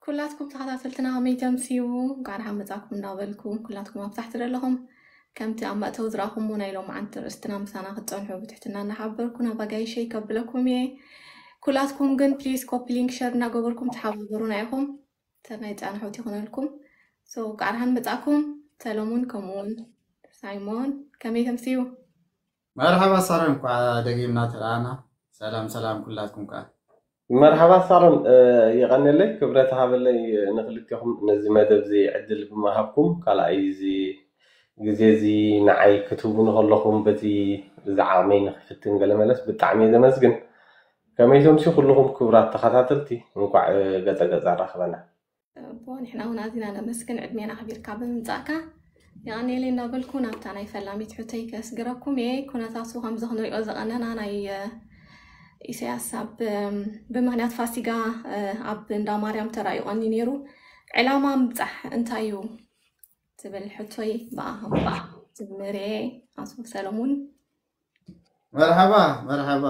ኩላትኩም ተኸታተልትና ከመይ ተምስዩ? እንኳዕ ደሓን መጻኩም እንዳበልኩ፣ ኩላትኩም ኣብታሕቲ ዘለኹም ከምቲ ኣብ መእተዊ ዝረኣኹምዎ ናይ ሎምዓንቲ ርእስትና ምሳና ክትጸንሑ ብትሕትና እናሓበርኩ፣ ናብ ኣጋይሸይ ከብለኩም እየ። ኩላትኩም ግን ፕሊዝ ኮፒ ሊንክ ሸር እናገበርኩም ተሓባበሩና ኢኹም። ሰናይ ጻንሖት ይኹነልኩም። So እንኳዕ ደሓን መጻኩም ሰለሙን፣ ከምኡውን ሳይሞን፣ ከመይ ተምስዩ? መርሓባ ሳሮን፣ እንኳዕ ደጊምና ተረኣና። ሰላም ሰላም ኩላትኩም ከዓ። መርሓባ ሳሮን፣ የቐንየለይ፣ ክብረት ሃበለይ ንክልቴኹም ነዚ መደብ እዚ ዕድል ብምሃብኩም፣ ካልኣይ እዚ ግዜ እዚ ንዓይ ክትህቡኒ ከለኹም በቲ ዝዓቕመይ ንክፍትን ገለ መለስ ብጣዕሚ እየ ዘመስግን። ከመይ ተምስዩ ኩልኹም ክቡራት ተኸታተልቲ፣ እንኳዕ ገጸ ገጽ ኣራኸበና። እቦ ንሕና እውን ኣዚና ነመስግን ዕድሜና ኣኽቢርካ ብምምጻእካ። የቐንየለይ እናበልኩ ናብታ ናይ ፈላሚት ሕቶይ ከስግረኩም እየ። ኩነታቱ ከምዚ ክንሪኦ ዝቐነና ናይ ኢሳያስ ኣብ ብምኽንያት ፋሲጋ ኣብ እንዳ ማርያም ተራእዩ ቀኒ ነይሩ። ዕላማ ምብጻሕ እንታይ እዩ ትብል ሕቶይ ብኣ ጀምር እየ። ኣቶ ሰለሙን። መርሓባ መርሓባ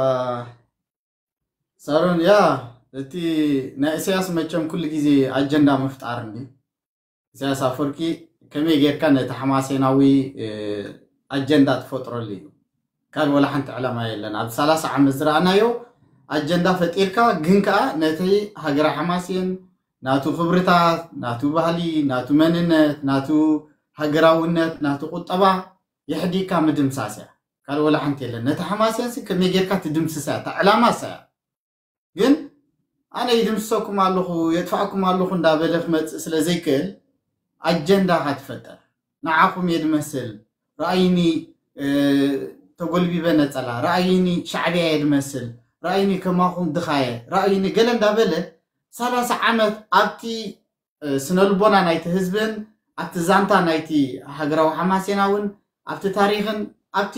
ሳሮን። ያ፣ እቲ ናይ ኢሳያስ መቸም ኩሉ ግዜ ኣጀንዳ ምፍጣር እንዲ ኢሳያስ ኣፈወርቂ ከመይ ጌርካ ነቲ ሓማሴናዊ ኣጀንዳ ትፈጥረሉ እዩ። ካልእ ወላ ሓንቲ ዕላማ የለን። ኣብ ሰላሳ ዓመት ዝረኣናዮ ኣጀንዳ ፈጢርካ፣ ግን ከኣ ነቲ ሃገረ ሓማሴን ናቱ ክብርታት፣ ናቱ ባህሊ፣ ናቱ መንነት፣ ናቱ ሃገራውነት፣ ናቱ ቁጠባ የሕዲግካ ምድምሳስ እያ። ካልእ ወላ ሓንቲ የለን። ነቲ ሓማሴንሲ ከመይ ጌርካ ትድምስሳ እያ፣ እታ ዕላማ እሳ እያ። ግን ኣነ ይድምስሰኩም ኣለኹ፣ የጥፋእኩም ኣለኹ እንዳበለ ክመጽእ ስለ ዘይክእል ኣጀንዳኻ ትፈጥር። ንዓኹም እየ ድመስል፣ ረኣይኒ ተጎልቢበ ነጸላ፣ ረኣይኒ ሻዕብያ እየ ድመስል፣ ረኣይኒ ከማኹም ድኻ እየ፣ ረኣይኒ ገለ እንዳበለ ሰላሳ ዓመት ኣብቲ ስነልቦና ናይቲ ህዝብን ኣብቲ ዛንታ ናይቲ ሃገራዊ ሓማሴናውን ኣብቲ ታሪኽን ኣብቲ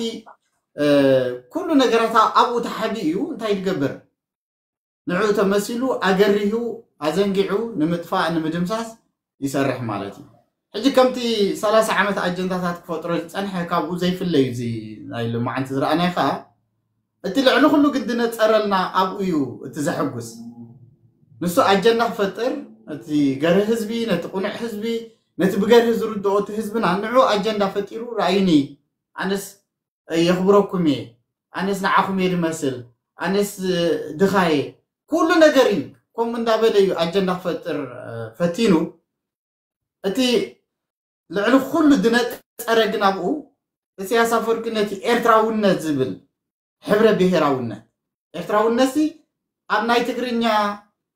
ኩሉ ነገራት ኣብኡ ተሓቢ እዩ። እንታይ ትገብር? ንዕኡ ተመሲሉ ኣገሪሁ ኣዘንጊዑ ንምጥፋእ ንምድምሳስ ይሰርሕ ማለት እዩ። ሕጂ ከምቲ ሰላሳ ዓመት ኣጀንዳታት ክፈጥሮ ዝጸንሐ ካብኡ ዘይፍለ እዩ። እዚ ናይ ሎማዓንቲ ዝረኣናዮ ከዓ እቲ ልዕሊ ኩሉ ግን ዝነጸረልና ኣብኡ እዩ እቲ ዘሐጉስ። ንሱ ኣጀንዳ ክፈጥር፣ ነቲ ገርህ ህዝቢ፣ ነቲ ቁኑዕ ህዝቢ፣ ነቲ ብገርህ ዝርድኦ እቲ ህዝብና ንዑ ኣጀንዳ ፈጢሩ ረኣይኒ፣ ኣነስ የኽብረኩም እየ፣ ኣነስ ንዓኹም እየ ድመስል፣ ኣነስ ድኻ እየ፣ ኩሉ ነገር እዩ ከምኡ እንዳበለ እዩ ኣጀንዳ ክፈጥር ፈቲኑ። እቲ ልዕሊ ኩሉ ዝነጸረ ግን ኣብኡ ኢሳያስ ኣፈወርቂ ነቲ ኤርትራውነት ዝብል ሕብረ ብሄራውነት፣ ኤርትራውነትሲ ኣብ ናይ ትግርኛ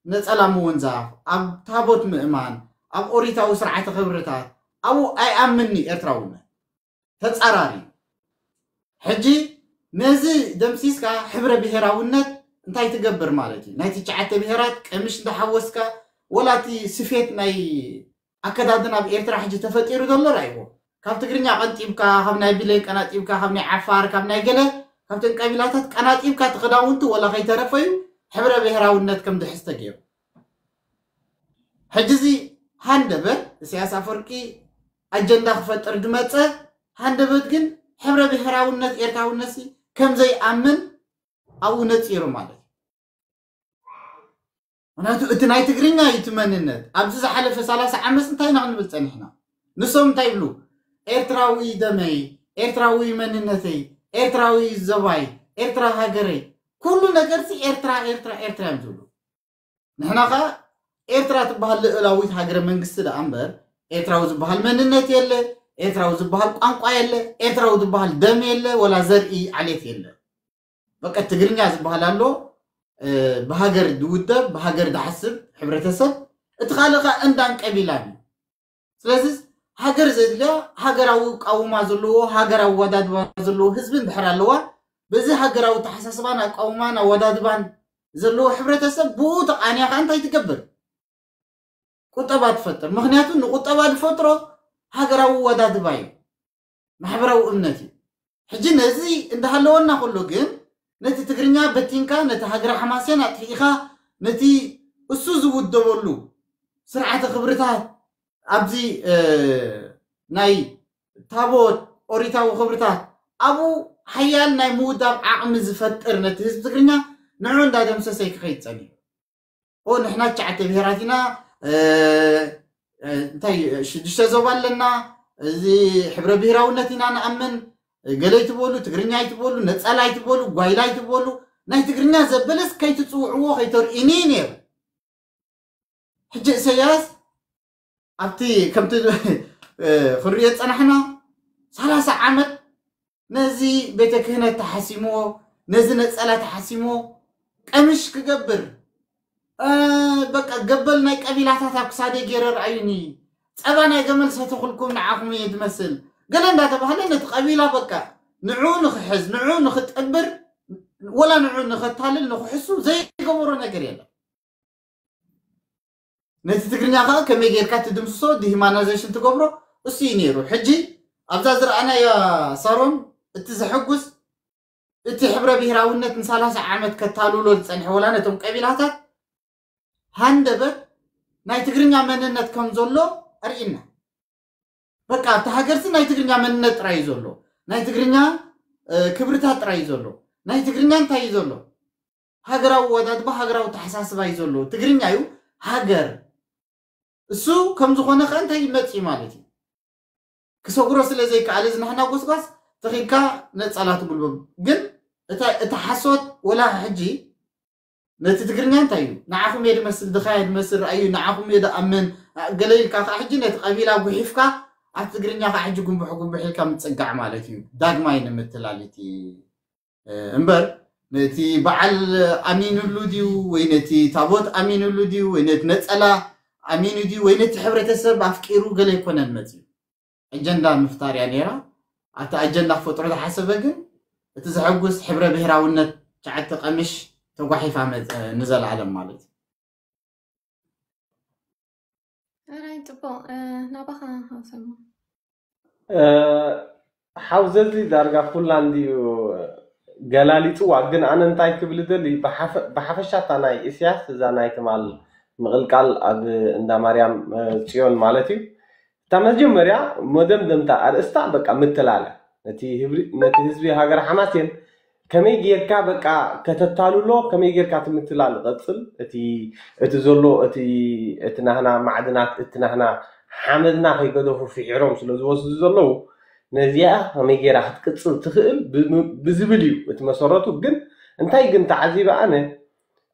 ነጸላ ምውንዛፍ፣ ኣብ ታቦት ምእማን፣ ኣብ ኦሪታዊ ስርዓተ ክብርታት ኣብኡ ኣይኣምንኒ ኤርትራውነት። ተጻራሪ። ሕጂ ነዚ ደምሲስካ ሕብረ ብሄራውነት እንታይ ትገብር ማለት እዩ? ናይ ትሽዓተ ብሄራት ቀምሽ እንዳሓወስካ ወላ እቲ ስፌት ናይ ኣከዳድና ኣብ ኤርትራ ሕጂ ተፈጢሩ ዘሎ ራእይዎ። ካብ ትግርኛ ቀንጢብካ፣ ካብ ናይ ብሌን ቀናጢብካ፣ ካብ ናይ ዓፋር፣ ካብ ናይ ገለ፣ ካብተን ቀቢላታት ቀናጢብካ እቲ ክዳውንቲ ወላ ከይተረፈዩ ሕብረ ብሄራውነት ከም ድሕዝ ተገይሩ። ሕጂ እዚ ሃንደበት ኢሳያስ ኣፈወርቂ ኣጀንዳ ክፈጥር ድመጸ ሃንደበት ግን ሕብረ ብሄራውነት ኤርትራውነትሲ ከም ዘይኣምን ኣብኡ ነጺሩ ማለት እዩ። ምክንያቱ እቲ ናይ ትግርኛ እዩ እቲ መንነት። ኣብዚ ዝሓለፈ ሰላሳ ዓመት እንታይ ኢና ክንብል ጸኒሕና? ንሶም እንታይ ይብሉ? ኤርትራዊ ደመይ፣ ኤርትራዊ መንነተይ፣ ኤርትራዊ ዘባይ፣ ኤርትራ ሃገረይ፣ ኩሉ ነገርሲ ኤርትራ ኤርትራ ኤርትራ እዮም ዝብሉ። ንሕና ኸኣ ኤርትራ ትበሃል ልእላዊት ሃገረ መንግስቲ ደኣ እምበር ኤርትራዊ ዝበሃል መንነት የለ፣ ኤርትራዊ ዝበሃል ቋንቋ የለ፣ ኤርትራዊ ዝበሃል ደም የለ፣ ወላ ዘርኢ ዓሌት የለ። በቃ ትግርኛ ዝበሃል ኣሎ፣ ብሃገር ዝውደብ፣ ብሃገር ዝሓስብ ሕብረተሰብ፣ እቲ ካልእ ኸኣ እንዳን ቀቢላን እዩ። ስለዚ ሃገር ዘድልያ ሃገራዊ ኣቃውማ ዘለዎ፣ ሃገራዊ ኣወዳድባ ዘለዎ ህዝቢ እንድሕር ኣለዋ፣ በዚ ሃገራዊ ኣተሓሳስባን ኣቃውማን ኣወዳድባን ዘለዎ ሕብረተሰብ ብኡ ተቓንያ ኸኣ እንታይ ትገብር? ቁጠባ ትፈጥር። ምክንያቱ ንቁጠባ ዝፈጥሮ ሃገራዊ ኣወዳድባ እዩ፣ ማሕበራዊ እምነት እዩ። ሕጂ ነዚ እንዳሃለወና ከሎ ግን ነቲ ትግርኛ በቲንካ፣ ነቲ ሃገረ ሓማሴን ኣጥፊእኻ፣ ነቲ እሱ ዝውደበሉ ስርዓተ ክብርታት ኣብዚ ናይ ታቦት ኦሪታዊ ክብርታት ኣብኡ ሓያል ናይ ምውዳብ ዓቕሚ ዝፈጥር ነቲ ህዝቢ ትግርኛ ንዑ እንዳደምሰሰ ክኸይድ ጸኒሑ። ኦ ንሕና ትሽዓተ ብሄራት ኢና፣ እ፣ እ፣ እንታይ ሽዱሽተ ዞባ ኣለና፣ እዚ ሕብረ ብሔራውነት ኢና ንኣምን፣ ገለ ኣይትበሉ፣ ትግርኛ ኣይትበሉ፣ ነጸላ ኣይትበሉ፣ ጓይላ ኣይትበሉ፣ ናይ ትግርኛ ዘበለስ ከይትጽውዕዎ ከይተርእዩኒ ነይሩ። ሕጂ ኢሳያስ ኣብቲ ከምቲ እ፣ ክንሪኦ ዝጸናሕና ሰላሳ ዓመት ነዚ ቤተ ክህነት ተሓሲምዎ፣ ነዚ ነጸላ ተሓሲምዎ፣ ቀምሽ ክገብር፣ እ፣ በቃ ገበል ናይ ቀቢላታት ኣብ ክሳደይ ገይረ ረኣዩኒ፣ ጸባ ናይ ገመል ሰተኹልኩም ንዓኹም እየ ዝመስል፣ ገለ እንዳተባህለ ነቲ ቀቢላ በቃ ንዕኡ ንኽሕዝ፣ ንዕኡ ንኽጠብር፣ ወላ ንዕኡ ንኸታልል ንኽሕሱ ዘይገበሮ ነገር የለን። ነቲ ትግርኛ ከዓ ከመይ ጌርካ ትድምስሶ፣ ዲሂማናይዜሽን ትገብሮ፣ እሱ እዩ ነይሩ። ሕጂ ኣብዛ ዝረኣናያ ሳሮን፣ እቲ ዘሐጉስ፣ እቲ ሕብረ ብሔራውነት ንሰላሳ ዓመት ከታልሎ ዝጸንሐ፣ ወላ ነቶም ቀቢላታት ሃንደበት ናይ ትግርኛ መንነት ከም ዘሎ ኣርእና። በቃ ኣብቲ ሃገርሲ ናይ ትግርኛ መንነት ጥራይ እዩ ዘሎ፣ ናይ ትግርኛ እ፣ ክብርታት ጥራይ እዩ ዘሎ። ናይ ትግርኛ እንታይ እዩ ዘሎ? ሃገራዊ ወዳድባ፣ ሃገራዊ ተሓሳስባ እዩ ዘሎ። ትግርኛ እዩ ሃገር። እሱ ከም ዝኾነ ከ እንታይ ይመጽእ ማለት እዩ? ክሰግሮ ስለ ዘይከኣለ ዝናህና ጎስጓስ ተኺልካ ነጸላ ትጉልበብ። ግን እታ፣ እታ ሓሶት ወላ ሕጂ ነቲ ትግርኛ እንታይ እዩ? ንዓኹም እየ ድመስል፣ ድኻ እየ ድመስል፣ ረኣዩ፣ ንዓኹም እየ ድኣምን፣ አ፣ ገለ ኢልካ ከኣ ሕጂ ነቲ ቀቢላ ጉሒፍካ ኣብቲ ትግርኛ ከኣ ሕጂ ጉንብሕ ጉንብሕ ኢልካ ምጽጋዕ ማለት እዩ። ዳግማይ ንምትላል እቲ፣ እ፣ እምበር ነቲ በዓል ኣሚንሉ ድዩ ወይ ነቲ ታቦት ኣሚንሉ ድዩ ወይ ነቲ ነጸላ ኣሚኑ ድዩ ወይ ነቲ ሕብረተሰብ ኣፍቂሩ ገለ ኣይኮነን መጺኡ። ኣጀንዳ ምፍጣር እያ ነይራ። ኣብቲ ኣጀንዳ ክፈጥሮ ዝሓሰበ ግን እቲ ዘሐጉስ ሕብረ ብሔራውነት ሸዓተ ቀምሽ ተጓሒፋ መ-፣ ንዘለኣለም ማለት እዩ። ኣራይ ጽቡቕ፣ እ፣ ናባኻ ሃብሰማ። እ፣ ሓውዘዚ ዳርጋ ኩላ እንድዩ ገላሊፅዋ። ግን ኣነ እንታይ ክብል ደሊ ብሓፈ-፣ ብሓፈሻ እታ ናይ እስያስ እዛ ናይ ትማል ምቕልቃል ኣብ እንዳ ማርያም እ፣ ፅዮን ማለት እዩ። እታ መጀመርያ መደምደምታ ኣርእስታ በቃ ምትላለ ነቲ ህብሪ-፣ ነቲ ህዝቢ ሃገር ሓማሴን ከመይ ጌርካ በቃ ከተታልሎ፣ ከመይ ጌርካ እቲ ምትላል ይቐጽል፣ እቲ፣ እቲ ዘሎ፣ እቲ፣ እቲ ናህና ማዕድናት፣ እቲ ናህና ሓመድና ከይገደፉ ፍሒሮም ስለ ዝወስዱ ዘለዉ፣ ነዚኣ ከመይ ጌራ ክትቅጽል ትኽእል ብ-፣ ብዝብል እዩ እቲ መሰረቱ። ግን እንታይ ግን ተዓዚበ ኣነ፣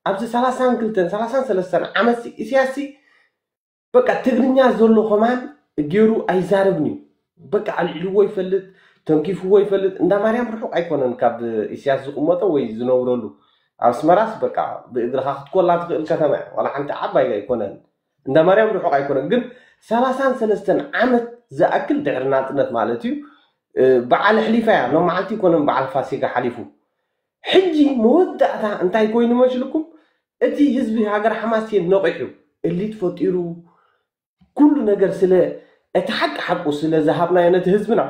ኣብዚ ሰላሳን ክልተን፣ ሰላሳን ሰለስተን ዓመት ሲ-፣ ኢሳያስ ሲ በቃ ትግርኛ ዘሎ ከማን ገይሩ ኣይዛረብን እዩ። በቃ ኣልዒልዎ ይፈልጥ፣ ተንኪፍዎ ይፈልጥ። እንዳ ማርያም ርሑቕ ኣይኮነን ካብ ኢሳያስ ዝቕመጦ ወይ ዝነብረሉ። ኣብ ኣስመራስ በቃ ብእግርኻ ክትኮላ ትኽእል ከተማ እያ። ዋላ ሓንቲ ዓባይ ኣይኮነን። እንዳ ማርያም ርሑቕ ኣይኮነን። ግን ሰላሳን ሰለስተን ዓመት ዝኣክል ድሕሪ ናጽነት ማለት እዩ፣ እ፣ በዓል ኣሕሊፋ እያ። ሎም መዓልቲ ኣይኮነን በዓል ፋሲጋ ሓሊፉ። ሕጂ መወዳእታ እንታይ ኮይኑ መስልኩም? እቲ ህዝቢ ሃገር ሓማሴን ነቒሑ፣ እሊት ፈጢሩ፣ ኩሉ ነገር ስለ እቲ ሓቂ ሓቁ ስለ ዝሃብናዮ ነቲ ህዝብና፣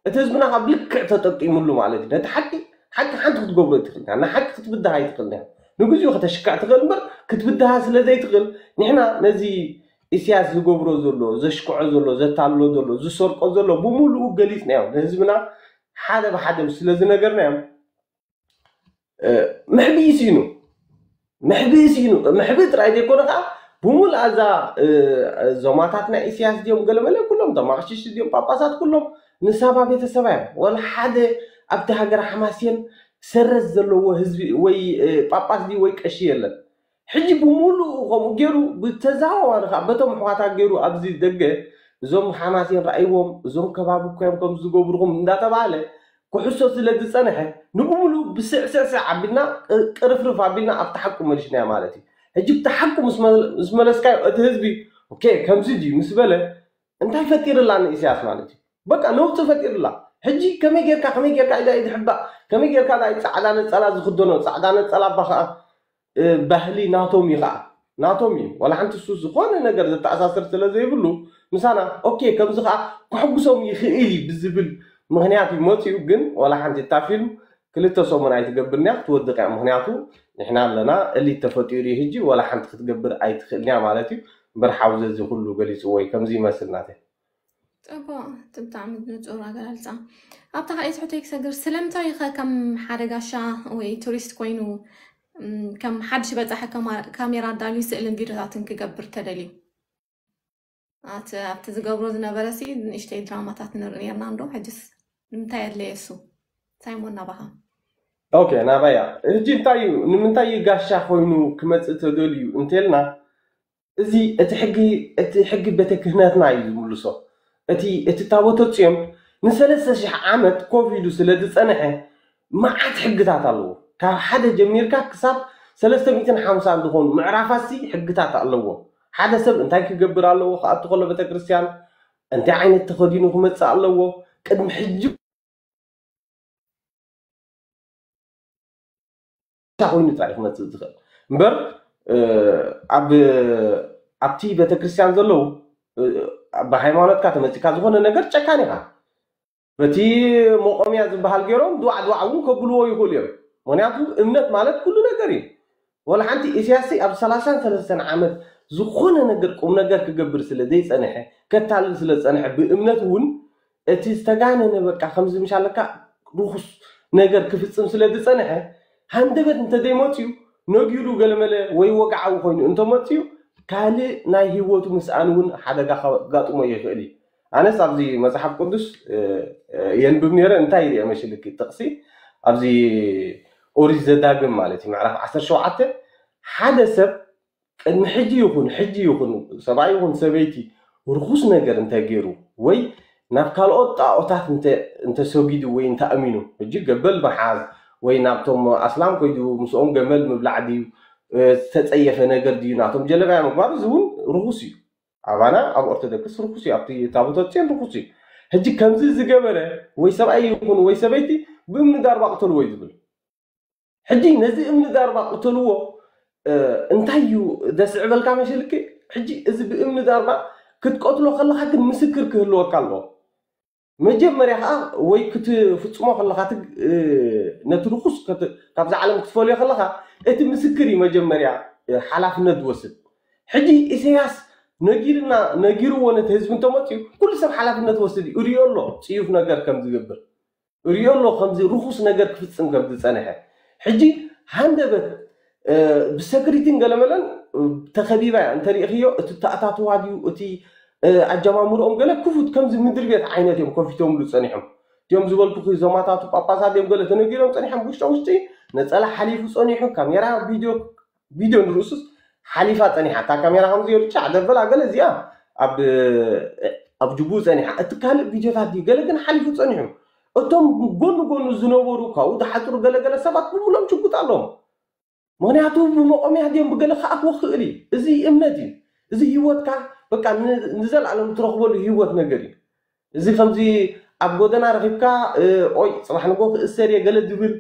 እቲ ህዝብና ካብ ልክዕ ተጠቂሙሉ ማለት እዩ። ነቲ ሓቂ ሓቂ ሓንቲ ክትገብሮ ኣይትኽእልን ኢኻ። ንሓቂ ክትብድሃ ኣይትኽእልን ኢኻ። ንግዚኡ ከተሽክዕ ትኽእል እምበር ክትብድሃ ስለ ዘይትኽእል፣ ንሕና ነዚ ኢሳያስ ዝገብሮ ዘሎ፣ ዘሽክዖ ዘሎ፣ ዘታልሎ ዘሎ፣ ዝሰርቆ ዘሎ ብምሉኡ ገሊጽናዮ። ንህዝብና ሓደ ብሓደ ስለ ዝነገርናዮም፣ እ፣ መሕብኢ ስኢኑ፣ መሕብኢ ስኢኑ። መሕብኢ ጥራይ ዘይኮነ ከዓ ብምሉእ ኣዛ፣ እ፣ ዞማታት ናይ ኢሳያስ ድዮም ገለመለ ኩሎም፣ እቶም ኣቕሽሽቲ ድዮም ጳጳሳት ኩሎም ንሳባ ቤተሰባ እዮም። ወላ ሓደ ኣብቲ ሃገር ሓማሴን ሰረት ዘለዎ ህዝቢ ወይ፣ እ፣ ጳጳስ ድዩ ወይ ቀሺ የለን። ሕጂ ብምሉኡ ከምኡ ገይሩ ብተዘዋዋሪ ከዓ በቶም ኣሕዋታ ገይሩ ኣብዚ ደገ እዞም ሓማሴን ረኣይዎም፣ እዞም ከባቢ እኮ እዮም ከምዚ ዝገብሩኹም እንዳተባሃለ ክሕሶ ስለ ዝጸንሐ፣ ንብምሉኡ ብስዕስዕስዕ ኣቢልና ቅ-፣ ቅርፍርፍ ኣቢልና ኣብቲ ሓቁ መሊስናዮ ማለት እዩ። ሕጂ ብቲ ሓቁ ምስ መ-፣ ምስ መለስካዮ እቲ ህዝቢ ኦኬ ከምዚ ድዩ ምስ በለ እንታይ ፈጢርላ ንኢሳያስ ማለት እዩ? በቃ ነውጺ ፈጢርላ። ሕጂ ከመይ ጌርካ፣ ከመይ ጌርካ ኢዳ ኢድ ሕባእ፣ ከመይ ጌርካ ናይ ጻዕዳ ነጸላ ዝኽደኖ፣ ጻዕዳ ነጸላ እባ ኸኣ እ፣ ባህሊ ናቶም እዩ ኸዓ። ናቶም እዩ። ዋላ ሓንቲ እሱ ዝኾነ ነገር ዘተኣሳስር ስለ ዘይብሉ ምሳና ኦኬ ከምዚ ኸዓ ከሕጉሶም ይኽእል እዩ ብዝብል ምኽንያት እዩ መፂኡ። ግን ዋላ ሓንቲ እታ ፊልም ክልተ ሰሙን ኣይትገብርን እያ፣ ክትወድቕ እያ። ምኽንያቱ ንሕና ኣለና፣ እሊት ተፈጢሩ እዩ። ሕጂ ዋላ ሓንቲ ክትገብር ኣይትኽእልን እያ ማለት እዩ። እምበር ሓውዘ እዚ ኩሉ ገሊፅዎ እዩ ከምዚ ይመስል ናተይ። ጽቡቕ፣ እቲ ብጣዕሚ ንጹር ኣገላልጻ። ኣብታ ካልኣይቲ ሕቶይ ክሰግር፣ ስለምንታይ ኸ ከም ሓደ ጋሻ ወይ ቱሪስት ኮይኑ፣ እም፣ ከም ሓድሽ በጻሒ ከማ-፣ ካሜራ ኣዳልዩ ስእልን ቪድዮታትን ክገብር ተደልዩ? ኣብቲ ዝገብሮ ዝነበረ ሲ ንእሽተይ ድራማታት ንርኢ ነርና እንዶ ሕጅስ ንምንታይ ኣድለየ እሱ? ሳይሞን ናባኻ። ኦኬ ናባያ። ሕጂ እንታይ እዩ ንምንታይ እዩ ጋሻ ኮይኑ ክመፅእ ተደልዩ እንተልና፣ እዚ እቲ ሕጊ እቲ ሕጊ ቤተ ክህነትና እዩ ዝምልሶ። እቲ እቲ ታቦተ ጽዮን ንሰለስተ ሺሕ ዓመት ኮፍ ኢሉ ስለ ዝጸንሐ መዓት ሕግታት ኣለዎ። ካብ ሓደ ጀሚርካ ክሳብ ሰለስተ ሚእትን ሓምሳን ዝኾኑ ምዕራፋት ሲ ሕግታት ኣለዎ። ሓደ ሰብ እንታይ ክገብር ኣለዎ፣ ክኣቱ ከሎ ቤተክርስትያን እንታይ ዓይነት ተኸዲኑ ክመጽእ ኣለዎ፣ ቅድሚ ሕጂ እንታይ ኮይኑ ጥራይ ክመፅእ ዝኽእል እምበር ኣብ ኣብቲ ቤተክርስትያን ዘለዉ ብሃይማኖትካ ተመፂካ ዝኾነ ነገር ጨካን ኢኻ። በቲ መቆምያ ዝበሃል ገይሮም ድዋዕ ድዋዕ እውን ከብልዎ ይኽእሉ እዮም። ምክንያቱ እምነት ማለት ኩሉ ነገር እዩ። ወላ ሓንቲ ኢሳያስ ኣብ ሰላሳን ሰለስተን ዓመት ዝኾነ ነገር ቁም ነገር ክገብር ስለ ዘይፀንሐ፣ ከታልል ስለ ዝፀንሐ ብእምነት እውን እቲ ዝተጋነነ በቃ ከምዚ ምሻለካ ርኹስ ነገር ክፍፅም ስለ ዝፀንሐ ሃንደበት እንተዘይመፅዩ ነጊሩ ገለመለ ወይ ወግዓዊ ኮይኑ እንተመፅዩ ካልእ ናይ ህይወቱ ምስኣን እውን ሓደጋ ከጋጥሞ ይኽእል እዩ። ኣነስ ኣብዚ መፅሓፍ ቅዱስ የንብብ ነይረ እንታይ ይርአ መሽልኪ ጥቕሲ ኣብዚ ኦሪት ዘዳግም ማለት እዩ ምዕራፍ ዓሰርተ ሸውዓተ ሓደ ሰብ ቅድሚ ሕጂ ይኹን ሕጂ ይኹን ሰብኣይ ይኹን ሰበይቲ ርኹስ ነገር እንተገይሩ ወይ ናብ ካልኦት ጣዖታት እንተሰጊዱ ወይ እንተኣሚኑ ሕጂ ገበል ምሓዝ ወይ ናብቶም ኣስላም ከይዱ ምስኦም ገመል ምብላዕ ድዩ ዝተፀየፈ ነገር ድዩ ናቶም ጀለባያ ምግባር እዚ እውን ርኹስ እዩ። ኣባና ኣብ ኦርቶዶክስ ርኹስ እዩ። ኣብቲ ታቦተ ፅዮን ርኹስ እዩ። ሕጂ ከምዚ ዝገበረ ወይ ሰብኣይ ይኹን ወይ ሰበይቲ ብእምኒ ዳርባ ቅተልዎ እዩ ዝብል። ሕጂ ነዚ እምኒ ዳርባ ቅተልዎ እንታይ እዩ ደስዕበልካ መሸልክ? ሕጂ እዚ ብእምኒ ዳርባ ክትቀትሎ ከለካ ግን ምስክር ክህልወካ ኣለዎ። መጀመርያ ከዓ ወይ ክትፍፅሞ ከለካ ነቲ ርኩስ ካብዛ ዓለም ክትፈልዮ ከለካ እቲ ምስክር እዩ መጀመርያ ሓላፍነት ዝወስድ። ሕጂ ኢሳያስ ነጊርና ነጊርዎ ነቲ ህዝቢ እንተመፅዩ ኩሉ ሰብ ሓላፍነት ወስድ እዩ። እሪኦ ኣሎ ፅዩፍ ነገር ከም ዝገብር እሪኦ ኣሎ ከምዚ ርኹስ ነገር ክፍፅም ከም ዝፀንሐ። ሕጂ ሃንደበት ብሰክሪቲን ገለመለን ተኸቢባ እያ እንተሪእኽዮ እቲ ተኣታትዋ ድዩ እቲ ኣጀማምርኦም ገለ ክፉት ከምዚ ምድሪ ቤት ዓይነት እዮም ከፊቶምሉ ፀኒሖም። እቲኦም ዝበልኩ ዞማታቱ ጳጳሳት እዮም ገለ ተነጊሮም ፀኒሖም ውሽጦ ውሽጢ ነፀላ ሓሊፉ ፀኒሑ ካሜራ ቪድዮ ቪድዮ ንርእሱስ ሓሊፋ ፀኒሓ እታ ካሜራ ከምዚ ገይሩ ጫዕ ደበላ ገለ እዚኣ ኣብ ኣብ ጅቡኡ ፀኒሓ እቲ ካልእ ቪድዮታት ድዩ ገለ ግን ሓሊፉ ፀኒሑ። እቶም ጎኑ ጎኑ ዝነበሩ ካብኡ ዝሓፅሩ ገለገለ ሰባት ብምሎም ችጉጥ ኣለዎም። ምክንያቱ ብመቆምያ ድዮም ብገለ ክኣትዎ ክእል እዩ። እዚ እምነት እዩ። እዚ ህይወትካ በቃ ንዘለኣለም ትረክበሉ ህይወት ነገር እዩ። እዚ ከምዚ ኣብ ጎደና ረኪብካ ኦይ ፅባሕ ንጎ ክእሰር እየ ገለ ዝብል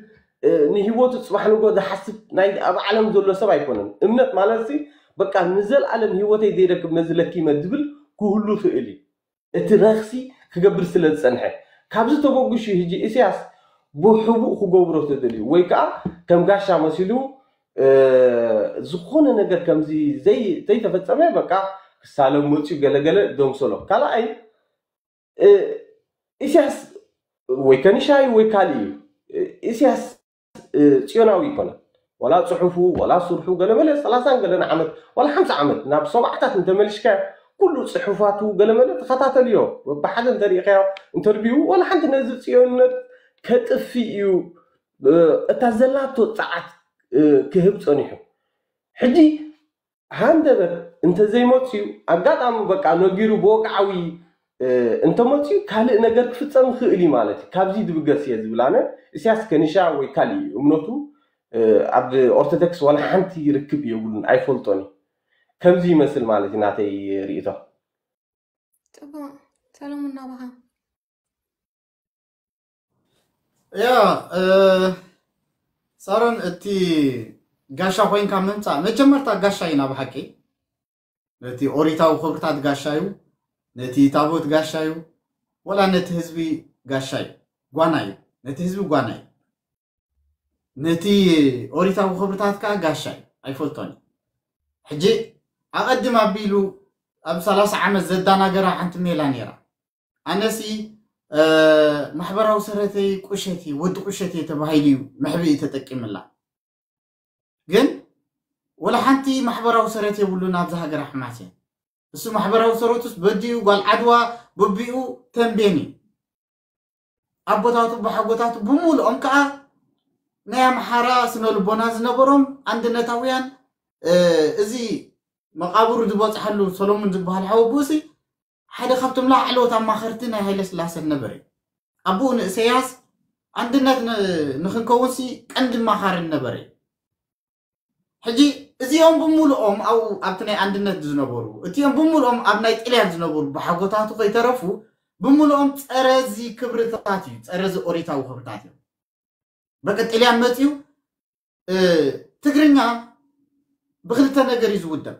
ንህይወቱ ፅባሕ ንጎ ዝሓስብ ናይ ኣብ ዓለም ዘሎ ሰብ ኣይኮነን። እምነት ማለት ሲ በቃ ንዘለኣለም ህይወተይ ዘይረክብ ነዚ ለኪመ ዝብል ክህሉ ይኽእል እዩ። እቲ ረክሲ ክገብር ስለ ዝፀንሐ ካብዚ ተበጉሹ ህጂ ኢሳያስ ብሕቡእ ክገብሮ ተደልዩ ወይ ከዓ ከም ጋሻ መሲሉ ዝኾነ ነገር ከምዚ ዘይተፈፀመ በቃ ክሳለም መፅዩ ገለገለ ደምሰሎ። ካልኣይ ኢሳያስ ወይ ከኒሻ እዩ ወይ ካልእ እዩ። ኢሳያስ ፅዮናዊ ይኮነ ዋላ ፅሑፉ ዋላ ስርሑ ገለመለ ሰላሳን ገለን ዓመት ዋላ ሓምሳ ዓመት ናብ ሰብዓታት እንተመልሽካ ኩሉ ፅሑፋቱ ገለመለ ተኸታተልዮ ብሓደ እንተሪኢካዮ እንተርቢው ዋላ ሓንቲ ነዚ ፅዮንነት ከጥፊ እዩ እታ ዘላቶ ፀዓት ክህብ ፀኒሑ። ሕጂ ሃንደበት እንተዘይመፅዩ ኣጋጣሚ በቃ ነጊሩ ብወግዓዊ እንተመፅዩ ካልእ ነገር ክፍፀም ይኽእል እዩ ማለት እዩ። ካብዚ ድብገስ እየ ዝብል ኣነ። እስያስ ከኒሻ ወይ ካልእ እዩ እምነቱ ኣብ ኦርቶዶክስ ዋላ ሓንቲ ርክብ የብሉን ኣይፈልጦን እዩ። ከምዚ ይመስል ማለት እዩ ናተይ ርእይቶ። ፅቡቅ ሰለሙን ናባኻ። ያ ሳሮን እቲ ጋሻ ኮይንካ ምምፃእ መጀመርታ ጋሻ እዩ ናብ ሓቂ ነቲ ኦሪታዊ ክብርታት ጋሻ እዩ ነቲ ታቦት ጋሻ እዩ ወላ ነቲ ህዝቢ ጋሻ እዩ ጓና እዩ ነቲ ህዝቢ ጓና እዩ ነቲ ኦሪታዊ ክብርታት ከዓ ጋሻ እዩ ኣይፈልጦን እዩ ሕጂ ኣቐድም ኣቢሉ ኣብ ሰላሳ ዓመት ዘዳናገራ ሓንቲ ሜላ ነይራ ኣነሲ ማሕበራዊ ሰረተይ ቁሸት እዩ ወዲ ቁሸት እየ ተባሂሉ እዩ መሕብኢ ተጠቂምላ ግን ወላ ሓንቲ ማሕበራዊ ሰረት የብሉን ኣብዚ ሃገር ኣሕማስ እየን እሱ ማሕበራዊ ሰረቱስ በዲኡ፣ ጓል ዓድዋ በቢኡ ተንቤን እዩ። ኣቦታቱ ብሓጎታቱ ብምሉኦም ከዓ ናይ ኣምሓራ ስነ ልቦና ዝነበሮም፣ ኣንድነታውያን። እዚ መቃብሩ ዝበፅሐሉ ሰሎሙን ዝበሃል ሓወቦሲ ሓደ ካብቶም ላዕለዎት ኣማኸርቲ ናይ ሃይለ ስላሰ ነበረ። ኣቦኡ ንእሰያስ ኣንድነት ንክንከውንሲ ቀንዲ ማኻርን ነበረ። ሕጂ እዚኦም ብምሉኦም ኣብኡ ኣብቲ ናይ ኣንድነት ዝነበሩ፣ እቲኦም ብምሉኦም ኣብ ናይ ጥልያን ዝነበሩ ብሓጎታቱ ከይተረፉ ብምሉኦም ጸረ እዚ ክብርታት እዩ፣ ጸረ እዚ ኦሪታዊ ክብርታት እዮም። በቃ ጥልያን መጺኡ፣ ትግርኛ ብክልተ ነገር እዩ ዝውደብ።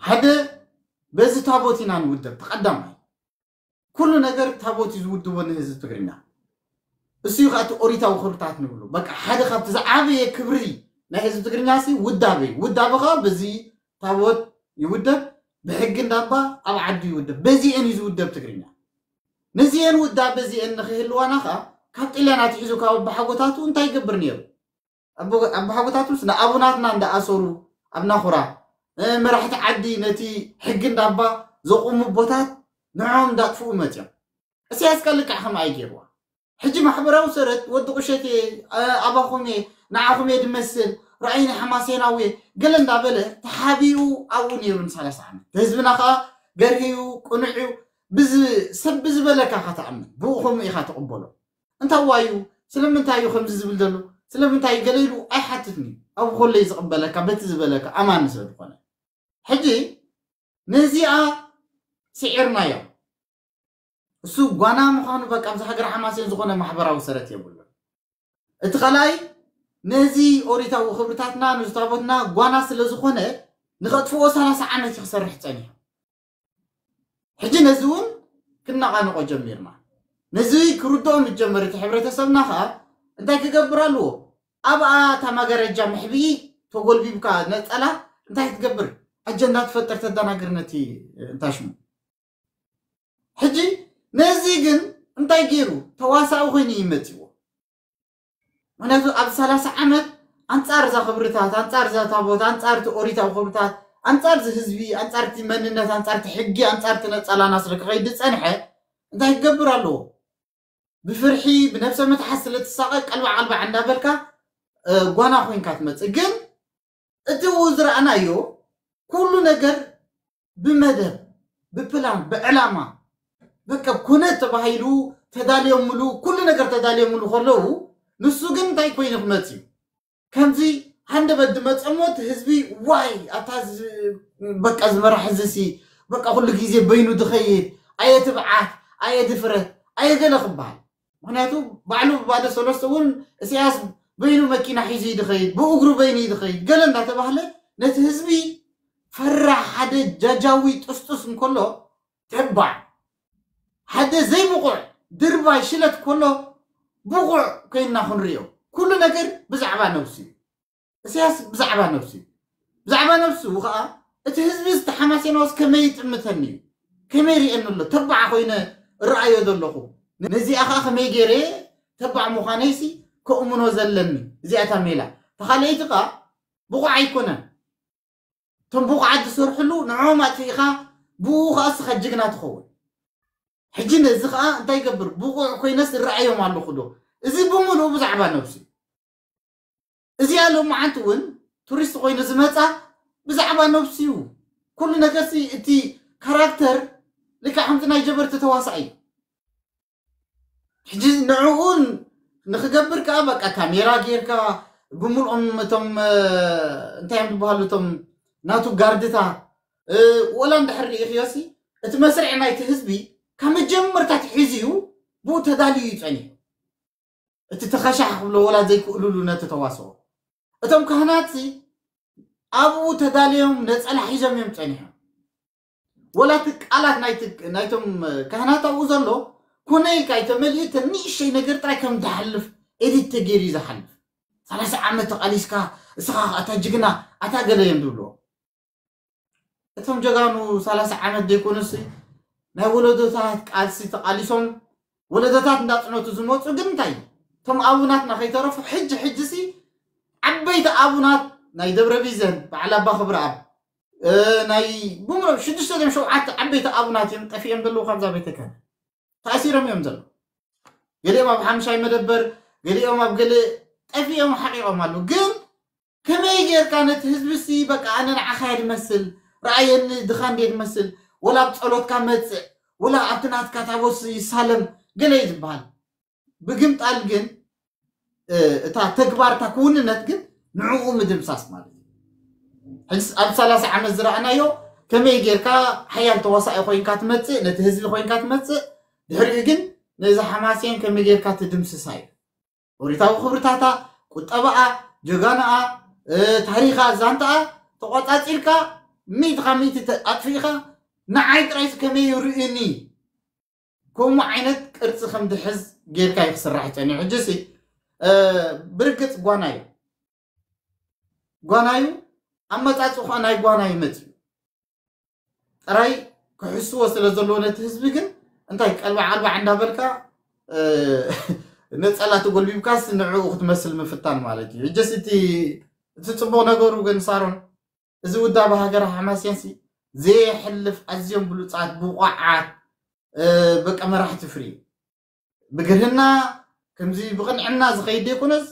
ሓደ በዚ ታቦት ኢና ንውደብ፣ ተቐዳማይ ኩሉ ነገር ታቦት እዩ ዝውድቦ ንህዝቢ ትግርኛ። እሱ እዩ ከዓ እቲ ኦሪታዊ ክብርታት ንብሉ። በቃ ሓደ ካብቲ ዝዓበየ ክብሪ ናይ ህዝቢ ትግርኛ ሲ ውዳበ እዩ። ውዳበ ከዓ በዚ ታቦት ይውደብ፣ ብሕጊ እንዳባ ኣብ ዓዱ ይውደብ። በዚአን እዩ ዝውደብ ትግርኛ። ነዚአን ውዳበ እዚአን ንክህልዋና ከዓ ካብ ጥልያን ኣትሒዙ ካብ ኣባሓጎታቱ እንታይ ይገብር ነይሩ? ኣቦሓጎታቱስ ንኣቡናትና እንዳኣሰሩ ኣብ ናኹራ፣ መራሕቲ ዓዲ ነቲ ሕጊ እንዳባ ዘቑሙ ኣቦታት ንዕኦም እንዳጥፍኡ መፅዮም። እስያስ ከ ልክዕ ከምኣ እዩ ገይርዋ። ሕጂ ማሕበራዊ ሰረት ወዲ ቁሸቴ፣ ኣባኹም እየ፣ ንዓኹም እየ ድመስል፣ ራእይ ናይ ሓማሴናዊ እየ ገለ እንዳበለ ተሓቢኡ ኣብኡ ነይሩ ንሰላሳ ዓመት። ህዝብና ከዓ ገርህዩ ቅኑዕ እዩ። ሰብ ብዝበለካ ኢኻ ትኣምን፣ ብኡ ከምኡ ኢኻ ትቕበሎ። እንታይ ዋዩ? ስለምንታይ እዩ ከምዚ ዝብል ዘሎ? ስለምንታይ ገለ ኢሉ ኣይሓትትን እዩ። ኣብ ኮለይ ዝቕበለካ በቲ ዝበለካ ኣማኒ ስለ ዝኾነ። ሕጂ ነዚኣ ስዒርናዮ። እሱ ጓና ምዃኑ በቃ ኣብዚ ሃገር ሓማሴን ዝኾነ ማሕበራዊ ሰረት የብሉን። እቲ ካልኣይ ነዚ ኦሪታዊ ክብርታትና ነዚ ታቦትና ጓና ስለ ዝኾነ ንኸጥፍኦ ሰላሳ ዓመት እዩ ክሰርሕ ጸኒሑ። ሕጂ ነዚ እውን ክነቓንቆ ጀሚርና። ነዚ ክርድኦ ምስ ጀመረ እቲ ሕብረተሰብና ኸዓ እንታይ ክገብር ኣለዎ? ኣብኣ እታ መጋረጃ መሕብኢ ተጎልቢብካ ነፀላ እንታይ ክትገብር? ኣጀንዳ ትፈጥር፣ ተደናግር ነቲ እንታይ ሽሙ። ሕጂ ነዚ ግን እንታይ ገይሩ? ተዋሳኢ ኮይኑ እዩ መፂዎ። ምክንያቱ ኣብ ሰላሳ ዓመት ኣንጻር እዛ ክብርታት፣ ኣንጻር እዛ ታቦት፣ ኣንጻር እቲ ኦሪታዊ ክብርታት፣ ኣንጻር እዚ ህዝቢ፣ ኣንጻር እቲ መንነት፣ ኣንጻር እቲ ሕጊ፣ ኣንጻር እቲ ነጸላና ስለ ክኸይድ ዝጸንሐ እንታይ ክገብር ኣለዎ? ብፍርሒ ብነብሰ ምትሓት ስለ ትሳቐ ቀልባዕ ቀልባዕ እንዳበልካ ጓና ኮይንካ ትመጽእ። ግን እቲ ዝረኣናዮ ኩሉ ነገር ብመደብ፣ ብፕላን፣ ብዕላማ፣ በቃ ኩነት ተባሂሉ ተዳልዮምሉ፣ ኩሉ ነገር ተዳልዮምሉ ከለዉ ንሱ ግን እንታይ ኮይኑ ክመጽእ እዩ? ከምዚ ሃንደበት ድመጸሞ እቲ ህዝቢ ዋይ ኣታ በቃ ዝመራሕ እዚሲ በቃ ኩሉ ግዜ በይኑ ድኸይድ፣ ኣየ ትብዓት፣ ኣየ ድፍረት፣ ኣየ ገለ ክበሃል። ምክንያቱ ባዕሉ ባዶ ሰለስተ እውን እስያስ በይኑ መኪና ሒዙ እዩ ድኸይድ፣ ብእግሩ በይኑ እዩ ድኸይድ ገለ እንዳተባህለ ነቲ ህዝቢ ፈራሕ ሓደ ጃጃዊ ጥስጡስ እንከሎ ተባዕ ሓደ ዘይብቑዕ ድርባይ ሽለት ከሎ ብቑዕ ኮይንና ክንሪኦ። ኩሉ ነገር ብዛዕባ ነብሱ እዩ። እስያስ ብዛዕባ ነብሱ እዩ። ብዛዕባ ነብሱ ከዓ እቲ ህዝቢ ዝተሓማሴናዎስ ከመይ ይጥምተኒ እዩ? ከመይ ሪኤኒ ኣሎ? ተባዕ ኮይነ እረኣዮ ዘለኹ። ነዚኣ ከዓ ከመይ ገይረ ተባዕ ምዃነይሲ ከእምኖ ዘለኒ። እዚኣ እታ ሜላ። ተኻልአይቲ ከዓ ብቑዕ ኣይኮነን። እቶም ብቑዓት ዝሰርሕሉ ንዕኦም ኣጥፊእኻ ብኡ ከዓ እስኻ ጅግና ትኸውን። ሕጂ ነዚ ከዓ እንታይ ይገብር? ብቑዕ ኮይነስ እረኣዮም ኣለኹ ዶ? እዚ ብምሉኡ ብዛዕባ ነብሱ እዩ። እዚኣ ሎማዓንቲ እውን ቱሪስት ኮይኑ ዝመፃ ብዛዕባ ነብሱ እዩ። ኩሉ ነገርሲ እቲ ካራክተር ልክዕ ከምዚ ናይ ጀበርቲ ተዋሳኢ እዩ። ሕጂ ንዕኡ ንክገብር ከዓ በቃ ካሜራ ጌርካ ብምልኦም እቶም እንታይ እዮም ዝበሃሉ እቶም ናቱ ጋርድታ ወላ እንድሕር ርኢኽዮሲ እቲ መስርዕ ናይቲ ህዝቢ ካብ መጀመርታ ኣትሒዙ እዩ ብኡ ተዳልዩ እዩ ጸኒሑ። እቲ ተኸሻሕ ክብሎ ወላ ዘይክእልሉ ነቲ ተዋስኦ እቶም ካህናትሲ ኣብኡ ተዳልዮም ነጸላ ሒዞም እዮም ጸኒሖም። ወላ እቲ ቃላት ናይቲ ናይቶም ካህናት ኣብኡ ዘሎ ኮነ ኢልካ ኣይተመልዩ እቲ ንእሽተይ ነገር ጥራይ ከም ዝሓልፍ ኤዲት ተገይሩ እዩ ዝሓልፍ። ሰላሳ ዓመት ተቓሊስካ እስኻ ኣታ ጅግና ኣታ ገለ እዮም ዝብልዎ። እቶም ጀጋኑ ሰላሳ ዓመት ዘይኮኑሲ ናይ ወለዶታት ቃልሲ ተቓሊሶም ወለዶታት እንዳጽነቱ ዝመፁ ግን እንታይ እቶም ኣቡናትና ከይተረፉ ሕጂ ሕጂሲ ዓበይቲ ኣቡናት ናይ ደብረ ቢዘን በዓል ኣባ ክብረኣብ እ፣ ናይ ብምሎም ሽዱሽተ ድዮም ሸውዓተ ዓበይቲ ኣቡናት እዮም ጠፊኦም ዘለዉ ካብዛ ቤተ ክህነት። ተኣሲሮም እዮም ዘለዉ። ገሊኦም ኣብ ሓምሻይ መደበር፣ ገሊኦም ኣብ ገለ ጠፊኦም ሓቂቖም ኣለዉ። ግን ከመይ ጌርካ ነቲ ህዝቢ ሲ በቃ ኣነ ንዓኻ እየ ድመስል፣ ረኣየኒ ድኻ እንድየ ድመስል፣ ወላ ኣብ ጸሎትካ መጽእ፣ ወላ ኣብቲ ናትካ ታቦት ይሳለም ገለ እዩ ዝበሃል። ብግምጣል ግን፣ እ፣ እታ ተግባር እታ ክውንነት ግን ንዕኡ ምድምሳስ ማለት እዩ። ሕጂ ኣብ ሰላሳ ዓመት ዝረኣናዮ ከመይ ጌርካ ሓያል ተዋሳኢ ኮይንካ ትመጽእ፣ ነቲ ህዝቢ ኮይንካ ትመጽእ፣ ድሕሪኡ ግን ነዚ ሓማሴን ከመይ ጌርካ ትድምስሳ እዩ። ኦሪታዊ ክብርታታ፣ ቁጠባኣ፣ ጀጋናኣ፣ እ፣ ታሪኻ፣ ዛንታኣ ተቆጻጺርካ ሚእቲ ካብ ሚእቲ ተ-፣ ኣጥፊእካ ንዓይ ጥራይስ ከመይ ይርእዩኒ? ከምኡ ዓይነት ቅርጺ ከም ድሕዝ ጌርካ እዩ ክስራሕ ጸኒሑ። ሕጂ ሲ፣ እ፣ ብርግጽ ጓና እዩ። ጓና እዩ። ኣመጻጽኡ ኸኣ ናይ ጓና እዩ መጺኡ። ጥራይ ክሕስዎ ስለ ዘለዎ ነቲ ህዝቢ ግን እንታይ ቀልባዕ ቀልባዕ እንዳበልካ፣ እ፣ ነጸላ ተጎልቢብካስ ንዕኡ ክትመስል ምፍታን ማለት እዩ። ሕጂስ እቲ፣ እቲ ጽቡቕ ነገሩ ግን ሳሮን፣ እዚ ውዳበ ሃገረ ሓማሴንሲ ዘየሕልፍ ኣዝዮም ብሉጻት፣ ብቑዓት፣ እ፣ በቃ መራሕቲ ፍርዩ። ብግርህና ከምዚ ብቕንዕና ዝኸይድ ዘይኮነስ፣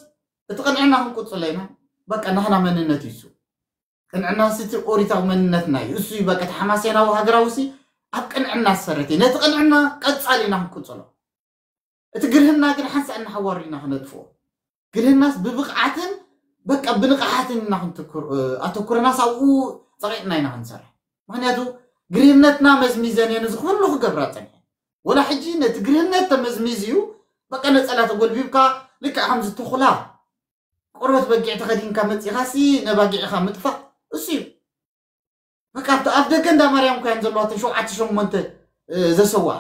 እቲ ቅንዕና ክንቅጽሎ ኢና። በቃ ናህና መንነት እዩ እሱ። ቅንዕናስ እቲ ኦሪታዊ መንነትና እዩ። እሱ እዩ በቃ እቲ ሓማሴናዊ ሃገራዊ ሲ ኣብ ቅንዕና ዝሰረት እዩ። ነቲ ቅንዕና ቀጻሊ ኢና ክንቅጽሎ። እቲ ግርህና ግን ሓንሳእ እናሓዋሩ ኢና ክነጥፍኦ። ግርህናስ ብብቕዓትን በቃ ብንቕሓትን ኢና ክንትኩር፣ እ፣ ኣተኩረናስ ኣብኡ ጸቒጥና ኢና ክንሰርሕ። ምኽንያቱ ግርህነትና መዝሚዘን እየን እዚ ኩሉ ክገብራ ጸኒሐን። ወላ ሕጂ ነቲ ግርህነት ተመዝሚዝ እዩ በቃ ነጸላ ተጎልቢብካ ልክዕ ከምዚ ተኹላ ቆርበት በጊዕ ተኸዲንካ መጺኻሲ ነባጊዕኻ ምጥፋእ እሱ እዩ። በቃ ኣብቲ ኣፍ ደገ እንዳ ማርያም እኮ እየን ዘለዋ እተን ሸውዓተ ሸሞንተ፣ እ፣ ዘሰውኣ።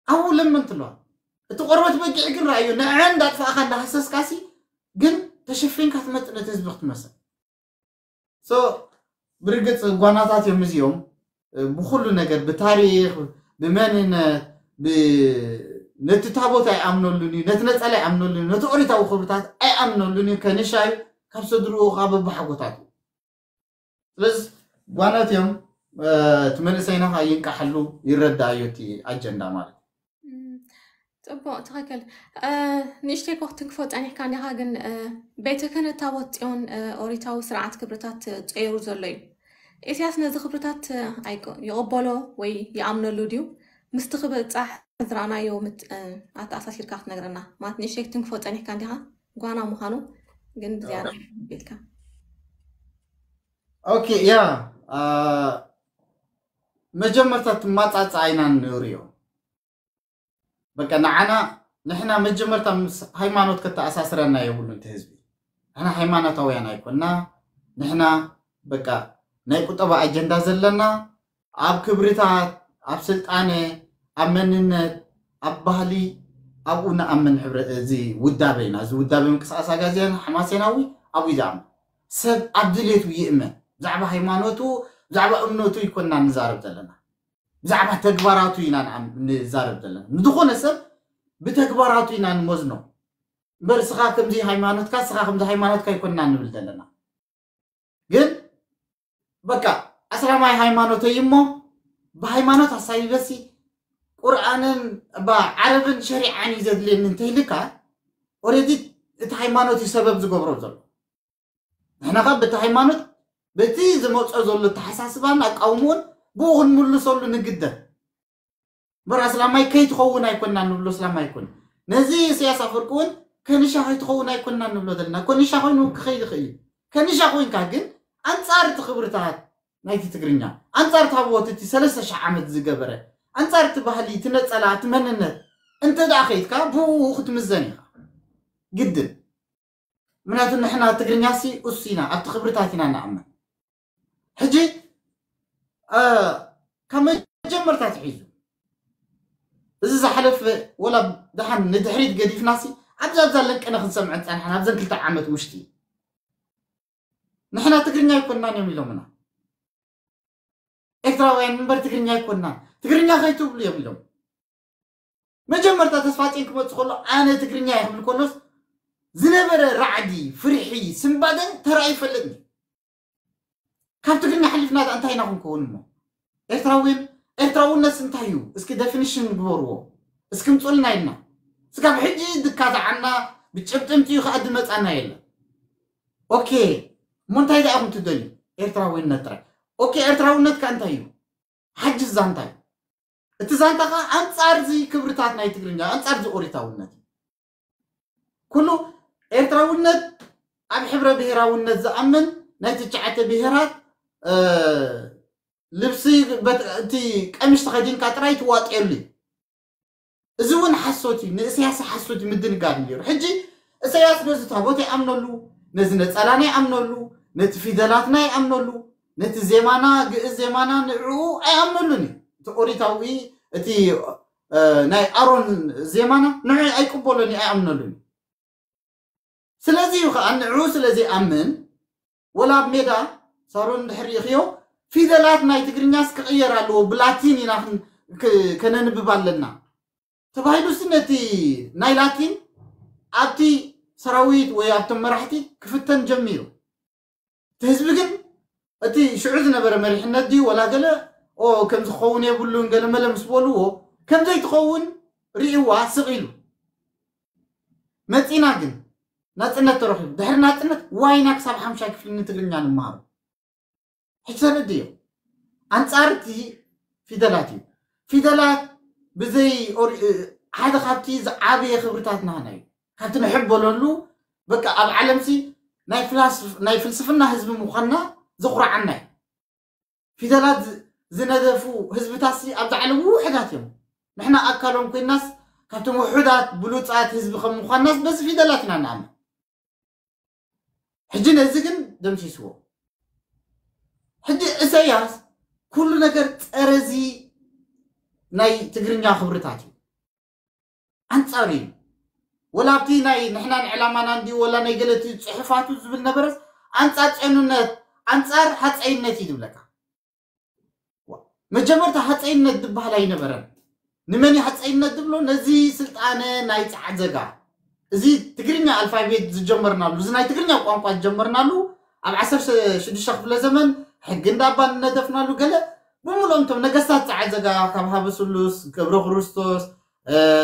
ኣብኡ ለመንቲ ኣለዋ። እቲ ቆርበት በጊዕ ግን ረኣዮ፣ ንዐን እንዳጥፋእኻ እንዳሃሰስካሲ ግን ተሸፊንካ ትመጽእ ነቲ ህዝቢ ክትመስል። ሶ ብርግጽ ጓናታት እዮም እዚኦም፣ እ፣ ብኹሉ ነገር፣ ብታሪኽ፣ ብመንነት፣ ብ-፣ ነቲ ታቦት ኣይኣምነሉን እዩ፣ ነቲ ነጸላ ኣይኣምነሉን እዩ፣ ነቲ ኦሪታዊ ክብርታት ኣይኣምነሉን እዩ፣ ከንሻ እዩ፣ ካብ ሰድርኡ ካብ ኣቦሓጎታቱ። ስለዚ ጓናት እዮም፣ እ፣ እቲ መንእሰይና ኸዓ ይንቃሓሉ፣ ይረዳእዮ እቲ ኣጀንዳ ማለት እዩ። እም፣ ጽቡቕ፣ ትኽክል። እ፣ ንእሽተይ ኮ ክትንክፎ ጸኒሕካ እንዲኻ፣ ግን፣ እ፣ ቤተ ክህነት ታቦት ጽዮን፣ እ፣ ኦሪታዊ ስርዓት ክብርታት፣ እ፣ ጸይሩ ዘሎ እዩ። ኢሳያስ ነዚ ክብርታት፣ እ፣ ኣይቅ-፣ ይቕበሎ ወይ ይኣምነሉ ድዩ? ምስቲ ክብጻሕ ዝረኣናዮ ምት-፣ እ፣ ኣተኣሳሲርካ ክትነግረና። ማለት ንእሽተይ ክትንክፎ ጸኒሕካ እንዲኻ፣ ጓና ምዃኑ ግን ብዝያዳ ኦኬ። ኢልካ። ኦኬ፣ ያ፣ አ፣ መጀመርታ ትማጻጻ ኣይና ንርእዮ። በቃ ንዓና፣ ንሕና መጀመርታ ምስ ሃይማኖት ከተኣሳስረና የብሉን እቲ ህዝቢ። ንሕና ሃይማኖታውያን ኣይኮንና። ንሕና በቃ ናይ ቁጠባ ኣጀንዳ ዘለና፣ ኣብ ክብርታት፣ ኣብ ስልጣነ፣ ኣብ መንነት፣ ኣብ ባህሊ፣ ኣብኡ ንኣምን። ሕብረ-፣ እዚ ውዳበ ኢና። እዚ ውዳበ ምንቅስቃስ ኣጋዝያን ሓማሴናዊ ኣብኡ እዩ ዝኣምን። ሰብ ኣብ ድሌቱ ይእመን። ብዛዕባ ሃይማኖቱ፣ ብዛዕባ እምነቱ ኣይኮንና ንዛረብ ዘለና። ብዛዕባ ተግባራቱ ኢና ንኣም-፣ ንዛረብ ዘለና። ንዝኾነ ሰብ ብተግባራቱ ኢና ንመዝኖ። እምበር ስኻ ከምዚ ሃይማኖትካ፣ ስኻ ከምዚ ሃይማኖትካ ኣይኮንና ንብል ዘለና። ግን በቃ ኣስላማይ ሃይማኖተይ እሞ ብሃይማኖት ኣሳቢበሲ ቁርኣንን ባ ዓረብን ሸሪዓን እዩ ዘድልየኒ እንተኢልካ፣ ኦሬዲ እቲ ሃይማኖት እዩ ሰበብ ዝገብሮ ዘሎ። ንሕና ኸ በቲ ሃይማኖት፣ በቲ ዝመጾ ዘሎ ኣተሓሳስባን ኣቃውምኡን ብኡ ክንምልሰሉ ንግደድ። እምበር ኣስላማይ ከይትኸውን ኣይኮንና ንብሎ፣ ኣስላማይ ኣይኮን። ነዚ ኢሳያስ ኣፈወርቂ እውን ከንሻ ከይትኸውን ኣይኮንና ንብሎ ዘለና። ከንሻ ኮይኑ ክኸይድ ይኽእል እዩ። ከንሻ ኮይንካ ግን ኣንጻር እቲ ክብርታት ናይቲ ትግርኛ፣ ኣንጻር እቲ ሃብዎት እቲ ሰለስተ ሽሕ ዓመት ዝገበረ፣ ኣንጻር እቲ ባህሊ፣ እቲ ነጸላ፣ እቲ መንነት እንተ ደኣ ከይድካ ብኡ ክትምዘን ኢኻ። ግድን። ምክንያቱ ንሕና ትግርኛሲ እሱ ኢና፣ ኣብቲ ክብርታት ኢና ንኣምን። ሕጂ፣ እ፣ ካብ መጀመርታ ትሒዙ እዚ ዝሓለፈ ወላ ደሓን ንድሕሪት ገዲፍናሲ ኣብዛ ኣብዛ ለንቅነ ክንሰምዐ ጸንሓና ኣብዘን ክልተ ዓመት ውሽጢ ንሕና ትግርኛ ኣይኮንናን እዮም ኢሎምና። ኤርትራውያን እምበር ትግርኛ ኣይኮንናን፣ ትግርኛ ከይትብሉ እዮም ኢሎም። መጀመርታ ተስፋጽዮን ክመጽእ ከሎ ኣነ ትግርኛ እየ ክብል ከሎስ ዝነበረ ራዕዲ፣ ፍርሒ፣ ስንባደን ተራእዩ ይፈልጥኒ። ካብ ትግርኛ ሓሊፍና እንታይ ኢና ክንከውን እሞ? ኤርትራዊን ኤርትራውነት እንታይ እዩ? እስኪ ደፊኒሽን ግበርዎ። እስኪ ምፁልና ኢልና እስካብ ሕጂ ድካታዓና ብጭብጥምቲ እዩ ከዓ ድመፃና የለን። ኦኬ፣ እሞ እንታይ ደኣ ኢኹም ትደልዩ? ኤርትራዊነት ጥራይ። ኦኬ፣ ኤርትራውነት ከ እንታይ እዩ? ሓጅ ዛንታ እዩ። እቲ ዛንታ ከዓ ኣንፃር እዚ ክብርታት ናይ ትግርኛ፣ ኣንፃር እዚ ኦሪታውነት እዩ። ኩሉ ኤርትራውነት ኣብ ሕብረ ብሔራውነት ዝኣምን ናይ ትሽዓተ ብሔራት ልብሲ እቲ ቀሚሽ ተኸዲንካ ጥራይ ትዋጥየሉ እዩ። እዚ እውን ሓሶት እዩ። ንእስያስ ሓሶት እዩ ምድንጋር ነይሩ። ሕጂ እሰያስ ነዚ ታቦት ይኣምነሉ፣ ነዚ ነፀላና ይኣምነሉ፣ ነቲ ፊደላትና ይኣምነሉ፣ ነቲ ዜማና ግእዝ ዜማና ንዕኡ ኣይኣምነሉን እዩ። እቲ ኦሪታዊ እቲ ናይ ኣሮን ዜማና ንዑ ኣይቅበሎን እዩ ኣይኣምነሉን እዩ። ስለዚ እዩ ከዓ ንዑ ስለዚ ኣምን ወላ ኣብ ሜዳ ሳሮን ድሕር ይኽዮ ፊደላት ናይ ትግርኛስ ክቕየር ኣለዎ ብላቲን ኢና ከነንብብ ኣለና ተባሂሉሲ ነቲ ናይ ላቲን ኣብቲ ሰራዊት ወይ ኣብቶም መራሕቲ ክፍተን ጀሚሩ። እቲ ህዝቢ ግን እቲ ሽዑ ዝነበረ መሪሕነት ድዩ ወላ ገለ ኦ ከም ዝኸውን የብሉን ገለ መለ ምስ በልዎ ከም ዘይትኸውን ርእይዋ ስቕ ኢሉ መፂና። ግን ናፅነት ተረኺቡ ድሕሪ ናፅነት ዋይና ክሳብ ሓምሻይ ክፍሊ ንትግርኛ ንምሃሮ ሕጂ ተረድዮ። ኣንፃር እቲ ፊደላት እዩ። ፊደላት ብዘይ ሓደ ካብቲ ዝዓበየ ክብርታት ናህና እዩ። ካብቲ ንሕበለሉ በቃ ኣብ ዓለምሲ ናይ ፍልስፍና ህዝቢ ምዃንና ዘኹርዓና እዩ። ፊደላት ዝነደፉ ህዝብታትሲ ኣብዛ ዓለም ውሑዳት እዮም። ንሕና ኣካሎም ኮይናስ ካብቶም ውሑዳት ብሉፃት ህዝቢ ከም ምዃንናስ በዚ ፊደላት ኢና ንኣምን። ሕጂ ነዚ ግን ደምሲስዎ። ሕጂ እሰያስ ኩሉ ነገር ፀረዚ ናይ ትግርኛ ክብርታት እዩ። ኣንፃር እዩ። ወላ ኣብቲ ናይ ንሕናን ዕላማና እንዲ ወላ ናይ ገለቲ ፅሑፋቱ ዝብል ነበረስ ኣንፃር ጨኑነት ኣንፃር ሃፀይነት እዩ ዝብለካ። መጀመርታ ሃፀይነት ዝበሃል ኣይነበረን። ንመን ሃፀይነት ዝብሎ ነዚ ስልጣነ ናይ ፀዓት ዘጋ እዚ ትግርኛ ኣልፋቤት ዝጀመርናሉ እዚ ናይ ትግርኛ ቋንቋ ዝጀመርናሉ ኣብ ዓሰርተ ሽዱሽተ ክፍለ ዘመን ሕጊ እንዳባ ንነደፍናሉ ገለ ብምሉኦም እቶም ነገስታት ፀዓት ዘጋ ካብ ሃበ ስሉስ ገብረ ክርስቶስ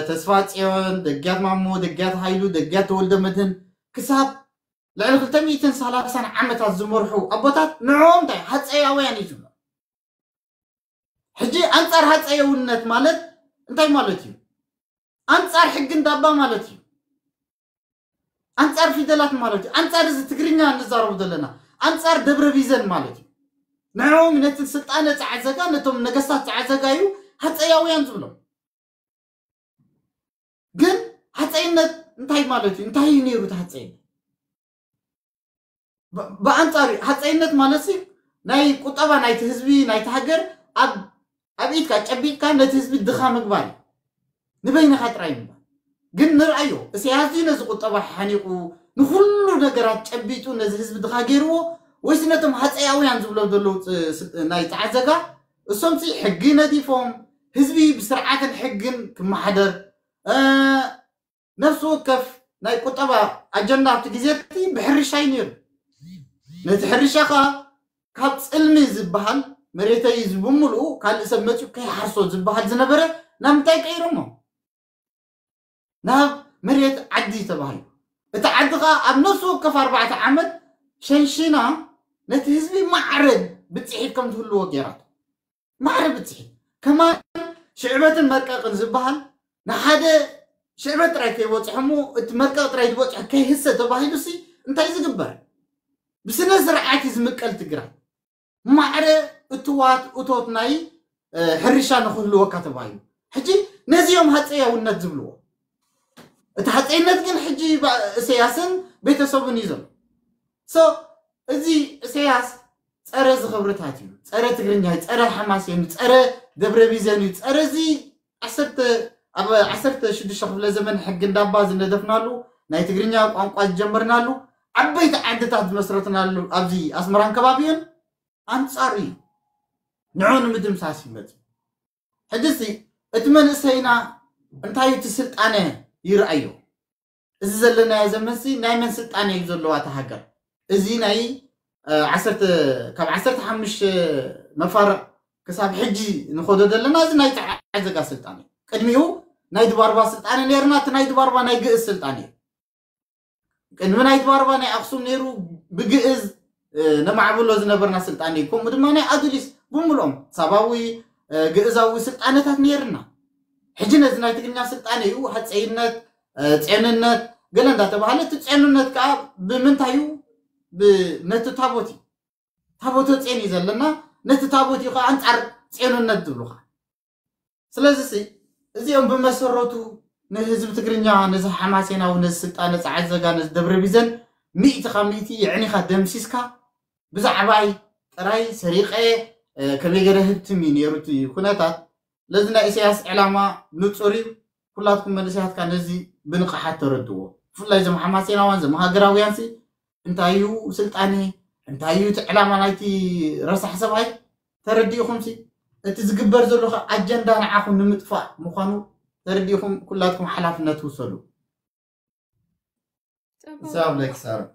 ተስፋ ፅዮን ደግያት ማሞ ደግያት ሃይሉ ደግያት ተወልደ መድህን ክሳብ ልዕሊ ክልተ ሚእትን ሰላሳን ዓመታት ዝመርሑ ኣቦታት ንዕኦም እንታይ ሃፀያውያን እዩ ዝብሎ። ሕጂ ኣንፃር ሃፀየውነት ማለት እንታይ ማለት እዩ? ኣንፃር ሕጊ እንዳባ ማለት እዩ። ኣንፃር ፊደላት ማለት እዩ። ኣንፃር እዚ ትግርኛ እንዛረቡ ዘለና ኣንፃር ደብረ ቢዘን ማለት እዩ። ንዕኦም ነቲ ስልጣነ ፀዓት ዘጋ ነቶም ነገስታት ፀዓት ዘጋ እዩ ሃፀያውያን ዝብሎም። ግን ሃፀይነት እንታይ ማለት እዩ? እንታይ እዩ ነይሩ እቲ ሃፀይነት? ብኣንፃሩ ሃፀይነት ማለት ናይ ቁጠባ ናይቲ ህዝቢ ናይቲ ሃገር ኣብ ኢድካ ጨቢጥካ ነቲ ህዝቢ ድኻ ምግባር እዩ። ንበይንኻ ጥራይ ምግባር ግን ንርኣዮ እስያስ ነዚ ቁጠባ ሓኒቁ ንኩሉ ነገራት ጨቢጡ ነዚ ህዝቢ ድኻ ገይርዎ ወይስ ነቶም ሃፀያውያን ዝብሎም ዘለዉ ናይ ፀዓት ዘጋ እሶምሲ ሕጊ ነዲፎም ህዝቢ ብስርዓትን ሕግን ክመሓደር ነፍሲ ወከፍ ናይ ቁጠባ ኣጀንዳ ኣብቲ ግዜ እቲ ብሕርሻ እዩ ነይሩ። ነቲ ሕርሻ ከዓ ካብ ፅልሚ ዝበሃል መሬተይ እዚ ብምልኡ ካልእ ሰብ መፅኡ ከይሓርሶ ዝበሃል ዝነበረ ናብ ምንታይ ቀይሮሞ? ናብ መሬት ዓዲ ተባሂሉ። እቲ ዓዲ ከዓ ኣብ ነፍሲ ወከፍ ኣርባዕተ ዓመት ሸንሺና ነቲ ህዝቢ ማዕረ ብፅሒት ከም ዝህልዎ ገይራቶ። ማዕረ ብፅሒት ከማን ሽዕበትን መርቀቕን ዝበሃል ንሓደ ሽዕበት ጥራይ ከይበፅሖ እሞ እቲ መርቀቕ ጥራይ ዝበፅሖ ከይህሰ ተባሂሉ ሲ እንታይ ዝግበር? ብስነ ስርዓት እዩ ዝምቀል ትግራይ። ማዕረ እትዋት እቶት ናይ ሕርሻ ንክህልወካ ተባሂሉ ሕጂ ነዚኦም ሃፀያውነት ዝብልዎ። እቲ ሃፀይነት ግን ሕጂ እሰያስን ቤተሰቡን እዩ ዘሎ። እዚ እሰያስ ፀረ ዝኽብርታት እዩ። ፀረ ትግርኛ እዩ። ፀረ ሓማሴን እዩ። ፀረ ደብረ ቢዘን እዩ። ፀረ እዚ ዓሰርተ ኣብ ዓሰርተ ሽዱሽተ ክፍለ ዘመን ሕጊ እንዳባ ዝነደፍናሉ ናይ ትግርኛ ቋንቋ ዝጀመርናሉ ዓበይቲ ዓድታት ዝመስረትናሉ ኣብዚ ኣስመራን ከባቢኡን ኣንፃር እዩ። ንዑ ንምድምሳስ ይመፅ። ሕጂ እቲ መንእሰይና እንታይ እቲ ስልጣነ ይርኣዮ? እዚ ዘለናዮ ዘመንሲ ናይ መን ስልጣነ እዩ ዘለዋ እታ ሃገር? እዚ ናይ ዓሰርተ ካብ ዓሰርተ ሓሙሽተ መፋርቕ ክሳብ ሕጂ ንኸዶ ዘለና እዚ ናይ ጸዓዘጋ ስልጣን እዩ። ቅድሚኡ ናይ ድባርባ ስልጣን ነርና፣ እቲ ናይ ድባርባ ናይ ግእዝ ስልጣን እዩ። ቅድሚ ናይ ድባርባ ናይ ኣክሱም ነይሩ፣ ብግእዝ ነማዕብሎ ዝነበርና ስልጣን እዩ። ከምኡ ድማ ናይ ኣዱሊስ ብምልኦም ሳባዊ ግእዛዊ ስልጣነታት ነይርና። ሕጂ ነዚ ናይ ትግርኛ ስልጣን እዩ ሃፀይነት፣ ጼንነት ገለ እንዳተባሃለ፣ እቲ ጼንነት ከዓ ብምንታይ እዩ? ነቲ ታቦት እዩ። ታቦተ ጼን እዩ ዘለና። ነቲ ታቦት እዩ ከዓ ኣንፃር ጼንነት ዝብሉካ። ስለዚ እዚኦም ብመሰረቱ ንህዝቢ ትግርኛ፣ ነዚ ሓማሴናዊ፣ ነዚ ስልጣነ ጸዓት ዘጋ፣ ነዚ ደብረ ቢዘን ሚእቲ ካብ ሚእቲ የዕኒኻ ደምሲስካ ብዛዕባይ ጥራይ ሰሪቐ ከመይ ገይረ ህብትም እዩ ነይሩ እቲ ኩነታት። ለዚ ናይ ኢሳያስ ዕላማ ንጹር እዩ። ኩላትኩም መንእሰያትካ ነዚ ብንቕሓት ተረድዎ። ብፍላይ እዞም ሓማሴናውያን፣ እዞም ሃገራውያን ሲ እንታይ እዩ ስልጣነ፣ እንታይ እዩ እቲ ዕላማ ናይቲ ረሳሕ ሰብኣይ ተረዲእኹም ሲ እቲ ዝግበር ዘሎ ኣጀንዳ ንዓኹም ንምጥፋእ ምዃኑ ተረዲእኹም ኩላትኩም ሓላፍነት ውሰዱ። ሰላም ለኪ ሳሮን።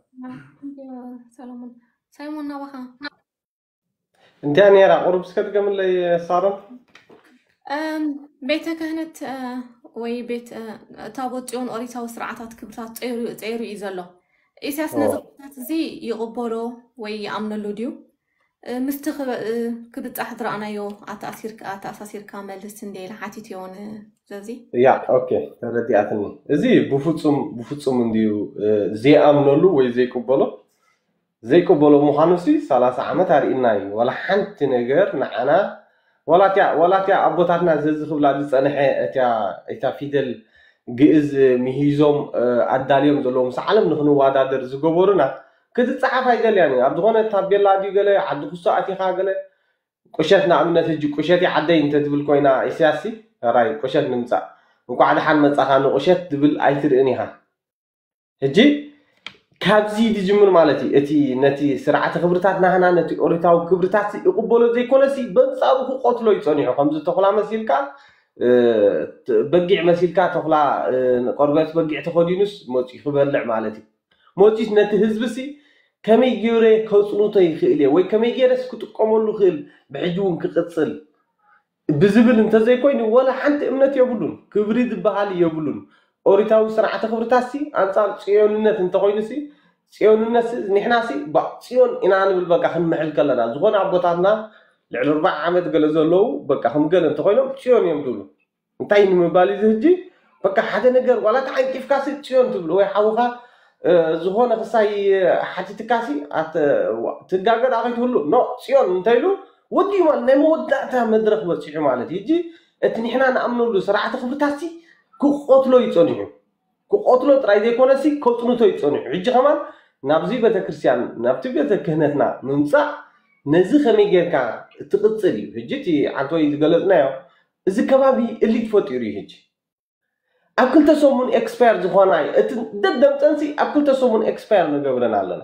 ሰሎሞን ሳይሞን ናባኻ እንዲያ ነይራ። ቁሩብ እስከ ድገምለይ ሳሮን። ቤተ ክህነት ወይ ቤት ታቦት ጽዮን ኦሪታዊ ስርዓታት ክብርታት ጸይሩ እዩ ዘሎ። ኢሳያስ ነዚ ክብርታት እዚ ይቕበሎ ወይ ይኣምነሉ ድዩ? ምስቲ ክብጻሕ ዝረኣናዮ ኣተኣሳሲርካ መልስ እንደ ኢለ ሓቲት እዮ። ስለዚ ያ ኦኬ ተረዲኣትኒ። እዚ ብፍጹም ብፍጹም እንድዩ ዘይኣምነሉ ወይ ዘይቅበሎ ዘይቅበሎ ምዃኑ ሲ ሰላሳ ዓመት ኣርእና እዩ። ዋላ ሓንቲ ነገር ንዓና ዋላ እቲያ ዋላ እቲያ ኣቦታትና ዘዝኽብላ ዝጸንሐ እቲያ እታ ፊደል ግእዝ ምሂዞም ኣዳልዮም ዘለዉ ምስ ዓለም ንኽንዋዳደር ዝገበሩና ክትጸሓፍ ኣይደልያን እዩ። ኣብ ዝኾነ ታቤላ ድዩ ገለ ዓዲ ኩሶ ኣቲኻ ገለ ቁሸት ንኣብነት ሕጂ ቁሸት ዓደይ እንተትብል ኮይና ኢሳያስ ሲ ራይ ቁሸት ንምጻእ እንኳዕ ደሓን መጻኻ ንቁሸት ትብል ኣይትርእን ኢኻ። ሕጂ ካብዚ ዝጅምር ማለት እዩ። እቲ ነቲ ስርዓተ ክብርታት ናህና ነቲ ኦሪታዊ ክብርታት ይቕበሎ ዘይኮነሲ በንጻሩ ክቆትሎ ይጸኒሑ ከምዚ ተኹላ መሲልካ በጊዕ መሲልካ ተኹላ ቆርበት በጊዕ ተኸዲኑስ መፂኡ ክበልዕ ማለት እዩ። መፂኡስ ነቲ ህዝቢ ሲ ከመይ ገይረ ከፅንቶ ይኽእል እየ ወይ ከመይ ገይረስ ክጥቀመሉ ክእል ብሕጂ እውን ክቕፅል ብዝብል እንተዘይኮይኑ ወላ ሓንቲ እምነት የብሉን። ክብሪ ዝበሃል የብሉን። ኦሪታዊ ስርዓተ ክብርታትሲ ኣንጻር ጽዮንነት እንተኾይኑሲ ጽዮንነትሲ ንሕናሲ ባእ ጽዮን ኢና ንብል በቃ ክንምሕል ከለና ዝኾነ ኣቦታትና ልዕሊ ኣርባዓ ዓመት ገለ ዘለዉ በቃ ከም ገለ እንተኾይኖም ጽዮን እዮም ዝብሉ። እንታይ ንምባል እዚ ህጂ በቃ ሓደ ነገር ዋላ ተዓንቂፍካሲ ጽዮን ትብሉ ወይ ሓውኻ ዝኾነ ክሳይ ሓቲትካሲ ትጋገ ዳ ከይትህሉ ኖ ጽዮን እንተኢሉ ወዲኡ ማለት ናይ መወዳእታ መድረኽ በፂሑ ማለት እዩ። ሕጂ እቲ ንሕና ንኣምነሉ ስርዓተ ክብርታትሲ ክቆትሎ እዩ ፀኒሑ። ክቆትሎ ጥራይ ዘይኮነሲ ከፅንቶ እዩ ፀኒሑ። ሕጂ ከማን ናብዚ ቤተክርስትያን ናብቲ ቤተ ክህነትና ምምፃእ ነዚ ከመይ ጌርካ ትቕፅል እዩ። ሕጂ እቲ ዓንተወይ ዝገለፅናዮ እዚ ከባቢ እሊት ፈጢሩ እዩ። ሕጂ ኣብ ክልተ ሰሙን ኤክስፓየር ዝኾና እዩ። እቲ ደደምፀንሲ ኣብ ክልተ ሰሙን ኤክስፓየር ንገብረን ኣለና።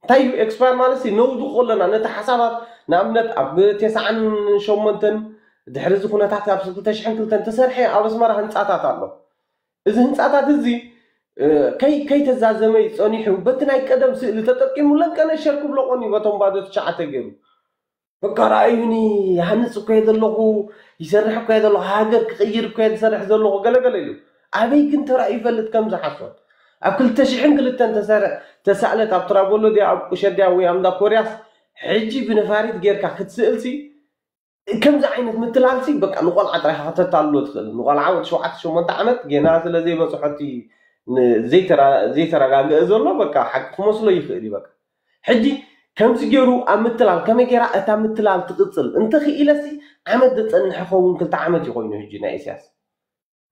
እንታይ እዩ ኤክስፓየር ማለት ሲ ነውድቆ ኣለና ነቲ ሓሳባት ንኣብነት ኣብ ተስዓን ሸሞንተን ድሕሪ እዚ ኩነታት ኣብ ክልተ ሽሕን ክልተን ተሰርሐ ኣብ ኣስመራ ህንፃታት ኣሎ። እዚ ህንፃታት እዚ ከይ ከይተዛዘመ እዩ ፀኒሑ በቲ ናይ ቀደም ስእሊ ተጠቂሙ ለንቀነ ሸር ክብሎ ቆኒ በቶም ባዶ ትሽዓተ ገይሩ በቃ ረኣዩኒ ይሃንፅ እኮ እየ ዘለኹ ይሰርሕ እኮ እየ ዘለኹ ሃገር ክቕይር እኮ እየ ዝሰርሕ ዘለኹ ገለገለ ኢሉ ኣበይ ግን ተራእዩ ይፈልጥ ከምዚ ሓሶት ኣብ ክልተ ሽሕን ክልተን ተሰርሕ ተሳእለት ኣብ ትራቦሎ ድያ ኣብ ቁሸት ድያ ወይ ኣብ እንዳ ኮርያስ ሕጂ ብነፋሪት ጌርካ ክትስእልሲ ከምዚ ዓይነት ምትላልሲ በቃ ንቆልዓ ጥራይ ኢኻ ከተታልሎ ትኽእል ንቆልዓ ወዲ ሸውዓተ ሸሞንተ ዓመት ጌና ስለ ዘይበፅሖ እቲ ዘይተረጋግአ ዘሎ በቃ ሓቂ ክመስሎ ይኽእል እዩ በቃ ሕጂ ከምዚ ገይሩ ኣብ ምትላል ከመይ ገይራ እታ ምትላል ትቕፅል እንተኽኢለሲ ዓመት ዘፀንሕ ኸውን ክልተ ዓመት እዩ ኮይኑ ሕጂ ናይ ኢሳያስ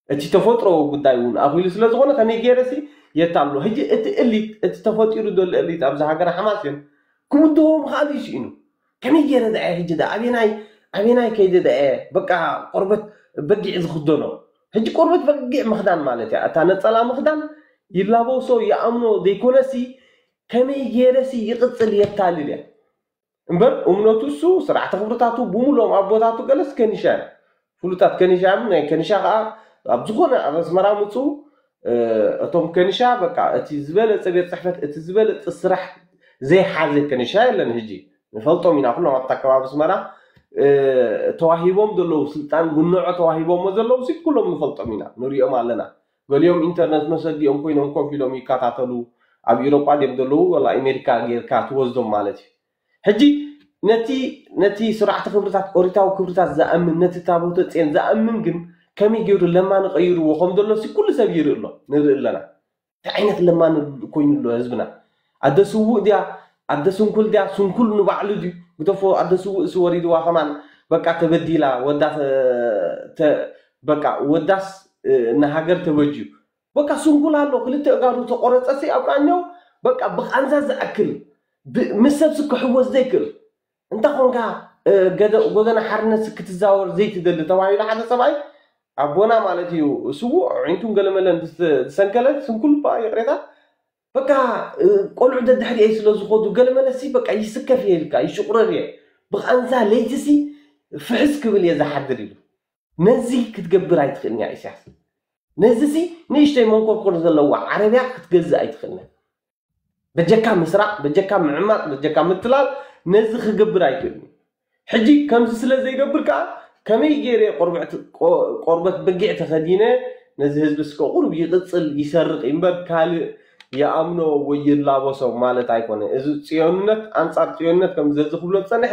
እቲ ተፈጥሮ ጉዳይ እውን ኣኺሉ ስለ ዝኾነ ከመይ ገይረሲ የታሎ ሕጂ እቲ እሊት እቲ ተፈጢሩ ዘሎ እሊት ኣብዚ ሃገር ሓማሴን ክምድቦ ምኽኣሉ ይስኢኑ ከመይ ገይረ ደኣ ሕጂ ደኣ ኣበናይ ኣበናይ ከይደ ደኣ በቃ ቆርበት በጊዕ ዝኽደኖ ሕጂ ቆርበት በጊዕ ምኽዳን ማለት እያ እታ ነፀላ ምኽዳን ይላበሶ ይኣምኖ ዘይኮነሲ ከመይ ገይረሲ ይቕፅል የታልል እያ እምበር እምነቱ እሱ ስርዓተ ክብርታቱ ብምሎም ኣቦታቱ ገለስ ከኒሻ ፍሉጣት ከኒሻ ናይ ከኒሻ ከዓ ኣብ ዝኾነ ኣብ ኣስመራ ምፁ እቶም ከኒሻ በቃ እቲ ዝበለፀ ቤት ፅሕፈት እቲ ዝበለፀ ስራሕ ዘይሓዘ ከንሻ የለን። ሕጂ ንፈልጦም ኢና፣ ኩሎም ኣብታ ከባቢ ኣስመራ ተዋሂቦም ዘለዉ ስልጣን ጉንዖ ተዋሂቦሞ ዘለዉ ሲ ኩሎም ንፈልጦም ኢና፣ ንሪኦም ኣለና። ገሊኦም ኢንተርነት መሰዲኦም ኮይኖም ኮፍ ኢሎም ይከታተሉ። ኣብ ኢሮጳ ድዮም ዘለዉ ወላ ኣሜሪካ ጌርካ ትወስዶም ማለት እዩ። ሕጂ ነቲ ነቲ ስርዓተ ክብርታት፣ ኦሪታዊ ክብርታት ዝኣምን፣ ነቲ ታቦተ ጽዮን ዝኣምን ግን ከመይ ገይሩ ለማኒ ቀይርዎ ከም ዘሎ ሲ ኩሉ ሰብ ይርኢ ኣሎ፣ ንርኢ ኣለና። እንታይ ዓይነት ለማኒ ኮይኑ ኣሎ ህዝብና? ኣደ ስውእ ድያ? ኣደ ስንኩል ድያ? ስንኩል ንባዕሉ ድዩ? ግደፎ፣ ኣደ ስውእ ሲ ወሪድዋ ከማን በቃ ተበዲላ፣ ወዳ ተ- ተ- በቃ ወዳስ ንሃገር ተበጅዩ። በቃ ስንኩል ኣሎ፣ ክልተ እጋሩ ተቆረጸ ሲ ኣብ ቃኘው በቃ ብቃንዛ ዝኣክል፣ ምስ ሰብሲ ክሕወስ ዘይክእል። እንተ ኾንካ ጎደና ሓርነት ክትዛወር ዘይትደሊ ተባሂሉ ሓደ ሰብኣይ፣ ኣቦና ማለት እዩ፣ ስዉእ ኣዒንቱን ገለመለን ዝሰንከለ ስንኩል እባ፣ ይቕሬታ፣ በቃ ቆልዑ ደድሕሪኤ ስለ ዝኾዱ ገለመለሲ በቃ ይስከፍ እየ ኢልካ ይሽቑረር እየ፣ ብቓንዛ ለይትሲ ፍሕስ ክብል እየ ዝሓድር ኢሉ። ነዚ ክትገብር ኣይትኽእልን እያ ኢሳያስ። ነዚሲ ንእሽተይ መንኮርኮር ዘለዋ ዓረብያ ክትገዝእ ኣይትኽእልን እያ። በጀካ ምስራቕ፣ በጀካ ምዕማቕ፣ በጀካ ምትላል ነዚ ክገብር ኣይክእልን። ሕጂ ከምዚ ስለ ዘይገብር ከኣ ከመይ ገይረ ቆርበት በጊዕ ተኸዲነ ነዚ ህዝቢ እስከ ቁሩብ ይቕጽል ይሰርቕ እምበር ካልእ ይኣምኖ ወይ ይላበሶ ማለት ኣይኮነ። እዚ ጽዮንነት ኣንጻር ጽዮንነት ከም ዘዚ ክብሎ ዝጸንሐ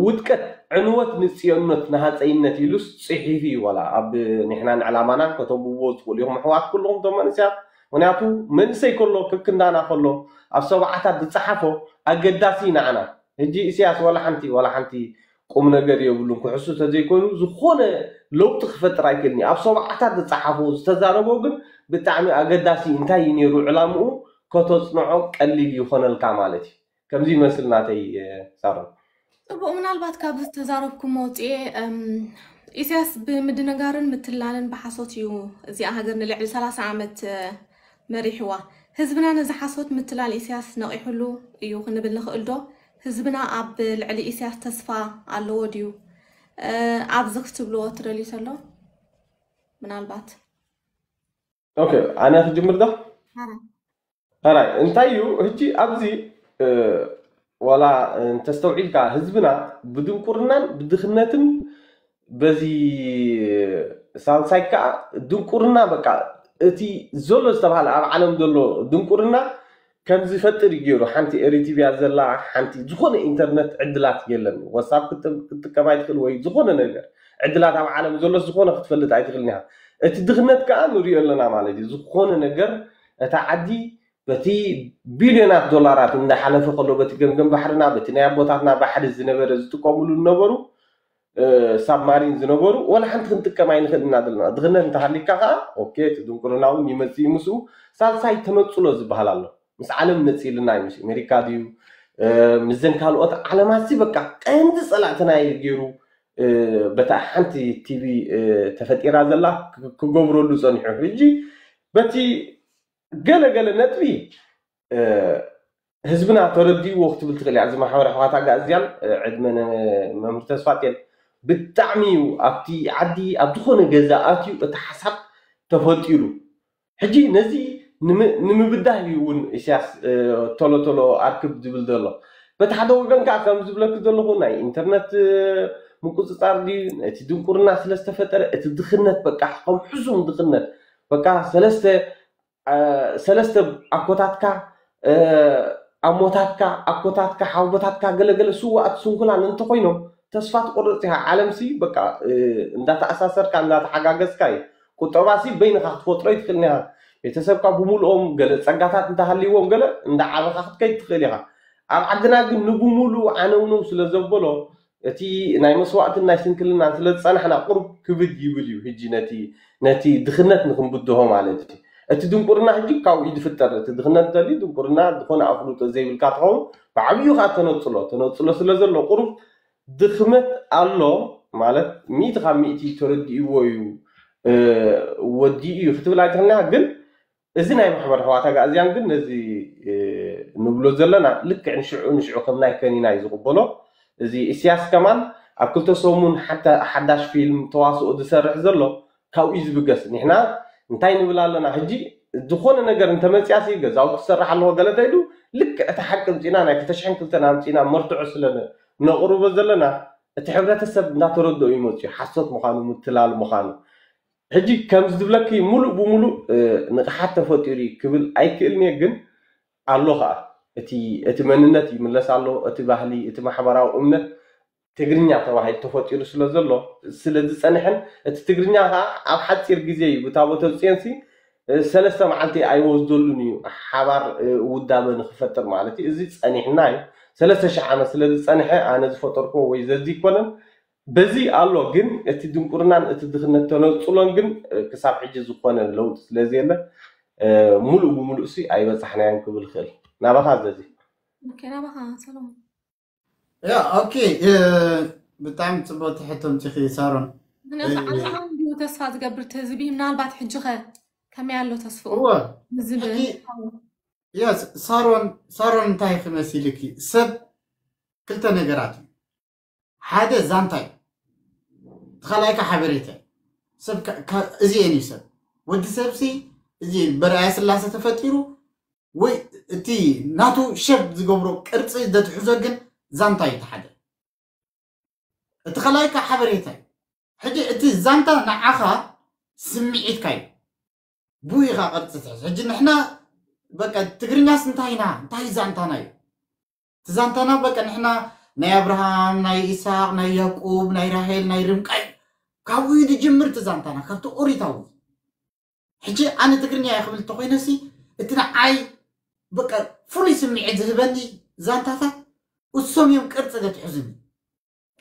ውድቀት ዕንወት ንጽዮንነት ንሃጸይነት ኢሉስ ጽሒፉ እዩ። ዋላ ኣብ ንሕናን ዕላማናን ከተንብብዎ ትኽእሉ ኢኹም ኣሕዋት ኩልኹም እቶም መንእሰያት። ምክንያቱ መንእሰይ ከሎ ክክንዳና ከሎ ኣብ ሰብዓታት ዝጸሓፎ ኣገዳሲ ንዓና። ሕጂ ኢሳያስ ዋላ ሓንቲ ዋላ ሓንቲ ቁም ነገር የብሉን። ክሕሱ ተዘይኮይኑ ዝኾነ ለውጢ ክፈጥር ኣይክእልን እዩ። ኣብ ሰብዓታት ዝጸሓፎ ዝተዛረቦ ግን ብጣዕሚ ኣገዳሲ እዩ። እንታይ እዩ ነይሩ ዕላምኡ ከተጽንዖ ቀሊል ይኾነልካ ማለት እዩ። ከምዚ ይመስል ናተይ ሳሮን። ጽቡቕ፣ ምናልባት ካብ ዝተዛረብኩም መውጽኤ ኢሳያስ ብምድንጋርን ምትላልን ብሓሶት እዩ እዚኣ ሃገር ንልዕሊ ሰላሳ ዓመት መሪሕዋ። ህዝብና ነዚ ሓሶት ምትላል ኢሳያስ ነቒሕሉ እዩ ክንብል ንኽእል ዶ? ህዝብና ኣብ ልዕሊ ኢሳያስ ተስፋ ኣለዎ ድዩ? ኣብዚ ክትብልዎ ትደልዩ ተሎ ምናልባት። ኦኬ፣ ኣነ ክጅምር ዶ? ኣራይ እንታይ እዩ ሕጂ ኣብዚ ዋላ እንተስተውዒልካ ህዝብና ብድንቁርናን ብድኽነትን በዚ ሳልሳይ ከዓ ድንቁርና በቃ እቲ ዘሎ ዝተባሃለ ኣብ ዓለም ዘሎ ድንቁርና ከም ዝፈጥር እዩ ገይሩ። ሓንቲ ኤሪቲቪያ ዘላ ሓንቲ ዝኾነ ኢንተርነት ዕድላት የለን። ዋትሳፕ ክትጥቀም ኣይትኽእል ወይ ዝኾነ ነገር ዕድላት ኣብ ዓለም ዘሎ ዝኾነ ክትፈልጥ ኣይትኽእልን ኢኻ። እቲ ድኽነት ከዓ ንሪኦ ኣለና ማለት እዩ። ዝኾነ ነገር እታ ዓዲ በቲ ቢልዮናት ዶላራት እንዳሓለፈ ከሎ በቲ ገምገም ባሕርና በቲ ናይ ኣቦታትና ባሕሪ ዝነበረ ዝጥቀምሉ ዝነበሩ ሳብማሪን ዝነበሩ ወላ ሓንቲ ክንጥቀም ኣይንኽእል ኢና ዘለና። ድኽነት እንተሃሊካ ከዓ ኦኬ እቲ ድንቁርና እውን ይመፅእ እዩ ምስኡ። ሳልሳይ ተነፅሎ ዝበሃል ኣሎ። ምስ ዓለም ነፂልና እዩ ምስ ኣሜሪካ ድዩ ምዘን ካልኦት ዓለማት ሲ በቃ ቀንዲ ፀላእትና እዩ ገይሩ በታ ሓንቲ ቲቪ ተፈጢራ ዘላ ክገብረሉ ፀኒሑ። ሕጂ በቲ ገለ ገለ ነጥቢ ህዝብና ተረዲእዎ ክትብል ትኽእል እያ። እዚ ማሕበር ኣሕዋት ኣጋእዝያን ዕድመ መምህር ተስፋጤን ብጣዕሚ እዩ ኣብቲ ዓዲ ኣብ ዝኾነ ገዛ ኣትዩ እቲ ሓሳብ ተፈጢሩ። ሕጂ ነዚ ንምብዳህ እዩ እውን ኢሳያስ ቶሎ ቶሎ ኣርክብ ዝብል ዘሎ። በቲ ሓደ ወገን ከዓ ከም ዝብለክ ዘለኹ ናይ ኢንተርነት ምቁፅፃር ድዩ እቲ ድንቁርና ስለዝተፈጠረ እቲ ድኽነት በቃ ከም ሕሱም ድኽነት በቃ ሰለስተ ሰለስተ ኣኮታትካ ኣሞታትካ ኣኮታትካ ሓውቦታትካ ገለገለ ስዋኣት ስንኩላን እንተኮይኖም ተስፋ ትቆርፅ ኢኻ። ዓለምሲ በቃ እንዳተኣሳሰርካ እንዳተሓጋገዝካ እዩ። ቁጠባሲ በይንኻ ክትፈጥሮ ይትኽእልን ኢኻ። ቤተሰብካ ብምልኦም ገለ ፀጋታት እንተሃልይዎም ገለ እንዳዓበኻ ክትከይድ ትኽእል ኢኻ። ኣብ ዓድና ግን ንብምሉኡ ዓነውነው ስለ ዘበሎ እቲ ናይ መስዋእትን ናይ ስንክልናን ስለ ዝፀናሕና ቁሩብ ክብድ ይብል እዩ። ሕጂ ነቲ ነቲ ድኽነት ንክንብድሆ ማለት እዩ። እቲ ድንቁርና ሕጂ ካብኡ እዩ ዝፍጠር። እቲ ድኽነት እንተልዩ ድንቁርና ዝኾነ ኣፍልጦ ዘይብልካ ትኸውን። ብዓብዩ ከዓ ተነፅሎ ተነፅሎ ስለ ዘሎ ቁሩብ ድኽመት ኣሎ ማለት ሚእቲ ካብ ሚእቲ ተረዲእዎ እዩ ወዲኡ እዩ ክትብል ኣይትኽእልና። ግን እዚ ናይ ማሕበር ኣሕዋት ኣጋእዝያን ግን ነዚ ንብሎ ዘለና ልክዕ ንሽዑ ንሽዑ ከም ናይ ከኒና እዩ ዝቕበሎ። እዚ ኢሳያስ ከማን ኣብ ክልተ ሰሙን ሓንቲ ሓዳሽ ፊልም ተዋስኦ ዝሰርሕ ዘሎ ካብኡ እዩ ዝብገስ። ንሕና እንታይ ንብል ኣለና ሕጂ ዝኾነ ነገር እንተመፅያሲ ገዛውቲ ክሰርሕ ኣለዎ ገለ ተኢሉ ልክዕ እቲ ሓቂ ኣምፂና ናይ ክልተ ሽሕን ክልተን ኣምፂና መርትዖ ስለ ነቕርቦ ዘለና እቲ ሕብረተሰብ እንዳተረድኦ ይመፅኡ ሓሶት ምዃኑ ምትላል ምዃኑ። ሕጂ ከምዚ ዝብለኪ ሙሉእ ብሙሉእ ንቕሓት ተፈጢሩ ክብል ኣይክእልን እየ፣ ግን ኣሎ ከዓ እቲ እቲ መንነት ይምለስ ኣሎ፣ እቲ ባህሊ፣ እቲ ማሕበራዊ እምነት ትግርኛ ተባሂሉ ተፈጢሩ ስለ ዘሎ ስለ ዝፀንሐን እቲ ትግርኛ ከዓ ኣብ ሓፂር ግዜ እዩ ብታቦተ ፅዮንሲ ሰለስተ መዓልቲ ኣይወስደሉን እዩ ሓባር ውዳበ ንክፈጥር ማለት እዩ። እዚ ፀኒሕና እዩ ሰለስተ ሺሕ ዓመት ስለ ዝፀንሐ ኣነ ዝፈጠርኩዎ ወይ ዘዚ ይኮነን። በዚ ኣሎ ግን እቲ ድንቁርናን እቲ ድኽነት ተነፅሎን ግን ክሳብ ሕጂ ዝኾነ ለውጢ ስለ ዘየለ ሙሉእ ብሙሉእ ሲ ኣይበፃሕናዮን ክብል ክእል ናባኻ ዘዚ። ኦኬ ናባኻ ሰሎሞን። ያ ኦኬ ብጣዕሚ ፅቡቅ ትሕቶ ምፂኺ ሳሮን። ምክንያቱ ዓለማዊ እንዲሁ ተስፋ ዝገብር እቲ ህዝቢ ምናልባት ሕጂ ኸ ከመይ ኣሎ ተስፍኡ እወ ዝብል ሕጂ የስ ሳሮን ሳሮን እንታይ ክመሲልኪ ሰብ ክልተ ነገራት እዩ ሓደ ዛንታ እዩ ተኻላይካ ሓበሬታ እዩ ሰብ እዚኤን እዩ ሰብ ወዲ ሰብሲ እዚ በርኣያ ስላሰ ተፈጢሩ ወይ እቲ ናቱ ሸብ ዝገብሮ ቅርፂ ዘትሕዞ ግን ዛንታ እዩ ተሓደ እቲ ኸላይካ ሓበሬታ እዩ ሕጂ እቲ ዛንታ ንዓኻ ስምዒትካ እዩ ብኡ ኢኻ ቅርፂ ትሕዝ ሕጂ ንሕና በቃ ትግርኛስ እንታይ ኢና እንታይ ዛንታና እዩ እቲ ዛንታና በቃ ንሕና ናይ ኣብርሃም ናይ ኢሳቅ ናይ ያዕቆብ ናይ ራሄል ናይ ርምቃይ ካብኡ እዩ ዝጅምር እቲ ዛንታና ካብቲ ኦሪታዊ ሕጂ ኣነ ትግርኛ እየ ክብል እንተኮይነሲ እቲ ንዓይ በቃ ፍሉይ ስምዒት ዝህበኒ ዛንታታት እሶም እዮም ቅርፂ ዘትሕዙኒ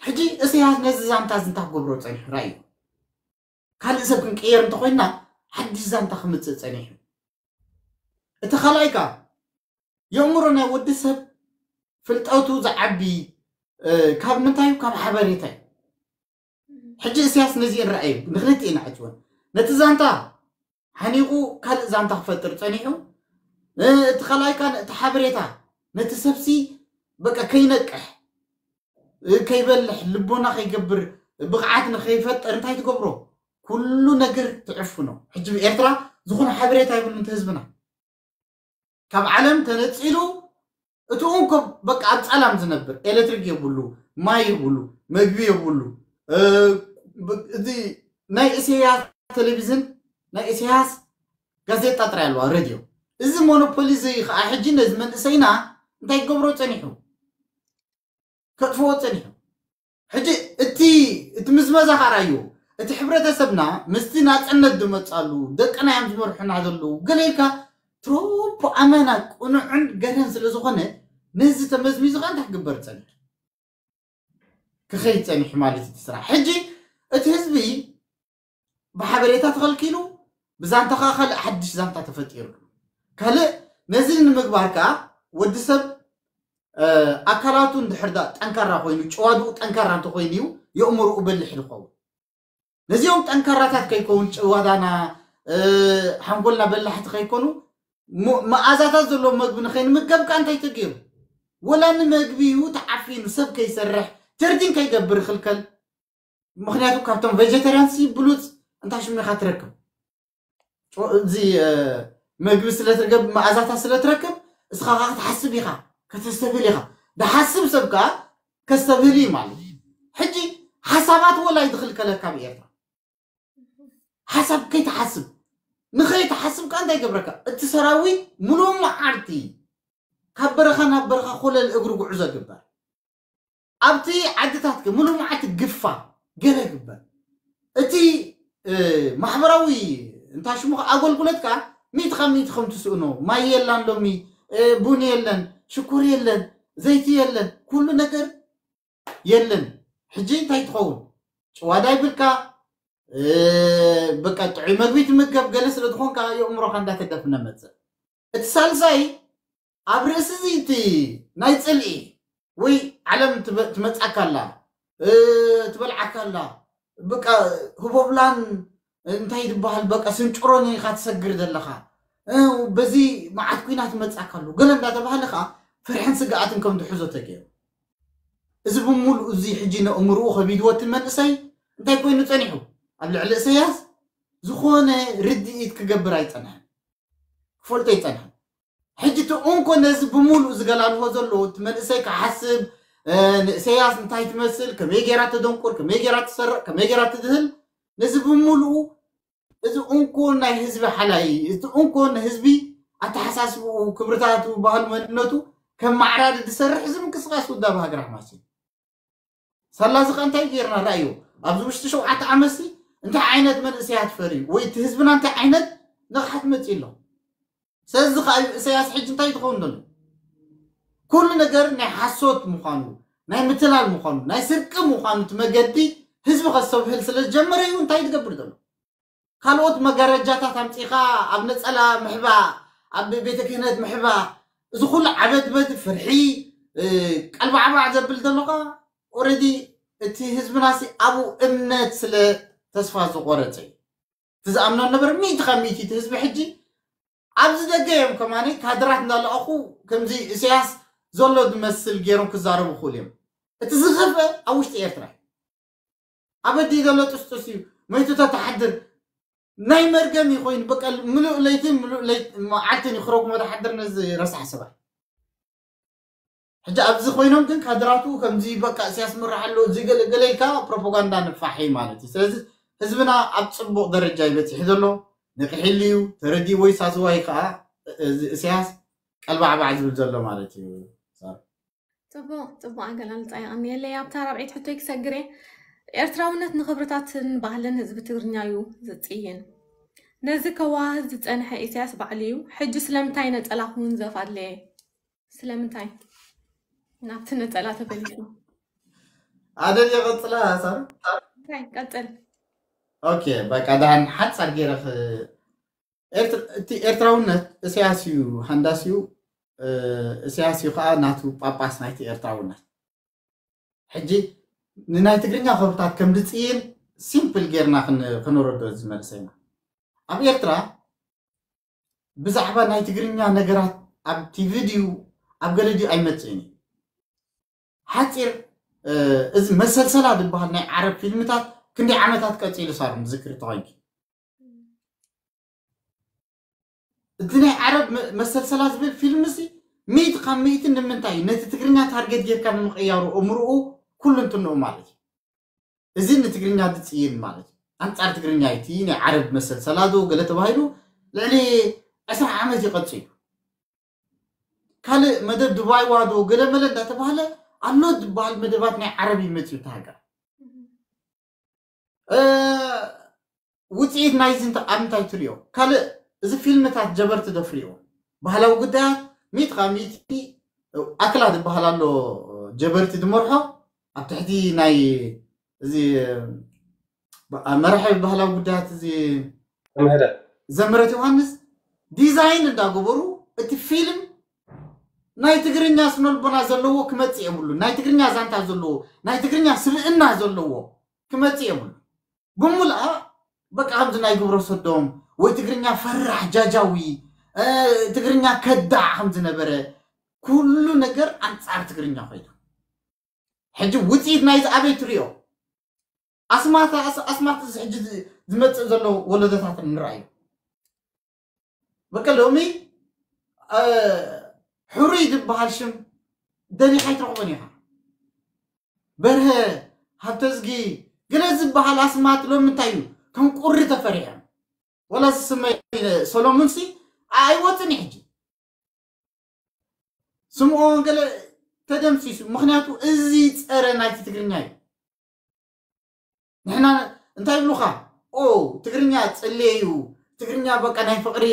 ሕጂ እስያስ ነዚ ዛንታ እዚ እንታይ ክገብሮ ፀኒሑ ራእዩ ካልእ ሰብ ክንቅየር እንተኮይንና ሓድሽ ዛንታ ክምፅእ ፀኒሑ እቲ ካልኣይ ከዓ የእምሮ ናይ ወዲ ሰብ ፍልጠቱ ዝዓቢ ካብ ምንታይ ካብ ሓበሬታ እዩ ሕጂ እስያስ ነዚአን ረኣዩ ንክልቲኤን ዓጭወን ነቲ ዛንታ ሓኒቑ ካልእ ዛንታ ክፈጥር ጸኒሑ እቲ ካልኣይ ካን እቲ ሓበሬታ ነቲ ሰብሲ በቃ ከይነቅሕ ከይበልሕ ልቦና ከይገብር ብቕዓት ንከይፈጥር እንታይ ትገብሮ ኩሉ ነገር ትዕፍኖ ሕጂ ብኤርትራ ዝኾነ ሓበሬታ ይብሉ እንተ ህዝብና ካብ ዓለም ተነጺሉ እቲ እንኮ በቃ ኣብ ጸላም ዝነብር ኤሌክትሪክ የብሉ ማይ የብሉ መግቢ የብሉ እዚ ናይ እስያስ ቴሌቪዝን ናይ እስያስ ጋዜጣ ጥራይ ኣለዋ ሬድዮ እዚ ሞኖፖሊ እዚ ከዓ ሕጂ ነዚ መንእሰይና እንታይ ክገብሮ ጸኒሑ ከጥፍዎ ጸኒሑ ሕጂ እቲ እቲ ምዝመዛ ከዓ ራዩ እቲ ሕብረተሰብና ምስቲ ናፅነት ዝመፃሉ ደቅና እዮም ዝመርሑና ዘለዉ ገለ ኢልካ ትሮፖ ኣመና ቅኑዕን ገለን ስለ ዝኾነ ነዚ ተመዝሚዙ ከዓ እንታይ ክግበር ፀኒሑ ክኸይድ ፀኒሑ ማለት እቲ ስራሕ ሕጂ እቲ ህዝቢ ብሓበሬታ ተኸልኪሉ ብዛንታ ከዓ ካልእ ሓድሽ ዛንታ ተፈጢሩ ካልእ ነዚ ንምግባር ከዓ ወዲ ሰብ ኣካላቱ እንድሕር ዳ ጠንካራ ኮይኑ ጨዋድኡ ጠንካራ እንተኮይኑ እዩ የእምርኡ በልሕ ዝኸውን ነዚኦም ጠንካራታት ከይከውን ጨዋዳና ሓንጎልና በላሕቲ ከይኮኑ መኣዛታት ዘለዎ መግቢ ንከይንምገብ ከዓ እንታይ ተገይሩ ወላ ንመግቢ እዩ ተዓፊኑ ሰብ ከይሰርሕ ጀርዲን ከይገብር ይኽልከል ምኽንያቱ ካብቶም ቬጀተርያንስ ብሉፅ እንታይ ሽሚኻ ትረክብ እዚ መግቢ ስለትረከብ መኣዛታት ስለትረክብ እስኻ ከዓ ክትሓስብ ኢኻ ከተስተብህል ኢኻ ድሓስብ ሰብ ከዓ ከስተብህል እዩ ማለት እዩ ሕጂ ሓሳባት ወላ ይትኽልከለካ ብኤርትራ ሓሳብ ከይትሓስብ ንኸይትሓስብ ከዓ እንታይ ገብረካ እቲ ሰራዊት ሙሉእ መዓልቲ ካብ በረኻ ናብ በረኻ ኮለል እግሪ ጉዕዞ ግበር ኣብቲ ዓድታት ሙሉእ መዓልቲ ግፋ ገለ ግበር እቲ ማሕበራዊ እንታይ ሽሙ ኣገልግሎት ከዓ ሚእቲ ካብ ሚእቲ ከም ትስእኖ ማይ የላን ሎሚ ቡን የለን ሽኩር የለን ዘይቲ የለን ኩሉ ነገር የለን ሕጂ እንታይ ትኸውን ጭዋዳ ይብልካ በቃ ጥዑይ መግቢ ትምገብ ገለ ስለ ዝኾንካ የእምሮካ እንዳተደፍነ መፅእ እቲ ሳልሳይ ኣብ ርእሲ እዚ እቲ ናይ ፅልኢ ወይ ዓለም ትመፃካ ኣላ ትበልዓካ ኣላ በቃ ህቦብላን እንታይ ዝበሃል በቃ ስንጭሮን ኢኻ ትሰግር ዘለኻ በዚ መዓት ኩናት መፃካ ኣሎ ገለ እንዳተባሃለ ከዓ ፍርሕን ስግኣትን ከም ዝሕዞ ተገይሩ እዚ ብምሉእ እዚ ሕጂ ነእምርኡ ከቢድዎ እቲ መንእሰይ እንታይ ኮይኑ ፀኒሑ ኣብ ልዕሊ እሰያስ ዝኾነ ርድኢት ክገብር ኣይፀንሐን ክፈልጦ ይፀንሐን ሕጂ እቲ እንኮ ነዚ ብምሉእ ዝገላልሆ ዘሎ እቲ መንእሰይ ክሓስብ ንእሰያስ እንታይ ትመስል፣ ከመይ ገይራ ተደንቁር፣ ከመይ ገይራ ትሰርቕ፣ ከመይ ገይራ ትድህል፣ ነዚ ብምሉኡ እዚ እንኮ ናይ ህዝቢ ሓላይ፣ እቲ እንኮ ንህዝቢ ኣተሓሳስብኡ፣ ክብርታቱ፣ ባህሉ፣ መንነቱ ከም ማዕራዲ ዝሰርሕ እዚ ምንቅስቃስ ውዳብ ሃገር ኣሕማስ እዩ። ሳላ እዚ ከ እንታይ ጌርና? ረኣዩ። ኣብዚ ውሽጢ ሸውዓተ ዓመት ሲ እንታይ ዓይነት መንእሰያት ፈርዩ ወይ እቲ ህዝብና እንታይ ዓይነት ንቕሓት መፂኡ ኣሎ? ስለዚ ከዓ እሰያስ ሕጂ እንታይ ትኸውን ዘሎ? ኩሉ ነገር ናይ ሓሶት ምዃኑ፣ ናይ ምትላል ምዃኑ፣ ናይ ስርቂ ምዃኑ እቲ መገዲ ህዝቢ ከስተብህል ስለ ዝጀመረ እዩ እንታይ ትገብር ዘሎ? ካልኦት መጋረጃታት ኣምፂኻ ኣብ ነፀላ ምሕባ፣ ኣብ ቤተ ክህነት ምሕባ፣ እዚ ኩሉ ዓበድበድ ፍርሒ ቀልባዕባዕ ዘብል ዘለኻ ኦረዲ እቲ ህዝብናሲ ኣብኡ እምነት ስለ ተስፋ ዝቆረፀ እዩ። እቲ ዝኣምኖ ነበረ ሚእቲ ካብ ሚእቲ እቲ ህዝቢ ሕጂ ኣብዚ ደገ እዮም ከማኒ ካድራት እንዳለኣኹ ከምዚ እሰያስ ዘሎ ዝመስል ገይሮም ክዛረቡ ክኽእሉ እዮም። እቲ ዝኸፍአ ኣብ ውሽጢ ኤርትራ እዩ። ኣበዲ ዘሎ ጥስጡስ እዩ መይቱ ተተሓድር ናይ መርገም እዩ ኮይኑ በቃ ምሉእ ለይትን ምሉእ ለይት መዓልትን ይኽረጉሞ ተሓድር ነዚ ረሳሕ ሰብኣይ። ሕጂ ኣብዚ ኮይኖም ግን ካድራቱ ከምዚ በቃ እሰያስ ምራሕ ኣሎ እዚ ገለ ገለ ኢልካ ፕሮፓጋንዳ ንፋሕ እዩ ማለት እዩ። ስለዚ ህዝብና ኣብ ፅቡቕ ደረጃ እዩ በፂሑ ዘሎ። ንቕሒሉ እዩ ተረዲእዎ እዩ ሳስዋይ ከዓ እዚ እሰያስ ቀልባዕባዕ ዝብል ዘሎ ማለት እዩ። ፅቡቕ ፅቡቕ ኣገላልፃ የቐንየለይ። ኣብታ ራብዒት ሕቶይ ክሰግር እየ። ኤርትራውነት ንኽብርታትን ባህልን ህዝቢ ትግርኛ እዩ ዝፅይን። ነዚ ከዋህዝ ዝፀንሐ ኢሳያስ ባዕሉ እዩ። ሕጂ ስለምንታይ ነፀላ ክውንዘፍ ኣድለየ? ስለምንታይ ናብቲ ነፀላ ተመሊሱ? ኣደል የቐፅላ ሳር እንታይ ቀፅል። ኦኬ በቃ ዳን ሓፃር ገይረ እቲ ኤርትራውነት እሰያስ እዩ ሃንዳስ እዩ። እሰያስ እዩ ከዓ ናቱ ጳጳስ ናይቲ ኤርትራውነት። ሕጂ ንናይ ትግርኛ ክብርታት ከም ዝፅይን ሲምፕል ጌርና ክንረዶ ዝመልሰ ኢና። ኣብ ኤርትራ ብዛዕባ ናይ ትግርኛ ነገራት ኣብ ቲቪ ድዩ ኣብ ገለ ድዩ ኣይመፅእን እዩ። ሓፂር እዚ መሰልሰላ ዝበሃል ናይ ዓረብ ፊልምታት ክንደይ ዓመታት ቀፂሉ ሳር ዝክሪ ተኾይንኪ እቲ ናይ ዓረብ መሰልሰላ ዝብል ፊልም ሲ ሚእቲ ካብ ሚእቲ ንምንታይ እዩ ነቲ ትግርኛ ታርጌት ጌርካ ንምቕያሩ እምርኡ ኩሉ እንትንኡ ማለት እዩ። እዚ ንትግርኛ ዝፅይን ማለት እዩ። ኣንፃር ትግርኛ እቲ ናይ ዓረብ መሰልሰላ ዶ ገለ ተባሂሉ ልዕሊ ዕስራ ዓመት ይቐፅል እዩ። ካልእ መደብ ድባይዋ ዶ ገለ መለ እንዳተባህለ ኣሎ ዝበሃል መደባት ናይ ዓረብ ይመፅኡ እቲ ሃገር። ውፅኢት ናይዚ ኣብ እንታይ ትሪኦ? ካልእ እዚ ፊልምታት ጀበርቲ ዶ ፍሪዎ? ባህላዊ ጉዳያት ሚእቲ ካብ ሚእቲ ኣክላ ዝበሃል ኣሎ ጀበርቲ ዝመርሖ ኣብ ትሕቲ ናይ እዚ መራሒ ባህላዊ ጉዳያት እዚ ዘምህረ ዘምህረት ዮሃንስ ዲዛይን እንዳገበሩ እቲ ፊልም ናይ ትግርኛ ስነልቦና ዘለዎ ክመፅእ የብሉ። ናይ ትግርኛ ዛንታ ዘለዎ ናይ ትግርኛ ስብእና ዘለዎ ክመፅእ የብሉ። ብምልኣ በቃ ከምዚ ናይ ግብረ ሰዶም ወይ ትግርኛ ፈራሕ ጃጃዊ ትግርኛ ከዳዕ ከም ዝነበረ ኩሉ ነገር ኣንፃር ትግርኛ ኮይኑ ሕጂ ውፅኢት ናይዚ ኣበይ ትሪኦ? ኣስማት ኣስማት እዚ ሕጂ ዝመፅእ ዘሎ ወለዶታት ንርኣዩ። በቃ ሎሚ ሕሩይ ዝበሃል ሽም ደሊኻ ኣይትረኽቦን ኢኻ። በርሀ፣ ሃብተዝጊ፣ ገለ ዝበሃል ኣስማት ሎሚ እንታይ እዩ ከም ቁሪ ተፈሪሖም። ወላ ዝስመይ ሰሎሙን ሲ ኣይወፅን እዩ ሕጂ ስምኦን ገለ ተደምሲሱ። ምክንያቱ እዚ ፀረ ናይቲ ትግርኛ እዩ። ንሕና እንታይ ይብሉኻ? ኦ ትግርኛ ፅልየ እዩ። ትግርኛ በቃ ናይ ፍቅሪ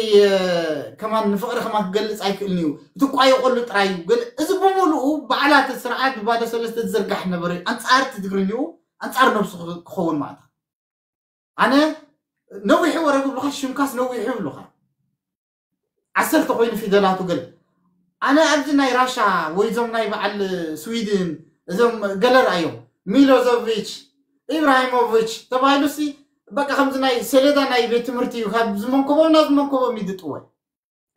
ከማን ንፍቅሪ ከማን ክገልፅ ኣይክእልን እዩ። ትቋየቆሉ ጥራይ እዩ። ገለ እዚ ብምሉኡ በዓላት ስርዓት ብባዶ ሰለስተ ዝዝርጋሕ ነበረ። ኣንፃር እቲ ትግርኛኡ ኣንፃር ነብሱ ክኸውን ማለት ኣነ ነዊሑ ወረ ክብሉኻ ሽምካስ ነዊሑ ይብሉኻ። ዓሰርተ ኮይኑ ፊደላቱ ገለ ኣነ ኣብዚ ናይ ራሻ ወይ እዞም ናይ በዓል ስዊድን እዞም ገለ ረኣዮም ሚሎዞቪች ኢብራሂሞቪች ተባሂሉ ሲ በቃ ከምዚ ናይ ሰሌዳ ናይ ቤት ትምህርቲ እዩ ካብ ዝመንከቦም ናብ ዝመንከቦም ይድጥወ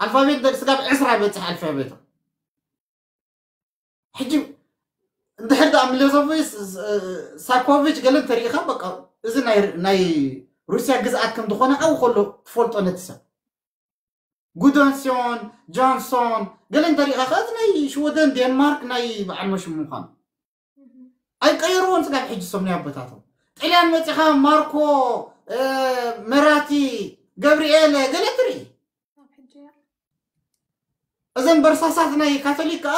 ኣልፋቤት ደቂ ስጋብ ዕስራ በፅሕ ኣልፋቤቶም ሕጂ እንድሕር ደኣ ሚሎዞቪች ሳኮቪች ገለ እንተሪኢኻ በቃ እዚ ናይ ሩስያ ግዝኣት ከም ዝኾነ ኣብኡ ከሎ ትፈልጦ ነቲ ሰብ ጉዶንሲዮን፣ ጆንሶን፣ ገለ እንተሪእኻ ከዚ ናይ ሽወደን፣ ዴንማርክ ናይ በዓል መሽሙ ምዃኑ ኣይቀየርዎን። ስጋብ ሕጂ ሰሙን ኣቦታቶም ጥልያን መፂኻ ማርኮ፣ መራቲ፣ ገብርኤል ገለ ትርኢ። እዘን በርሳሳት ናይ ካቶሊክ ከዓ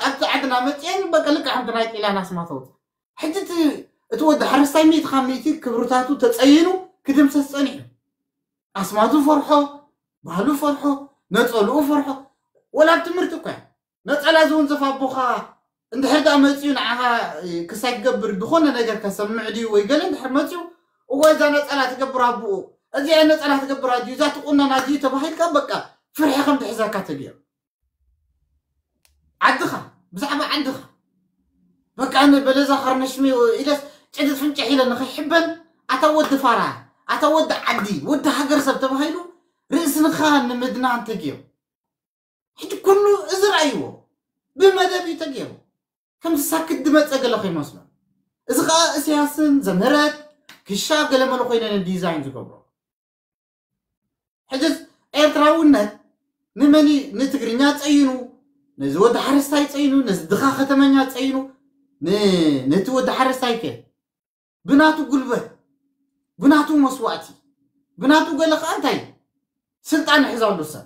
ኣብቲ ዓድና መፅአን በቃ ልክዕ ከምቲ ናይ ጥልያን ኣስማተውት። ሕጂ እቲ ወዲ ሓረስታይ ሚእቲ ካብ ሚእቲ ክብርታቱ ተፀይኑ ክድምሰስ ፀኒሑ። ኣስማቱ ፈርሖ፣ ባህሉ ፈርሖ፣ ነፀልኡ ፈርሖ። ወላ ኣብ ትምህርቲ እኳ ነፀላ ዝውንዘፍ ኣቦኻ እንድሕር ደኣ መፂኡ ንዓኻ ክሳይ ክገብር ዝኾነ ነገር ከሰምዕ ድዩ ወይ ገለ እንድሕር መፂኡ እወ እዛ ነፀላ ትገብር ኣቦኡ፣ እዚኣ ነፀላ ትገብር ኣድዩ፣ እዛ ትቁነን ኣድዩ ተባሂልካ በቃ ፍርሒ ከም ትሕዘካ ተገይሩ። ዓድኻ ብዛዕባ ዓድኻ በቃ ንበለዛ ኸርነሽሚ ኢለስ ጭድት ፍንጭሕ ኢለ ንኸይሕበን ኣታ ወዲ ፋራ ኣታ ወዲ ዓዲ ወዲ ሃገር ሰብ ተባሂሉ ርእስንኻ ንምድናን ተገይሩ። ሕጂ ኩሉ እዚ ረኣይዎ ብመደብ እዩ ተገይሩ። ከምዚ ሳክት ድመፀ ገለ ከይመስሎ። እዚ ከዓ እስያስን ዘምህረት ክሻ ገለመለ ኮይነን ዲዛይን ዝገብሮ። ሕጂ ኤርትራውነት ንመን እዩ? ንትግርኛ ፀይኑ፣ ነዚ ወዲ ሓረስታይ ፀይኑ፣ ነዚ ድኻ ከተመኛ ፀይኑ፣ ን- ነቲ ወዲ ሓረስታይ ከ ብናቱ ጉልበት፣ ብናቱ መስዋእቲ፣ ብናቱ ገለ ከዓ እንታይ ስልጣን ይሕዛሉ ሰብ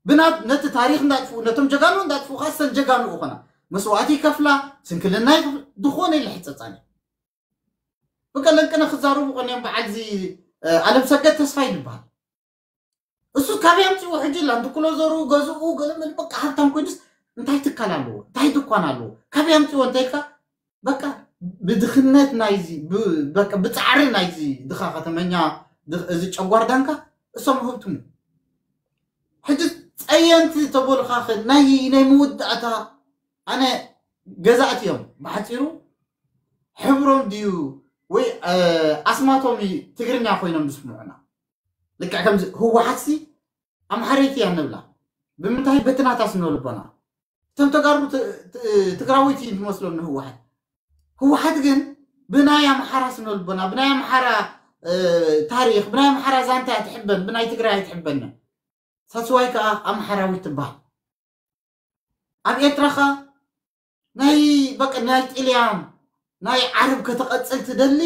ብናት ነቲ ታሪክ እንዳጥፍኡ ነቶም ጀጋኑ እንዳጥፍኡ ከዓ ሰን ጀጋኑ ይኾና መስዋእቲ ይከፍላ ስንክልና ይኸፍላ ዝኾነ ኢለ ሕፀፃን እዩ። ብቀለንቅነ ክዛረቡ ቀንዮም በዓል እዚ ኣለም ሰገድ ተስፋ ይድበሃል። እሱ ካበይ ኣምፅኡ ሕጂ ላንድ ክሎዘሩ ገዝኡ ገለ መለ በቃ ሃብታም ኮይኑስ እንታይ ትካል ኣለዎ እንታይ ድኳን ኣለዎ ካበይ ኣምፅዎ እንተልካ በቃ ብድኽነት ናይዚ በቃ ብፃዕሪ ናይዚ ድኻ ከተመኛ እዚ ጨጓር ዳንካ እሶም ህብትሙ። ሕጂ ፀየንቲ ተበሉኻ ናይ ናይ መወዳእታ ኣነ ገዛእቲ እዮም ብሓፂሩ ሕብሮም ድዩ ወይ ኣስማቶም ትግርኛ ኮይኖም ዝስምዑና። ልክዕ ከምዚ ህወሓትሲ ኣምሓረይቲ እያ ንብላ ብምንታይ በትናታ ስነ ልቦና እቶም ተጋሩ ትግራወይቲ ዝመስሎም ንህወሓት ህወሓት ግን ብናይ ኣምሓራ ስነ ልቦና ብናይ ኣምሓራ ታሪክ ብናይ ኣምሓራ ዛንታ ትሕበን ብናይ ትግራይ ኣይትሕበንን። ሳስዋይ ከዓ ኣምሓራዊት ትበሃል። ኣብ ኤርትራ ኸ ናይ በቃ ናይ ጥልያን ናይ ዓረብ ከተቐጽል ትደሊ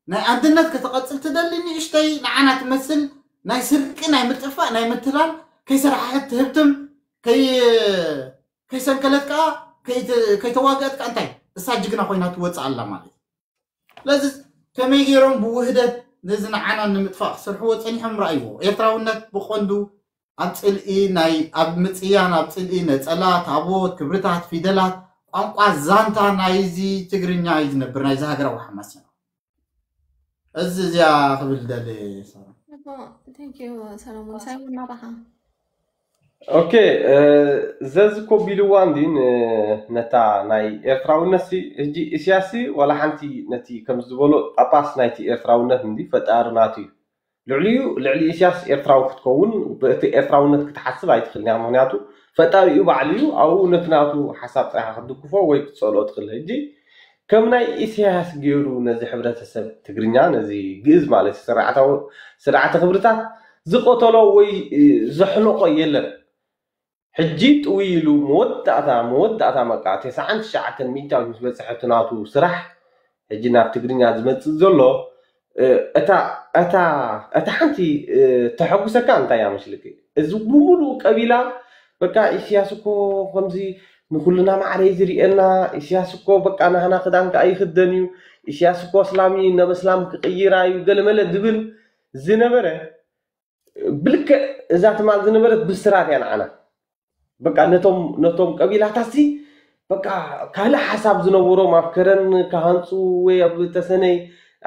ናይ ኣንድነት ከተቐጽል ትደሊ ንእሽተይ ንዓና ትመስል ናይ ስርቂ ናይ ምጥፋእ ናይ ምትላል ከይሰራሕሐት ትህብትም ከይ ከይሰንከለት ከዓ ከይተዋገአት ከዓ እንታይ እሳ ጅግና ኮይና ትወፅእ ኣላ ማለት እዩ። ስለዚ ከመይ ገይሮም ብውህደት ነዚ ንዓና ንምጥፋእ ክሰርሕዎ ፀኒሖም ረኣይዎ። ኤርትራውነት ብቐንዱ ኣብ ፅልኢ ናይ ኣብ ምፅያን ኣብ ፅልኢ ነፀላ፣ ታቦት፣ ክብርታት፣ ፊደላት፣ ቋንቋ፣ ዛንታ ናይዚ ትግርኛ እዩ ዝነብር ናይዚ ሃገራዊ ሓማሴና። እዚ እዚኣ ክብል ደሊ ሰላም። ሰለሞን ሳይሞን ናባኻ ኦኬ ዘዚ ኮቢልዋ እንዲ ነታ ናይ ኤርትራውነት ሲ ህጂ ኢስያስ ሲ ዋላ ሓንቲ ነቲ ከም ዝበሎ ጳጳስ ናይቲ ኤርትራውነት እንዲ ፈጣሪ ናቱ እዩ። ልዕሊኡ ልዕሊ ኢስያስ ኤርትራዊ ክትከውን ብእቲ ኤርትራውነት ክትሓስብ ኣይትኽእልን እያ። ምክንያቱ ፈጣሪኡ ባዕሉ እዩ ኣብኡ ነቲ ናቱ ሓሳብ ጥራይካ ክትድግፎ ወይ ክትጸልኦ ትኽእል። ህጂ ከም ናይ ኢስያስ ገይሩ ነዚ ሕብረተሰብ ትግርኛ ነዚ ግእዝ ማለት እዩ ስርዓታዊ ስርዓተ ክብርታት ዝቐተሎ ወይ ዘሕለቆ የለን። ሕጂ ጥውይ ኢሉ መወዳእታ መወዳእታ መቃ ተስዓን ትሽዓተን ሚእታዊት ምስ በፅሐ እቲ ናቱ ስራሕ ሕጂ ናብ ትግርኛ ዝመፅእ ዘሎ እታ እታ እታ ሓንቲ ተሐጉሰካ እንታይ እያ መስልኪ? እዚ ብምሉእ ቀቢላ በቃ ኢስያስ እኮ ከምዚ ንኩልና ማዕረ እዩ ዝሪኤና። ኢስያስ እኮ በቃ ናህና ክዳን ከኣ ይክደን እዩ። ኢስያስ እኮ እስላም እዩ፣ ናብ እስላም ክቅይራ እዩ ገለመለ ዝብል ዝነበረ ብልክዕ እዛ ትማል ዝነበረት ብስራት እያ ንዓና። በቃ ነቶም ነቶም ቀቢላታት ሲ በቃ ካልእ ሓሳብ ዝነበሮም ኣብ ከረን ክሃንፁ ወይ ኣብ ተሰነይ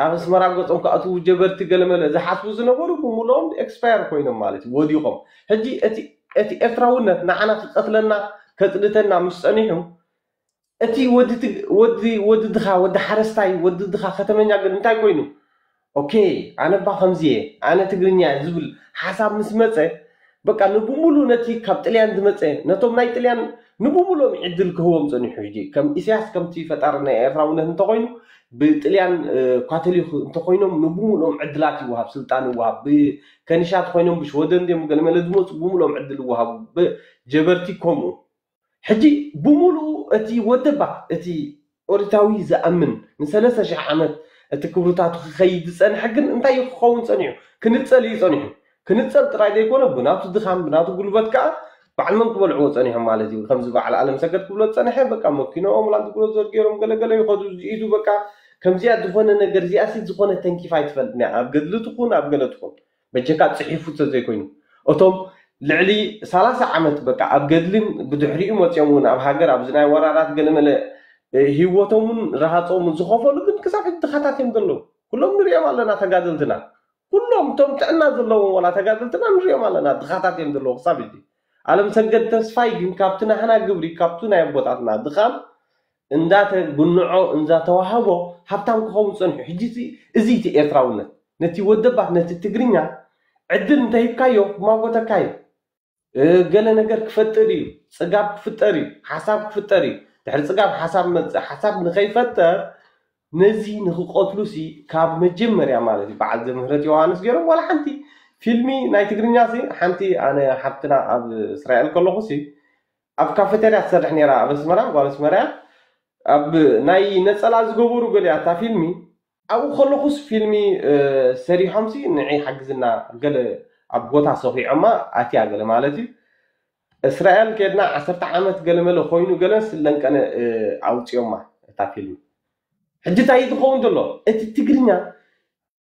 ኣብ ኣስመራ ገፆም ክኣትዉ ጀበርቲ ገለመለ ዝሓስቡ ዝነበሩ ብምልኦም ኤክስፓየር ኮይኖም ማለት እዩ ወዲቖም። ሕጂ እቲ እቲ ኤርትራውነት ንዓና ክቀትለና ከፅልተና ምስ ፀኒሑ እቲ ወዲ ትግ- ወዲ ወዲ ድኻ ወዲ ሓረስታይ ወዲ ድኻ ከተመኛ ግን እንታይ ኮይኑ ኦኬ ኣነ ባ ከምዚ እየ ኣነ ትግርኛ እየ ዝብል ሓሳብ ምስ መፀ በቃ ንብሙሉ ነቲ ካብ ጥልያን ዝመፀ ነቶም ናይ ጥልያን ንብሙሎም ዕድል ክህቦም ፀኒሑ። ሕጂ ከም ኢሳያስ ከምቲ ፈጣሪ ናይ ኤርትራውነት እንተኮይኑ ብጥልያን ኳተሊክ እንተኮይኖም ንብሙሎም ዕድላት ይወሃብ፣ ስልጣን ይወሃብ። ከኒሻ ተኮይኖም ብሽወደን ድዮም ገለመለ ዝመፁ ብሙሎም ዕድል ይወሃቡ። ጀበርቲ ከምኡ። ሕጂ ብሙሉኡ እቲ ወደባ እቲ ኦሪታዊ ዝኣምን ንሰለስተ ሽሕ ዓመት እቲ ክብርታቱ ክኸይድ ዝጸንሐ ግን እንታይ እዩ ክኸውን ጸኒሑ? ክንጸል እዩ ጸኒሑ። ክንጸል ጥራይ ዘይኮነ ብናቱ ድኻም ብናቱ ጉልበት ከኣ በዓል መን ክበልዕዎ ጸኒሖም ማለት እዩ። ከምዚ በዓል ኣለም ሰገድ ክብሎ ዝጸንሐ በቃ መኪኖኦም ላንድ ክሩዘር ገይሮም ገለገለ ይኸዱ ዝኢዱ በቃ ከምዚኣ ዝኾነ ነገር እዚኣ ሲ ዝኾነ ተንኪፋ ኣይትፈልጥን እያ ኣብ ገድሊ ትኹን ኣብ ገለ ትኹን በጀካ ጽሒፉ ተዘይኮይኑ እቶም ልዕሊ ሰላሳ ዓመት በቃ ኣብ ገድልን ብድሕሪኡ መፅኦም እውን ኣብ ሃገር ኣብዚ ናይ ወራራት ገለመለ ህይወቶምን ረሃፆምን ዝኸፈሉ ግን ክሳብ ሕጂ ድኻታት እዮም ዘለዉ። ኩሎም ንሪኦም ኣለና ተጋደልትና፣ ኩሎም እቶም ጥዕና ዘለዎም ዋላ ተጋደልትና ንሪኦም ኣለና ድኻታት እዮም ዘለዉ ክሳብ ሕጂ። ኣለም ሰገድ ተስፋይ ግን ካብቲ ናህና ግብሪ ካብቱ ናይ ኣቦታትና ድኻም እንዳተጉንዖ እንዳተዋህቦ ሃብታም ክኸውን ፀንሑ። ሕጂ እዚ እቲ ኤርትራውነት ነቲ ወደባት ነቲ ትግርኛ ዕድል እንተሂብካዮ ክማጎተካ እዩ። ገለ ነገር ክፈጥር እዩ፣ ፅጋብ ክፍጠር እዩ፣ ሓሳብ ክፍጠር እዩ። ድሕሪ ፅጋብ ሓሳብ መፅእ፣ ሓሳብ ንኸይፈጠር ነዚ ንክቀትሉ ሲ ካብ መጀመርያ ማለት እዩ በዓል ዘምህረት ዮሃንስ ገይሮም ዋላ ሓንቲ ፊልሚ ናይ ትግርኛ ሲ ሓንቲ ኣነ ሓብትና ኣብ እስራኤል ከለኹ ሲ ኣብ ካፌቴርያ ትሰርሕ ነይራ ኣብ ኣስመራ ጓል ኣስመራ ኣብ ናይ ነፀላ ዝገበሩ ገሊያ እታ ፊልሚ ኣብኡ ከለኹስ ፊልሚ ሰሪሖምሲ ንዒ ሓግዝና ገለ ኣብ ቦታ ሰኺዖማ ኣትያ ገለ ማለት እዩ። እስራኤል ከድና ዓሰርተ ዓመት ገለመለ ኮይኑ ገለ ስለንቀነ ኣውፅዮማ እታ ፊልሚ። ሕጂ እንታይ እዩ ዝኸውን ዘሎ እቲ ትግርኛ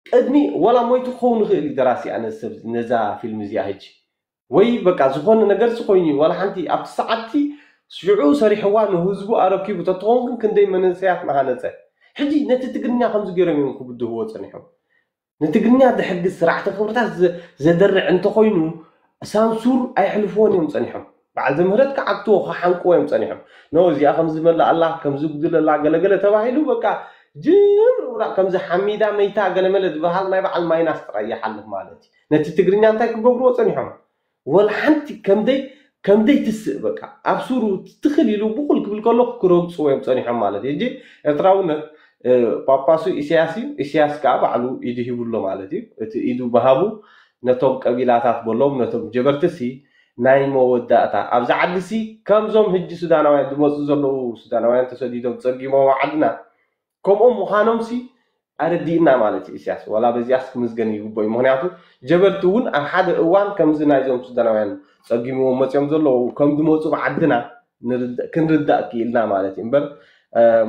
ቅድሚ ዋላ ሞይቱ ክኸውን ይኽእል እዩ ደራሲ ኣነ ሰብ ነዛ ፊልም እዚኣ ሕጂ ወይ በቃ ዝኾነ ነገርሲ ኮይኑ እዩ ዋላ ሓንቲ ኣብቲ ሰዓትቲ ሽዑ ሰሪሕዋ ንህዝቡ ኣረኪቡ ተትኸውን ግን ክንደይ መንእሰያት ምሃነፀ። ሕጂ ነቲ ትግርኛ ከምዚ ገይሮም እዮም ክብድህዎ ፀኒሖም። ንትግርኛ ዝሕግዝ ስራሕቲ ክብርታት ዘደርዕ እንተኮይኑ ሳንሱር ኣየሕልፍዎን እዮም ፀኒሖም። በዓል ዘምህረት ክዓግትዎ ክሓንቅዎ እዮም ፀኒሖም። ኖ እዚኣ ከምዚ መላ ኣላ ከምዚ ጉድል ኣላ ገለገለ ተባሂሉ በቃ ጅምር ውራቅ ከምዚ ሓሚዳ መይታ ገለመለ ዝበሃል ናይ በዓል ማይናስ ጥራይ ይሓልፍ ማለት እዩ። ነቲ ትግርኛ እንታይ ክገብርዎ ፀኒሖም? ወላ ሓንቲ ከምደይ ከምደይ ትስእ በቃ ኣብ ሱሩ ትኽል ኢሉ ብኩል ክብል ከሎ ክረግፅዎ እዮም ፀኒሖም ማለት እዩ። ሕጂ ኤርትራውነት ጳጳሱ ኢሳያስ እዩ። ኢሳያስ ከዓ ባዕሉ ኢዱ ሂቡሎ ማለት እዩ። እቲ ኢዱ በሃቡ ነቶም ቀቢላታት በሎም ነቶም ጀበርትሲ ናይ መወዳእታ ኣብዚ ዓዲ ሲ ከምዞም ህጂ ሱዳናውያን ዝመፁ ዘለዉ ሱዳናውያን ተሰዲዶም ፀጊሞም ዓድና ከምኦም ምዃኖም ሲ ኣረዲእና ማለት እዩ ኢሳያስ ዋላ በዚኣስ ክምዝገን ይግቦ እዩ ምክንያቱ ጀበርቲ እውን ኣብ ሓደ እዋን ከምዚ ናይዞም ሱዳናውያን ፀጊምዎም መፅኦም ዘለዉ ከም ዝመፁ ብዓድና ክንርዳእ ክኢልና ማለት እዩ እምበር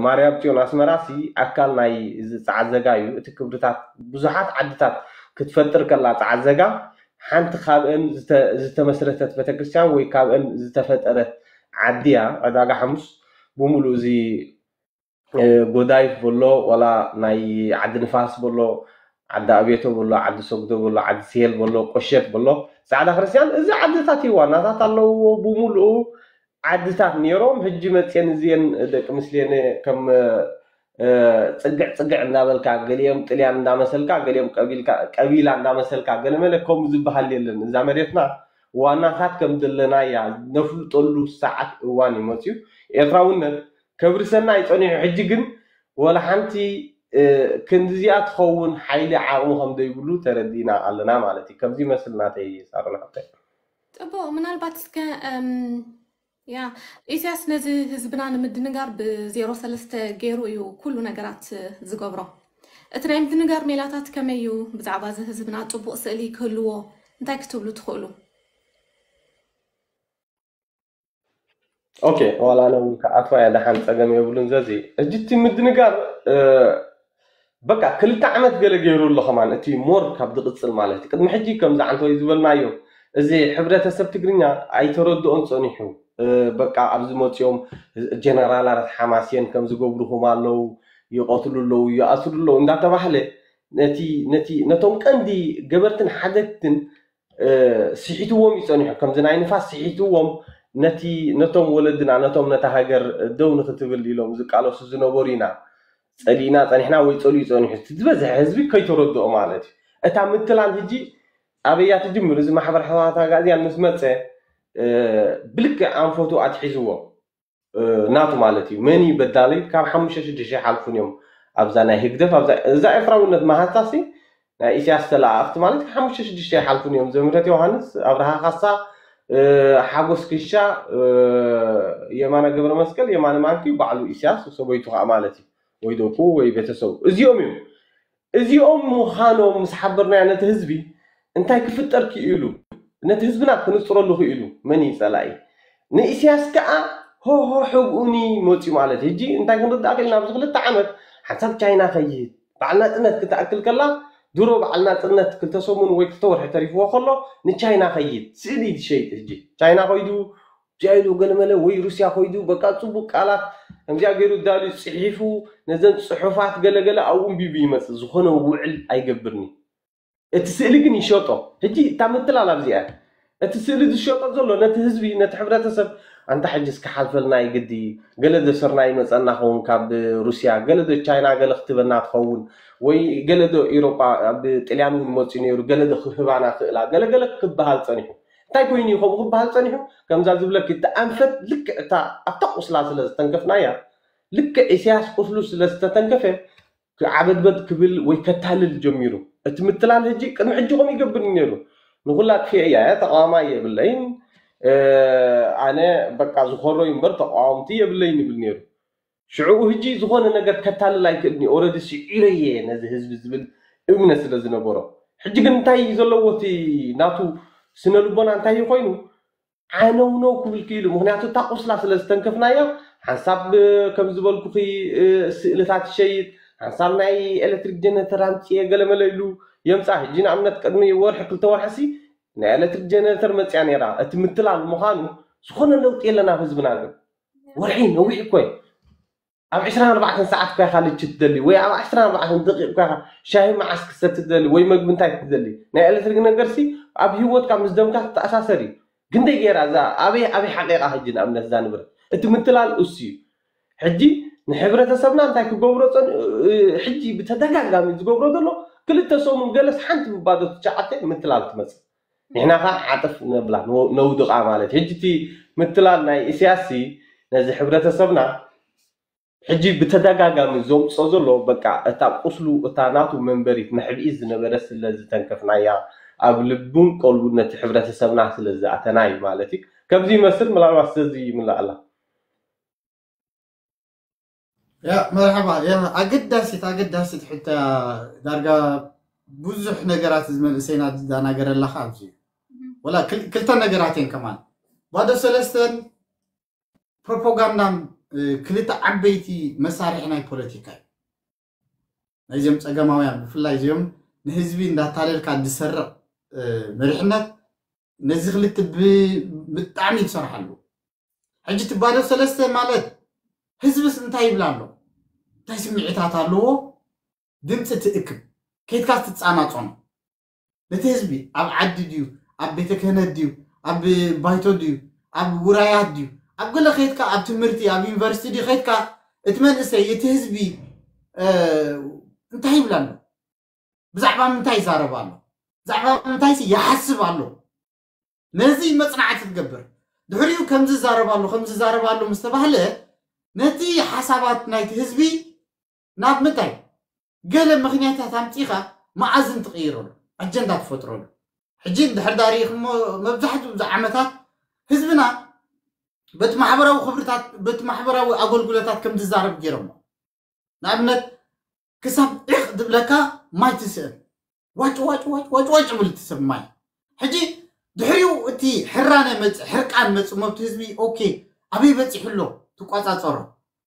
ማርያም ፅዮን ኣስመራ ሲ ኣካል ናይ እዚ ፃዕዘጋ እዩ እቲ ክብርታት ብዙሓት ዓድታት ክትፈጥር ከላ ፃዕዘጋ ሓንቲ ካብአን ዝተመስረተት ቤተክርስትያን ወይ ካብአን ዝተፈጠረት ዓዲ እያ ዕዳጋ ሓሙስ ብምሉእ እዚ ጎዳይፍ በሎ ዋላ ናይ ዓዲ ንፋስ በሎ ዓዲ ኣቤቶ በሎ ዓዲ ሰጉዶ በሎ ዓዲ ስሄል በሎ ቆሸት በሎ ፃዕዳ ክርስትያን እዚ ዓድታት እዩ ዋናታት ኣለውዎ ብምሉኡ ዓድታት ነይሮም ህጂ መፅየን እዚየን ደቂ ምስሌነ ከም ፅግዕ ፅግዕ እንዳበልካ ገሊኦም ጥልያን እንዳመሰልካ ገሊኦም ቀቢላ እንዳመሰልካ ገለመለ ከምኡ ዝበሃል የለን እዛ መሬትና ዋናታት ከም ዘለናያ ነፍልጠሉ ሰዓት እዋን እዩ መፅዩ ኤርትራውነት ከብርሰና ይፀኒሑ ሕጂ ግን ወላ ሓንቲ ክንድዚኣ ትኸውን ሓይሊ ዓቕሚ ከም ዘይብሉ ተረዲእና ኣለና ማለት እዩ ከምዚ ይመስል ናተይ ሳሮን ሓብተይ ፅቡቅ ምናልባት እስከ ያ ኢሳያስ ነዚ ህዝብና ንምድንጋር ብዜሮ ሰለስተ ገይሩ እዩ ኩሉ ነገራት ዝገብሮ እቲ ናይ ምድንጋር ሜላታት ከመይ እዩ ብዛዕባ እዚ ህዝብና ፅቡቅ ስእሊ ክህልዎ እንታይ ክትብሉ ትኽእሉ ኦኬ ዋላ ኣነ እውን ክኣትዋ እያ ደሓን ፀገም የብሉን ዘዚ ሕጂ እቲ ምድንጋር በቃ ክልተ ዓመት ገለ ገይሩ ኣሎ ከማን እቲ more ካብ ዝቕፅል ማለት እዩ ቅድሚ ሕጂ ከምዚ ዓንተወይ ዝበልናዮ እዚ ሕብረተሰብ ትግርኛ ኣይተረድኦን ፀኒሑ በቃ ኣብዚ መፅኦም ጀነራላት ሓማስየን ከም ዝገብሩኹም ኣለዉ ይቐትሉ ኣለዉ ይኣስሩ ኣለዉ እንዳተባህለ ነቲ ነቲ ነቶም ቀንዲ ገበርትን ሓደግትን ስሒትዎም ይፀኒሑ ከምዚ ናይ ንፋስ ስሒትዎም ነቲ ነቶም ወለድና ነቶም ነታ ሃገር ደው ንክትብል ኢሎም ዝቃለሱ ዝነበሩ ኢና ፀሊእና ፀኒሕና ወይ ፀሊኡ ፀኒሑ ዝበዝሐ ህዝቢ ከይተረድኦ ማለት እዩ እታ ምትላል ህጂ ኣበይ እያ ትጅምር? እዚ ማሕበር ሕወሓት ኣጋእዝያን ምስ መፀ ብልክዕ ኣንፈቱ ኣትሒዝዎ ናቱ ማለት እዩ። መን እዩ በዳሊ? ካብ ሓሙሽተ ሽዱሽተ ኣይሓልፉን እዮም። ኣብዛ ናይ ህግደፍ እዛ ኤርትራውነት መሃዝታሲ ናይ ኢሳያስ ተለኣኣኽቲ ማለት ካብ ሓሙሽተ ሽዱሽተ ኣይሓልፉን እዮም። ዘምህረት ዮሃንስ፣ ኣብርሃ ካሳ፣ ሓጎስ ክሻ፣ የማነ ገብረ መስቀል፣ የማነ ማንኪ፣ ባዕሉ ኢሳያስ ሰበይቱ ከዓ ማለት እዩ፣ ወይ ደቁ ወይ ቤተሰቡ እዚኦም እዮም። እዚኦም ምዃኖም ምስ ሓበርናዮ ነቲ ህዝቢ እንታይ ክፍጠር ክኢሉ፣ ነቲ ህዝብና ክንፅረሉ ክኢሉ መን እዩ ፀላኢ? ንኢሳያስ ከዓ ሆሆ ሕብኡኒ መፅዩ ማለት እዩ። ሕጂ እንታይ ክንርዳእ ክኢልና ኣብዚ ክልተ ዓመት ሓንሳብ ቻይና ከይድ በዓል ናፅነት ክትኣክል ከላ ድሮ በዓል ናፅነት ክልተ ሰሙን ወይ ክልተ ወርሒ ተሪፍዎ ከሎ ንቻይና ከይድ ስእሊ ዝሸይጥ ሕጂ ቻይና ከይዱ ጃይሉ ገለመለ ወይ ሩስያ ኮይዱ በቃ ፅቡቅ ቃላት ከምዚኣ ገይሩ ዳልዩ ፅሒፉ ነዘን ፅሑፋት ገለገለ ኣብኡ እንቢቡ ይመፅእ ዝኾነ ውዕል ኣይገብርኒ። እቲ ስእሊ ግን ይሸጦ። ሕጂ እታ ምትላል ኣብዚኣ እቲ ስእሊ ዝሸጦ ዘሎ ነቲ ህዝቢ ነቲ ሕብረተሰብ ኣንታ ሕጂ እስከ ሓልፈልና ይግዲ ገለ ዘሰርና ይመፀና ኸውን ካብ ሩስያ ገለ ዶ ቻይና ገለ ክትበና ትኸውን ወይ ገለ ዶ ኤሮጳ ኣብ ጥልያን እውን መፅኡ ነይሩ ገለ ዶ ክህባና ክእላ ገለገለ ክበሃል ፀኒሑ እንታይ ኮይኑ እዩ ከምኡ ክበሃል ፀኒሑ? ከምዛ ዝብለኪ እቲ ኣንፈት ልክዕ እታ ኣብታ ቁስላ ስለ ዝተንከፍናያ ልክዕ ኢሳያስ ቁስሉ ስለ ዝተተንከፈ ክዓበድበድ ክብል ወይ ከታልል ጀሚሩ። እቲ ምትላል ሕጂ ቅድሚ ሕጂ ከምኡ ይገብር ነይሩ። ንኹላ ክፍያ እያ ተቃዋማይ የብለይን ኣነ በቃ ዝኾሮ እምበር ተቃዋምቲ የብለይን ይብል ነይሩ። ሽዕኡ ሕጂ ዝኾነ ነገር ከታልል ኣይክእልን እዩ። ኦረዲ ስዒረ እየ ነዚ ህዝቢ ዝብል እምነት ስለ ዝነበሮ። ሕጂ ግን እንታይ እዩ ዘለዎ እቲ ናቱ ስነ ልቦና እንታይ እዩ ኮይኑ ዓነውነው ክብል ክኢሉ። ምክንያቱ እታ ቁስላ ስለ ዝተንከፍናያ ሓንሳብ ከም ዝበልኩኺ ስእልታት ይሸይጥ፣ ሓንሳብ ናይ ኤሌክትሪክ ጀነተር ኣምፅየ ገለመለ ኢሉ የምፃ። ሕጂ ንኣብነት ቅድሚ ወርሒ ክልተ ወርሒ ሲ ናይ ኤሌክትሪክ ጀነተር መፅያ ነይራ። እቲ ምትላል ምዃኑ ዝኾነ ለውጢ የለን ኣብ ህዝብና ግን ወርሒ ነዊሕ እኮ እዩ። ኣብ ዕስራን ኣርባዕተን ሰዓት እኳ ኢኻ ልቺ ትደሊ ወይ ኣብ ዕስራን ኣርባዕተን ደቂቕ እኳ ኢኻ ሻሂ መዓስ ክሰቲ ትደሊ ወይ መግቢ እንታይ ክትደሊ ናይ ኤሌክትሪክ ነገርሲ ኣብ ህይወትካ ምስ ደምካ ትተኣሳሰር እዩ። ግንደይ ገይራ እዛ ኣበይ ኣበይ ሓቂቓ ሕጂ ንኣብነት እዛ ንብረት እቲ ምትላል እሱ እዩ። ሕጂ ንሕብረተሰብና እንታይ ክገብሮ ሕጂ ብተደጋጋሚ ዝገብሮ ዘሎ ክልተ ሰሙን ገለስ ሓንቲ ብባዶ ትሸዓተ ምትላል ትመፅእ ንሕና ከዓ ዓጥፍ ነብላ ነውድቃ ማለት ሕጂ እቲ ምትላል ናይ ኢሳያስ ነዚ ሕብረተሰብና ሕጂ ብተደጋጋሚ ዘምፅኦ ዘሎ በቃ እታ ቁስሉ እታ ናቱ መንበሪት መሕብኢ ዝነበረ ስለ ዝተንከፍናያ ኣብ ልቡን ቀልቡን ነቲ ሕብረተሰብና ስለ ዝኣተና እዩ ማለት እዩ። ከምዚ ይመስል ምናልባት ስለዚ ይምላእ ኣላ። ያ መርሓባ ያ ኣገዳሲት ኣገዳሲት ሕቶ ዳርጋ ብዙሕ ነገራት እዚ መንእሰይና ዝዳናገረ ኣለካ ኣብዚ ወላ ክልተ ነገራት እየን ከማን ባዶ ሰለስተን ፕሮፓጋንዳን ክልተ ዓበይቲ መሳርሒ ናይ ፖለቲካ እዩ። ናይዚኦም ፀገማውያን ብፍላይ እዚኦም ንህዝቢ እንዳታለልካ ዝሰርቕ መሪሕነት ነዚ ክልተ ብጣዕሚ ይሰርሓሉ። ሕጂ ትባዶ ሰለስተ ማለት ህዝብስ እንታይ ይብላ ኣሎ? እንታይ ስምዒታት ኣለዎ? ድምፂ ትእክብ ከይድካ ትፃናፆኖ ነቲ ህዝቢ ኣብ ዓዲ ድዩ ኣብ ቤተ ክህነት ድዩ ኣብ ባይቶ ድዩ ኣብ ውራያት ድዩ ኣብ ገለ ከይድካ ኣብ ትምህርቲ ኣብ ዩኒቨርሲቲ ድዩ ከይድካ እቲ መንእሰይ እቲ ህዝቢ እንታይ ይብል ኣሎ ብዛዕባ ምንታይ ይዛረብ ኣሎ ብዛዕባ ምንታይ ይሓስብ ኣሎ ነዚ መፅናዕቲ ትገብር ድሕሪኡ ከምዚ ይዛረብ ኣሎ ከምዚ ይዛረብ ኣሎ ምስ ተባህለ ነቲ ሓሳባት ናይቲ ህዝቢ ናብ ምንታይ ገለ ምኽንያታት ኣምፂኻ መኣዝን ትቕይረሉ ኣጀንዳ ትፈጥረሉ ሕጂ እንድሕር ዳሪእኹሞ መብዛሕትኡ እዚ ዓመታት ህዝብና በቲ ማሕበራዊ ክብርታት በቲ ማሕበራዊ ኣገልግሎታት ከም ዝዛረብ ገይሮሞ ንኣብነት ክሳብ ዒቕ ዝብለካ ማይ ትስእን ዋጭ ዋጭ ዋጭ ዋጭ ዋጭ ብል ትስብ ማይ ሕጂ ድሕሪኡ እቲ ሕራነ መፅ ሕርቃን መፅ መብቲ ህዝቢ ኦኬ ኣበይ በፂሑ ኣሎ ትቋፃፀሮ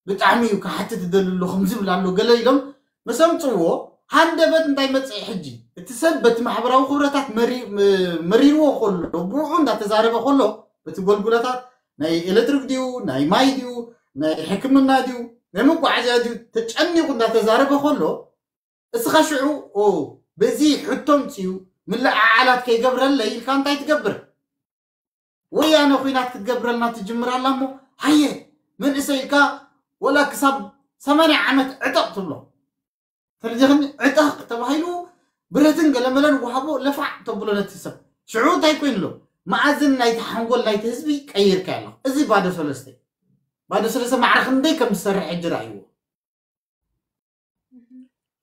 ብጣዕሚ እዩ ክሓትት ዝደሊ ኣሎ ከም ዝብል ኣሎ ገለ ኢሎም መሰምፅዎ ሃንደበት እንታይ መፅኢ ሕጂ እቲ ሰብ በቲ ማሕበራዊ ክብረታት መሪርዎ ከሎ ብኡ እንዳተዛረበ ከሎ በቲ ጎልጉለታት ናይ ኤሌክትሪክ ድዩ ናይ ማይ ድዩ ናይ ሕክምና ድዩ ናይ መጓዓዝያ ድዩ ተጨኒቑ እንዳተዛረበ ከሎ እስኻ ሽዑ በዚ ሕቶ ምፅኡ ምልዕዓላት ከይገብረለይ ኢልካ እንታይ ትገብር ወያነ ኹናት ክትገብረልና ትጅምር ኣላ እሞ ሃየ መንእሰይ ኢልካ ወላ ክሳብ ሰማንያ ዓመት ዕጠቕ ትብሎ ተረዲኽኒ ዕጠቕ ተባሂሉ ብረትን ገለመለን ወሃቦ ለፋዕ ተብሎ ነቲ ሰብ ሽዑ እንታይ ኮይኑ ኣሎ? መኣዝን ናይቲ ሓንጎል ናይቲ ህዝቢ ቀይርካ ኣሎ። እዚ ባዶ ሰለስተ ባዶ ሰለስተ ማዕረ ክንደይ ከም ዝሰርሕ ሕጂ ረኣይዎ።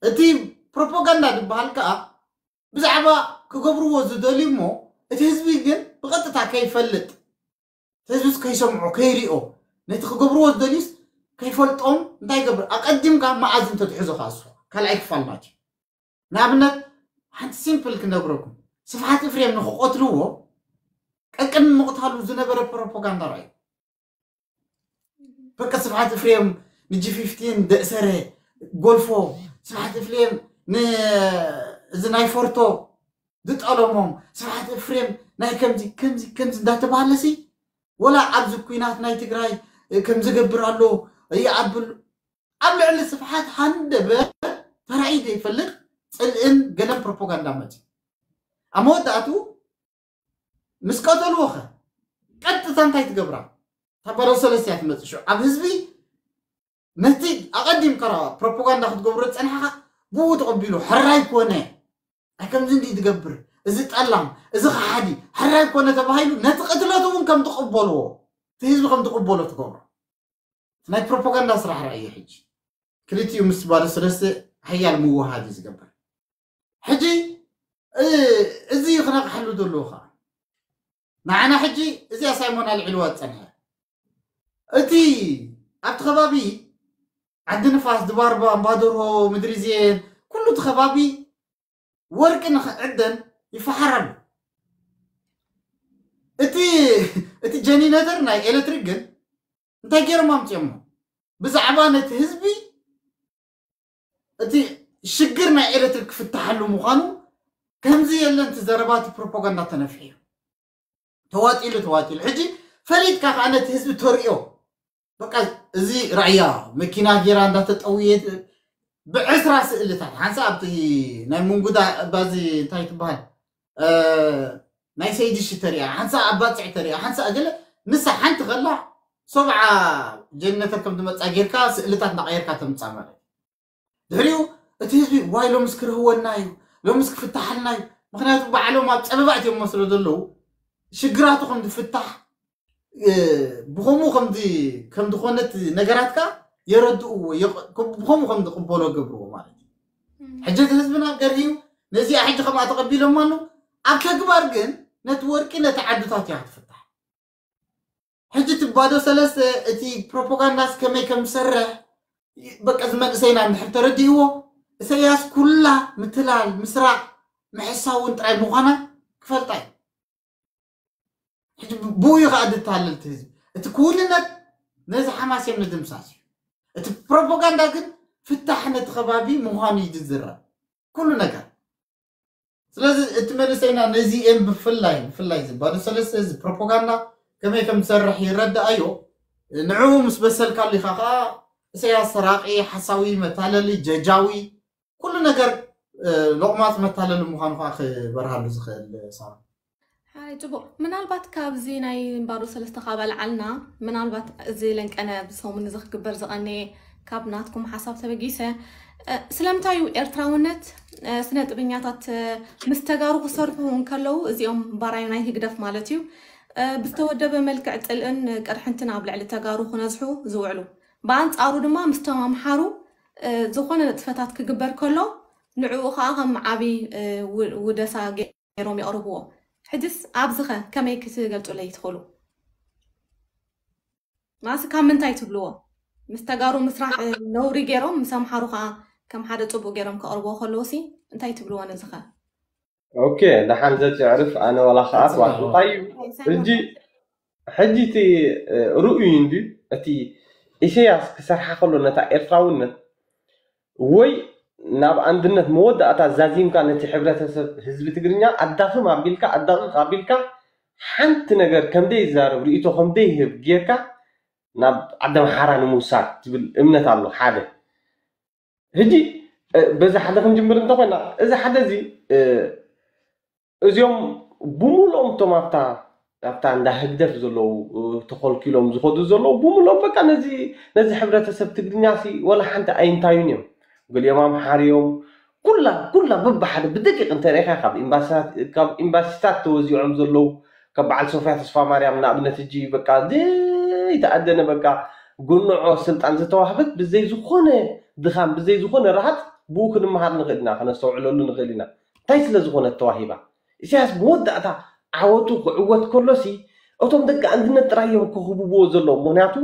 እቲ ፕሮፓጋንዳ ዝበሃል ከዓ ብዛዕባ ክገብርዎ ዝደልዩ እሞ እቲ ህዝቢ ግን ብቐጥታ ከይፈልጥ እቲ ህዝብስ ከይሰምዖ ከይሪኦ ነቲ ክገብርዎ ዝደልዩስ ከይፈልጦም እንታይ ይገብር ኣቀዲምካ መኣዝን ተትሕዞ ከዓ እሱ ካልኣይ ክፋል ማለት እዩ። ንኣብነት ሓንቲ ሲምፕል ክነግረኩም ስብሓት እፍሬም ንክቆትልዎ ቀቅድሚ ምቕታሉ ዝነበረ ፕሮፓጋንዳ ረኣዩ። በቃ ስብሓት እፍሬም ንጂ ፊፍቲን ደእሰረ ጎልፎ ስብሓት እፍሬም እዚ ናይ ፎርቶ ዝጠለሞም ስብሓት እፍሬም ናይ ከምዚ ከምዚ ከምዚ እንዳተባሃለሲ ወላ ኣብዚ ኩናት ናይ ትግራይ ከምዝገብር ኣሎ ይኣብል ኣብ ልዕሊ ስብሓት ሃንደበ ተራእዩ ዘይፈልጥ ፅልእን ገለን ፕሮፓጋንዳ መፅዩ ኣብ መወዳእቱ ምስ ቀተልዎ ኸ ቀጥታ እንታይ ትገብራ ታባዶ ሰለስቲያ ትመፅእ ሽዑ ኣብ ህዝቢ ነቲ ኣቐዲምካ ፕሮፓጋንዳ ክትገብሮ ዝፀናሕካ ብኡ ተቐቢሉ ሕራይ ኮነ ኣይ ከምዚ እንዲ ትገብር እዚ ጠላም እዚ ከሓዲ ሕራይ ኮነ ተባሂሉ ነቲ ቅትለት እውን ከም ትቕበልዎ እቲ ህዝቢ ከም ትቕበሎ ትገብሮ ናይ ፕሮፓጋንዳ ስራሕ ረኣየ ሕጂ ክልቲኡ ምስ ባዶ ሰለስተ ሓያል ምውሃድ እዩ ዝገብር ሕጂ እዚ ክነቕሐሉ ዘለዎ ከዓ ንዓና ሕጂ እዚኣ ሳይሞን ኣልዒልዋ ዝፀንሐ እቲ ኣብቲ ከባቢ ዓዲ ንፋስ ድባርባ እምባደርሆ ምድሪ ዜን ኩሉ እቲ ከባቢ ወርቂ ንክዕደን ይፈሓር ኣሎ እቲ እቲ ጀኒነተር ናይ ኤሌክትሪክ ግን እንታይ ገይሮም ኣምፅኦሞ ብዛዕባ ነቲ ህዝቢ እቲ ሽግር ናይ ኤሌክትሪክ ክፍትሓሉ ምዃኑ ከምዚ የለን እቲ ዘረባ እቲ ፕሮፓጋንዳ ተነፍሑ ተዋጢሉ ተዋጢሉ ሕጂ ፈሊጥካ ከዓ ነቲ ህዝቢ ተርእዮ በቃ እዚ ራእያ መኪና ጌራ እንዳተጠውየት ብዕስራ ስእልታት ሓንሳ ኣብቲ ናይ ምንጉዳ ባዚ እንታይ ትበሃል ናይ ሰይድሽ ተሪኣ ሓንሳ ኣብ ባፅዕ ተሪኣ ሓንሳ እገለ ንሳ ሓንቲ ከላ ሰብዓ ጀነተር ከም ትመፃ ጌርካ ስእልታት እንዳቀየርካ ተምፃ ማለት ድሕሪኡ እቲ ህዝቢ ዋይ ሎምስ ክርህወና እዩ ሎምስ ክፍታሓልና እዩ ምክንያቱ ባዕሎም ኣብ ፀበባ እትዮም መስሎ ዘለዉ ሽግራቱ ከም ዝፍታሕ ብከምኡ ከም ዝኾነት ነገራት ከዓ የረድእዎ ብከምኡ ከም ዝቅበሎ ገብርዎ ማለት እዩ ሕጂ እቲ ህዝብና ገርህዩ ነዚኣ ሕጂ ከምኣ ተቀቢሎም ኣሎ ኣብ ተግባር ግን ነቲ ወርቂ ነቲ ዓድታት እያ ክትፍታሕ ሕጂ እቲ ባዶ ሰለስተ እቲ ፕሮፓጋንዳስ ከመይ ከም ዝሰርሕ በቃ እዚ መንእሰይና እንድሕር ተረዲእዎ እሰያስ ኩላ ምትላል ምስራቅ ምሕሳውን ጥራይ ምዃና ክፈልጣ እዩ ሕጂ ብኡ እዩ ከዓ ድታለል እቲ ህዝቢ እቲ ክውንነት ነዚ ሓማሴን ምድምሳስ እዩ እቲ ፕሮፓጋንዳ ግን ፍታሕ ነቲ ከባቢ ምዃኑ እዩ ዝዝረብ ኩሉ ነገር ስለዚ እቲ መንእሰይና ነዚኤን ብፍላይ ብፍላይ እዚ ባዶ ሰለስተ እዚ ፕሮፓጋንዳ ከመይ ከም ዝሰርሕ ይረዳኣዮ ንዕኡ ምስ በሰልካሉ ኢኻ ከዓ እሰያስ ሰራቂ ሓሳዊ መታለሊ ጀጃዊ ኩሉ ነገር ሎቕማፅ መታለሊ ምዃኑ ከዓ ክበርሃሉ ዝኽእል ሳራ ሓይ ፅቡቅ ምናልባት ካብዚ ናይ ባዶ ሰለስተ ካብ ኣልዓልና ምናልባት እዚ ለንቀነ ብሰሙን እዚ ክግበር ዝቀነየ ካብ ናትኩም ሓሳብ ተበጊሰ ስለምንታይ እዩ ኤርትራውነት ስነ ጥበኛታት ምስ ተጋሩ ክሰርሑ እንከለዉ እዚኦም ባራዩ ናይ ህግደፍ ማለት እዩ ብዝተወደበ መልክዕ ጥልእን ቅርሕንትን ኣብ ልዕሊ ተጋሩ ክነዝሑ ዝውዕሉ ብኣንፃሩ ድማ ምስቶም ኣምሓሩ ዝኾነ ንጥፈታት ክግበር ከሎ ንዕኡ ከዓ ከም ዓብይ ውደሳ ገይሮም የቕርብዎ። ሕጅስ ኣብዚኸ ከመይ ክትገልፁለይ ትኽእሉ? ማለትስ ካብ ምንታይ ትብልዎ? ምስ ተጋሩ ምስራሕ ነውሪ ገይሮም ምስ ኣምሓሩ ከዓ ከም ሓደ ፅቡቅ ገይሮም ከቕርብዎ ከለውሲ እንታይ ትብልዎ ነዚኸ? ኦኬ ደሓን ዘጭዕርፍ ኣነ ዋላ ከዓ ትዋሕ እንታይ እዩ ሕጂ ሕጂ እቲ ርኡይ እንድዩ እቲ ኢሰያስ ክሰርሓ ከሎ ነታ ኤርትራውነት ወይ ናብ ኣንድነት መወዳእታ ዛዚምካ ነቲ ሕብረተሰብ ህዝቢ ትግርኛ ኣዳኽም ኣቢልካ ኣዳቕቕ ኣቢልካ ሓንቲ ነገር ከምደይ ይዛረብ ርእይቶ ከምደይ ይህብ ጌርካ ናብ ዓዲ ኣምሓራ ንምውሳድ ትብል እምነት ኣሎ ሓደ ሕጂ በዚ ሓደ ክንጅምር እንተኮይና እዚ ሓደ እዚ እዚኦም ብሙሉኦም እቶም ኣብታ ኣብታ እንዳ ህግደፍ ዘለዉ ተኸልኪሎም ዝኸዱ ዘለዉ ብሙሉኦም በቃ ነዚ ነዚ ሕብረተሰብ ትግርኛ ሲ ወላ ሓንቲ ኣይንታዩን እዮም። ገሊኦም ኣምሓር እዮም፣ ኩላ ኩላ በብሓደ ብደቂቕ እንተሪኢኻ ካብ ኤምባሲታት ተወዚዖም ዘለዉ፣ ካብ በዓል ሶፍያ ተስፋ ማርያም ንኣብነት፣ እጂ በቃ ዘይተኣደነ በቃ ጉንዖ ስልጣን ዝተዋህበት ብዘይ ዝኾነ ድኻም ብዘይ ዝኾነ ረሃፅ ብኡ ክንመሃር ንኽእል ኢና፣ ከነስተውዕለሉ ንኽእል ኢና። እንታይ ስለ ዝኾነት ተዋሂባ? ኢሳያስ መወዳእታ ዓወቱ ክዕወት ከሎሲ እቶም ደቂ ኣንድነት ጥራይ እዮም ክህብዎ ዘለዎም። ምክንያቱ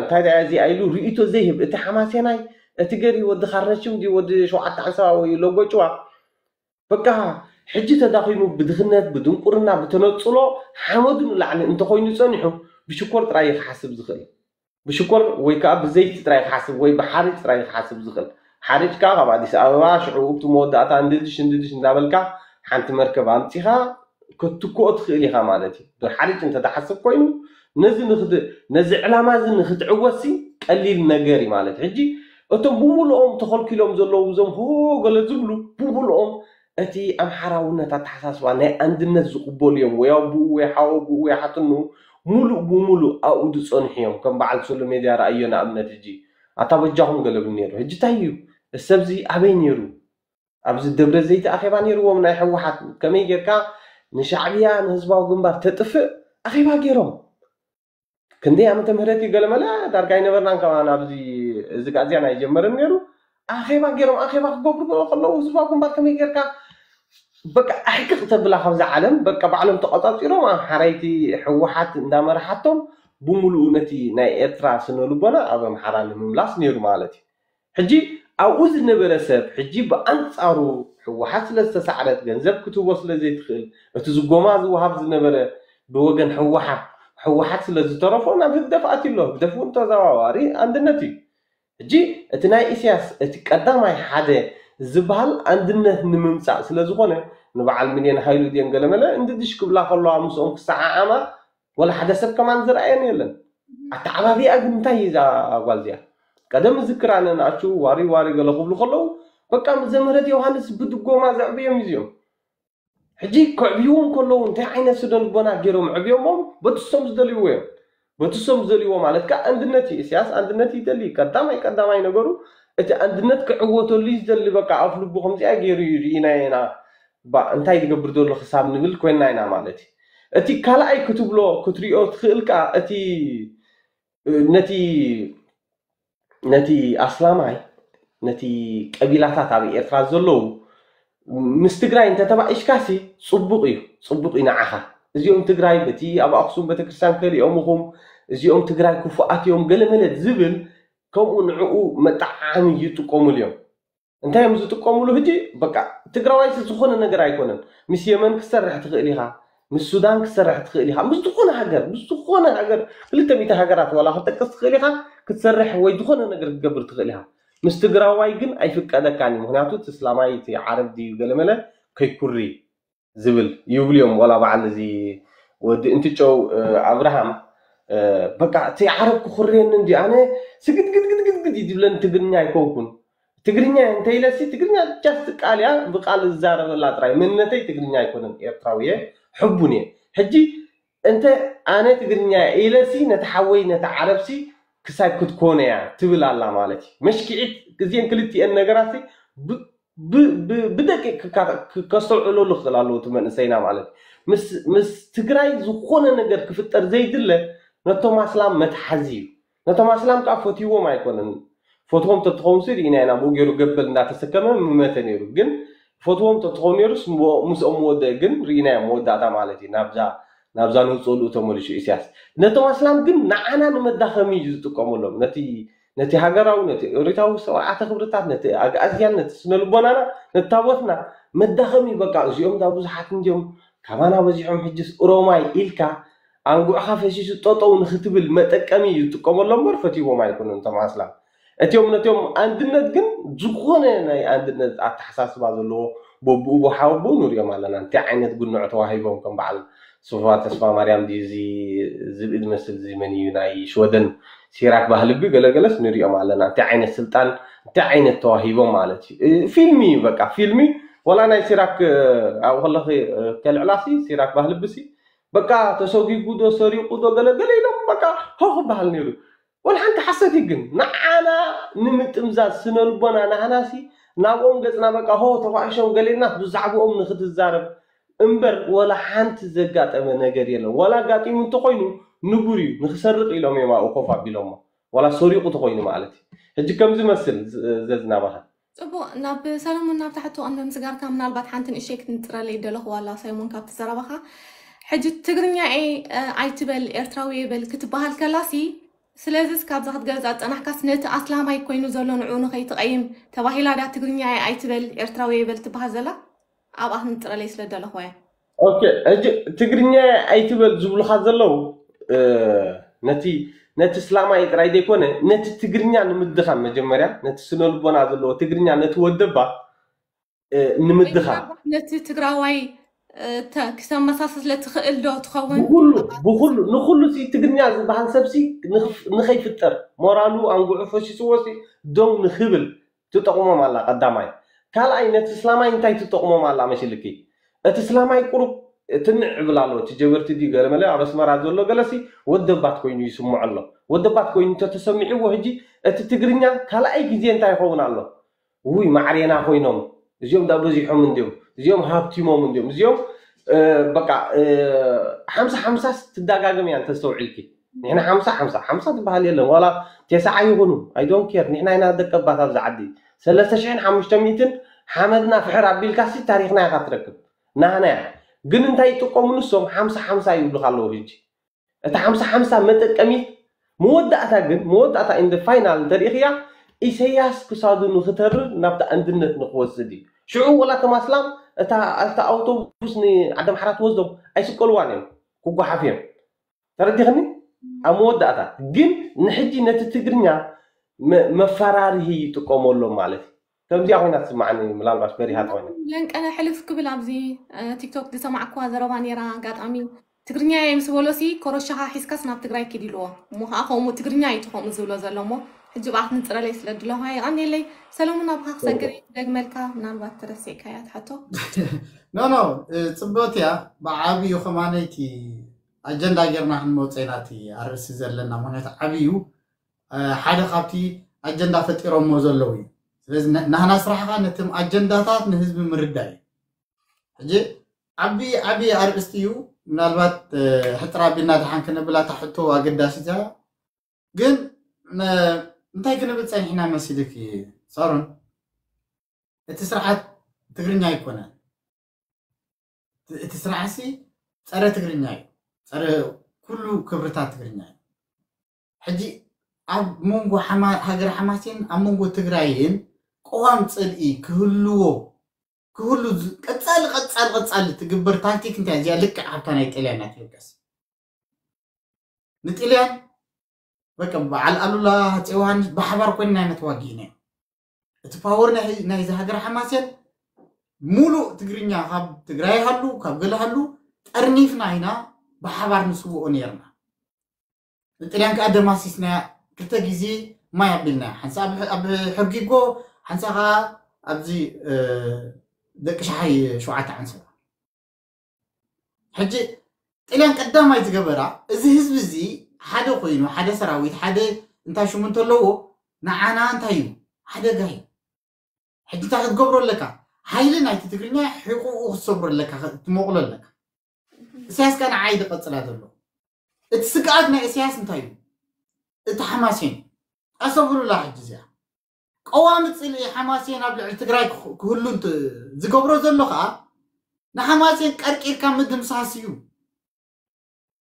እንታይ ደኣ እዚኣ ኢሉ ርእይቶ ዘይህብ፣ እቲ ሓማሴናይ፣ እቲ ገሪ ወዲ ካርነሽም ድዩ ወዲ ሸውዓተ ሓንሳብ ወይ ሎጎ ጭዋ በቃ ሕጂ ተዳኺሙ ብድኽነት ብድንቁርና ብተነጽሎ ሓመዱ ንላዕሊ እንተኾይኑ ጸኒሑ ብሽኮር ጥራይ እዩ ክሓስብ ዝኽእል። ብሽኮር ወይ ከዓ ብዘይቲ ጥራይ ክሓስብ ወይ ብሓሪጭ ጥራይ ክሓስብ ዝኽእል። ሓሪጭ ከዓ ካብ ኣዲስ ኣበባ ሽዑ እቲ መወዳእታ እንድድሽ እንድድሽ እንዳበልካ ሓንቲ መርከብ ኣምፂኻ ክትትክኦ ትኽእል ኢኻ ማለት እዩ። ብሓሪጭ እንተትሓስብ ኮይኑ ነዚ ንክት- ነዚ ዕላማ እዚ ንክትዕወትሲ ቀሊል ነገር እዩ ማለት እዩ። ሕጂ እቶም ብምሉኦም ተኸልኪሎም ዘለዉ እዞም ሆ ገለ ዝብሉ ብምሉኦም እቲ ኣምሓራውነት ኣተሓሳስባ ናይ ኣንድነት ዝቕበሉ እዮም። ወይ ኣቡኡ ወይ ሓወቡኡ ወይ ሓትንኡ ሙሉእ ብሙሉእ ኣብኡ ዝፀንሑ እዮም። ከም በዓል ሶሎ ሜድያ ረኣዮ ንኣብነት ሕጂ ኣታ በጃኹም ገለ ብል ነይሩ። ሕጂ እንታይ እዩ እዚ ሰብዚ ኣበይ ነይሩ? ኣብዚ ደብረ ዘይት ኣኼባ ነይርዎም ናይ ህወሓት ከመይ ጌርካ ንሻዕብያ ንህዝባዊ ግንባር ተጥፍእ ኣኼባ ገይሮም። ክንደይ ዓመተ ምህረት እዩ ገለመለ ዳርጋ ኣይነበርናን ከማን ኣብዚ እዚ ጋዜያ ናይ ጀመረን ነይሩ ኣኼባ ገይሮም ኣኼባ ክገብሩ ከለዉ ህዝባዊ ግንባር ከመይ ጌርካ በቃ ኣሕቅቕ ተብላ ካብዛ ዓለም በቃ ባዕሎም ተቆፃፂሮም ኣምሓራይቲ ህወሓት እንዳመርሓቶም ብምሉኡ ነቲ ናይ ኤርትራ ስነ ልቦና ኣብ ኣምሓራ ንምምላስ ነይሩ ማለት እዩ። ሕጂ ኣብኡ ዝነበረ ሰብ ሕጂ ብኣንፃሩ ህወሓት ስለ ዝተሳዕረት ገንዘብ ክትህቦ ስለ ዘይትኽእል እቲ ዝጎማ ዝወሃብ ዝነበረ ብወገን ህወሓት ህወሓት ስለ ዝተረፎ ናብ ህግደፍ ኣትዩ ኣሎ። ህግደፍ እውን ተዘዋዋሪ ኣንድነት እዩ። ሕጂ እቲ ናይ ኢሳያስ እቲ ቀዳማይ ሓደ ዝበሃል ኣንድነት ንምምፃእ ስለ ዝኾነ ንበዓል ሚልዮን ሃይሉ ድየን ገለመለ እንድድሽ ክብላ ከለዋ ምስኦም ክሰዓዓማ ወላ ሓደ ሰብ ከማን ዝረኣየን የለን። ኣተዓባቢኣ ግን እንታይ እዩ እዛ ጓል እዚኣ? ቀደም ዝክር ኣነ ንኣቹ ዋሪ ዋሪ ገለ ክብሉ ከለዉ በቃ ዘምህረት ዮሃንስ ብድጎማ ዘዕብዮም እዚኦም። ሕጂ ከዕብይዎም ከለዉ እንታይ ዓይነት ስነ ልቦና ገይሮም ዕብዮሞም በትሶም ዝደልይዎ እዮም። በትሶም ዝደልይዎ ማለት ከዓ ኣንድነት እዩ። ኢሳያስ ኣንድነት ይደሊ። ቀዳማይ ቀዳማይ ነገሩ እቲ ኣንድነት ክዕወተሉ እዩ ዝደሊ። በቃ ኣፍ ልቡ ከምዚኣ ገይሩ እዩ ርኢና ኢና። ባ እንታይ ዝገብር ዘሎ ክሳብ ንብል ኮይንና ኢና ማለት እዩ። እቲ ካልኣይ ክትብሎ ክትሪኦ ትኽእል ከዓ እቲ ነቲ ነቲ ኣስላማይ ነቲ ቀቢላታት ኣብ ኤርትራ ዘለዉ ምስ ትግራይ እንተተባኢሽካሲ ፅቡቅ እዩ፣ ፅቡቅ እዩ ንዓኻ። እዚኦም ትግራይ በቲ ኣብ ኣክሱም ቤተክርስትያን ከሊኦም ኢኹም፣ እዚኦም ትግራይ ክፉኣት እዮም ገለመለ ዝብል ከምኡ ንዕኡ መጠዓዓሚ ይጥቀሙሉ እዮም። እንታይ እዮም ዝጥቀሙሉ? ሕጂ በቃ ትግራዋይ ዝኾነ ነገር ኣይኮነን። ምስ የመን ክትሰርሕ ትኽእል ኢኻ፣ ምስ ሱዳን ክትሰርሕ ትኽእል ኢኻ፣ ምስ ዝኾነ ሃገር ምስ ዝኾነ ሃገር ክልተ ሚእቲ ሃገራት ዋላ ክትጠቅስ ትኽእል ኢኻ፣ ክትሰርሕ ወይ ዝኾነ ነገር ክትገብር ትኽእል ኢኻ። ምስ ትግራዋይ ግን ኣይፍቀደካን እዩ። ምክንያቱ እቲ እስላማይ እቲ ዓረብ ድዩ ገለመለ ከይኩሪ ዝብል ይብሉ እዮም። ዋላ በዓል እዚ ወዲ እንትጨው ኣብርሃም በቃ እቲ ዓረብ ክኩርየኒ እንዲ ኣነ ስግድግድግድግድ እዩ ዝብለኒ ትግርኛ ኣይኮንኩን ትግርኛ እንተኢለሲ ትግርኛ just ቃል እያ ብቃል ዝዛረበላ ጥራይ መንነተይ ትግርኛ ኣይኮነን ኤርትራዊ እየ ሕቡን እየ ሕጂ እንተ ኣነ ትግርኛ ኢለሲ ነቲ ሓወይ ነቲ ዓረብሲ ክሳይ ክትኮነ እያ ትብል ኣላ ማለት እዩ መሽኪዒት እዚአን ክልቲአን ነገራሲ ብደቂቅ ከስተውዕለሉ ክኽእል ኣለዎ እቲ መንእሰይና ማለት ምስ ትግራይ ዝኾነ ነገር ክፍጠር ዘይድለ ነቶም ኣስላም መትሓዚ እዩ ነቶም ኣስላም ከዓ ፈትይዎም ኣይኮነን ፈትዎም ተትኸውን ሲ ርኢና ኢና ብኡ ገይሩ ገበል እንዳተሰከመ ምመተ ነይሩ ግን ፈትዎም ተትኸውን ነይሩስ ምስኦም ምወደእ ግን ርኢናዮ መወዳእታ ማለት እዩ ናብዛ ናብዛ ንውፅእሉ ተመሊሱ ኢሳያስ ነቶም ኣስላም ግን ንዓና ንመዳኸሚ እዩ ዝጥቀመሎም ነቲ ነቲ ሃገራዊ ነቲ ኦሪታዊ ስርዓተ ክብርታት ነቲ ኣግኣዝያን ነቲ ስነ ልቦናና ነቲ ታቦትና መዳኸሚ በቃ እዚኦም ዳ ብዙሓት እንዲዮም ካባና በዚሖም ሕጅስ ኦሮማይ ኢልካ ኣንጉዕኻ ፈሲሱ ጠጠው ንክትብል መጠቀሚ እዩ ዝጥቀመሎም እምበር ፈትይዎም ኣይኮኑን እቶም ኣስላም እቲኦም ነቲኦም ኣንድነት ግን ዝኾነ ናይ ኣንድነት ኣተሓሳስባ ዘለዎ በብኡ ብሓወቦ ንሪኦም ኣለና እንታይ ዓይነት ጉንዖ ተዋሂቦም ከም በዓል ሶፋ ተስፋ ማርያም ድዩ እዚ ዝብኢ ዝመስል እዚ መን እዩ ናይ ሽወደን ሲራክ ባህልቢ ገለገለስ ንሪኦም ኣለና እንታይ ዓይነት ስልጣን እንታይ ዓይነት ተዋሂቦም ማለት እዩ ፊልሚ እዩ በቃ ፊልሚ ወላ ናይ ሲራክ ኣብኡ ከለኺ ከልዕላሲ ሲራክ ባህልብሲ በቃ ተሰጊጉ ዶ ሰሪቑ ዶ ገለገለ ኢሎም በቃ ሆ ክበሃል ነይሩ ወላ ሓንቲ ሓሰት ግን ንዓና ንምጥምዛዝ ስነ ልቦና ናህናሲ ናብኦም ገፅና በቃ ሆ ተኳዕሾም ገሌና ብዛዕባኦም ንክትዛረብ እምበር ወላ ሓንቲ ዘጋጠመ ነገር የለን። ዋላ ኣጋጢሙ እንተኮይኑ ንቡር እዩ፣ ንክሰርቅ ኢሎም እዮም ኣብኡ ኮፍ ኣቢሎሞ። ዋላ ሰሪቁ ተኮይኑ ማለት እዩ። ሕጂ ከምዚ መስል ዘዝናባኻ ፅቡቅ ናብ ሰለሙን ናብ ታሕቲ ቀንዲ ምስጋርካ ምናልባት ሓንቲ ንእሸይ ክትንፅረለይ ደለኹ ዋላ ሰለሙን ካብቲ ዘረባኻ ሕጂ ትግርኛ እየ ኣይትበል ኤርትራዊ እየ በል ክትበሃል ከላሲ ስለዚስ ካብዛ ክትገልፃ ዝፀናሕካስ ነቲ ኣስላማይ ኮይኑ ዘሎ ንዑ ንኸይትቐይም ተባሂላ ዳ ትግርኛ እየ ኣይትበል ኤርትራዊ እየ በል ትበሃል ዘላ ኣብኣ ክንፅረለይ ስለ ደለኹ እየ ኦኬ ሕጂ ትግርኛ ኣይትበል ዝብሉካ ዘለዉ ነቲ ነቲ እስላማይ ጥራይ ዘይኮነ ነቲ ትግርኛ ንምድኻም መጀመርያ ነቲ ስነ ልቦና ዘለዎ ትግርኛ ነቲ ወደባ ንምድኻም ነቲ ትግራዋይ ክተመሳስለ ትኽእል ዶ ትኸውን ብኩሉ ንኩሉ ትግርኛ ዝበሃል ሰብሲ ንኸይፍጠር ሞራሉ ኣንጉዑ ፈሲስዎ ደው ንክብል ትጠቕሞም ኣላ ቀዳማይ ካልኣይ ነቲ እስላማይ እንታይ ትጠቕሞም ኣላ መሲልኪ እቲ እስላማይ ቁሩብ ትንዕ እብል ኣሎ እቲ ጀበርቲ ድዩ ገለመለ ኣብ ኣስመራ ዘሎ ገለሲ ወደባት ኮይኑ ይስምዖ ኣሎ ወደባት ኮይኑ እንተተሰሚዕዎ ሕጂ እቲ ትግርኛ ካልኣይ ግዜ እንታይ ይኸውን ኣሎ ውይ ማዕሬና ኮይኖም እዚኦም ዳ በዚሖም እንዲዮም እዚኦም ሃብቲሞም እንዲዮም እዚኦም በቃ ሓምሳ ሓምሳስ ትዳጋግም እያ እንተስተውዒልኪ ንሕና ሓምሳ ሓምሳ ሓምሳ ትበሃል የለን ዋላ ቴስዓ ይኹኑ ኣይዶን ኬር ንሕና ኢና ደቀባት ኣብዚ ዓዲ ሰለስተ ሽሕን ሓሙሽተ ሚእትን ሓመድና ፍሕር ኣቢልካሲ ታሪኽና ኢኻ ትረክብ ናህና እያ ግን እንታይ ይጥቀሙ ንሶም ሓምሳ ሓምሳ ይብሉካ ኣለዉ ሕጂ እታ ሓምሳ ሓምሳ መጠቀሚት መወዳእታ ግን መወዳእታ in the final እንተሪእኽያ ኢሰያስ ክሳዱ ንክተርር ናብቲ ኣንድነት ንክወስድ እዩ ሽዑ ወላ ተማስላም እታ ኣውቶቡስ ንዓዲ ኣምሓራ ትወስዶም ኣይስቀልዋን እዮም ክጓሓፍ እዮም ተረዲኽኒ ኣብ መወዳእታ ግን ንሕጂ ነቲ ትግርኛ መፈራርሂ ይጥቀመሎም ማለት እዩ ከምዚኣ ኮይና ትስማዓኒ ምናልባሽ በሪሃ ተኮይና ለንቀነ ሕልፍ ክብል ኣብዚ ቲክቶክ ዝሰማዕኩዋ ዘረባ ነይራ ኣጋጣሚ ትግርኛ እየ ምስ በሎሲ ኮረሻኻ ሒዝካስ ናብ ትግራይ ኪድ ኢልዎ እሞ ከዓ ከምኡ ትግርኛ እዩ እቲ ከምኡ ዝብሎ ዘሎ እሞ ሕጂ ብኣ ክንፅረለይ ስለ ድለኹ የቐንየለይ ሰለሙን ኣብካ ክሰግር እየ ክደግመልካ ምናልባት ተረሲዕካያ ትሓቶ ኖ ኖ ፅብቅቲ እያ ብዓብዩ ከማነይቲ ኣጀንዳ ጌርና ክንመፀ ኢና እቲ ኣርእሲ ዘለና ምክንያቱ ዓብዩ ሓደ ካብቲ ኣጀንዳ ፈጢሮሞ ዘለዉ እዩ ስለዚ ናህና ስራሕካ ነቶም ኣጀንዳታት ንህዝቢ ምርዳእ እዩ ሕጂ ዓቢ ዓቢ ኣርእስቲ እዩ ምናልባት ሕጥር ኣቢልና ድሓን ክነብላ እታ ሕቶ ኣገዳሲት እያ ግን እንታይ ክንብል ፀኒሕና መሲልክ ሳሮን እቲ ስርዓት ትግርኛ ኣይኮነን እቲ ስርዓትሲ ፀረ ትግርኛ እዩ ፀረ ኩሉ ክብርታት ትግርኛ እዩ ሕጂ ኣብ መንጎ ሃገር ሓማሴን ኣብ መንጎ ትግራይን ቅዋም ፅልኢ ክህልዎ ክህሉ ቀፃሊ ቀፃሊ ቀፃሊ ትግበር ታክቲክ እንታይ እዚኣ ልክዕ ሃብታ ናይ ጥልያን ናት ኢትዮጵያስ ንጥልያን በቃ በዓል ኣሉላ ኣፄ ዮሃንስ ብሓባር ኮይንና ኢና ተዋጊእና እቲ ፓወር ናይዚ ሃገር ሓማሴን ሙሉእ ትግርኛ ካብ ትግራይ ሃሉ ካብ ገለ ሃሉ ጠርኒፍና ኢና ብሓባር ንስውኦ ነርና ንጥልያን ከዓ ደማሲስናያ ክልተ ግዜ ማይ ኣቢልናያ ሓንሳ ኣብ ሕርጊጎ ሓንሳ ከዓ ኣብዚ ደቂ ሸሓይ ሸውዓተ ዓንሰባ ሕጂ ጥልያን ቀዳማይ ዝገበራ እዚ ህዝቢ እዚ ሓደ ኮይኑ ሓደ ሰራዊት ሓደ እንታይ ሽሙ እንተለዎ ንዓና እንታይ እዩ ሓደጋ እዩ ሕጂ እንታይ ክትገብሮ ኣለካ ሓይሊ ናይቲ ትግርኛ ሕቁኡ ክትሰብሮ ኣለካ ትመቕሎ ኣለካ እስያስ ከ ንዓይ ዝቐፅላ ዘሎ እቲ ስግኣት ናይ እስያስ እንታይ እዩ እቲ ሓማሴን ኣሰብሉላ ሕጂ እዚኣ ቀዋሚ ፅልኢ ሓማሴን ኣብ ልዕሊ ትግራይ ክህሉ ዝገብሮ ዘሎ ከዓ ንሓማሴን ቀርቂርካ ምድምሳስ እዩ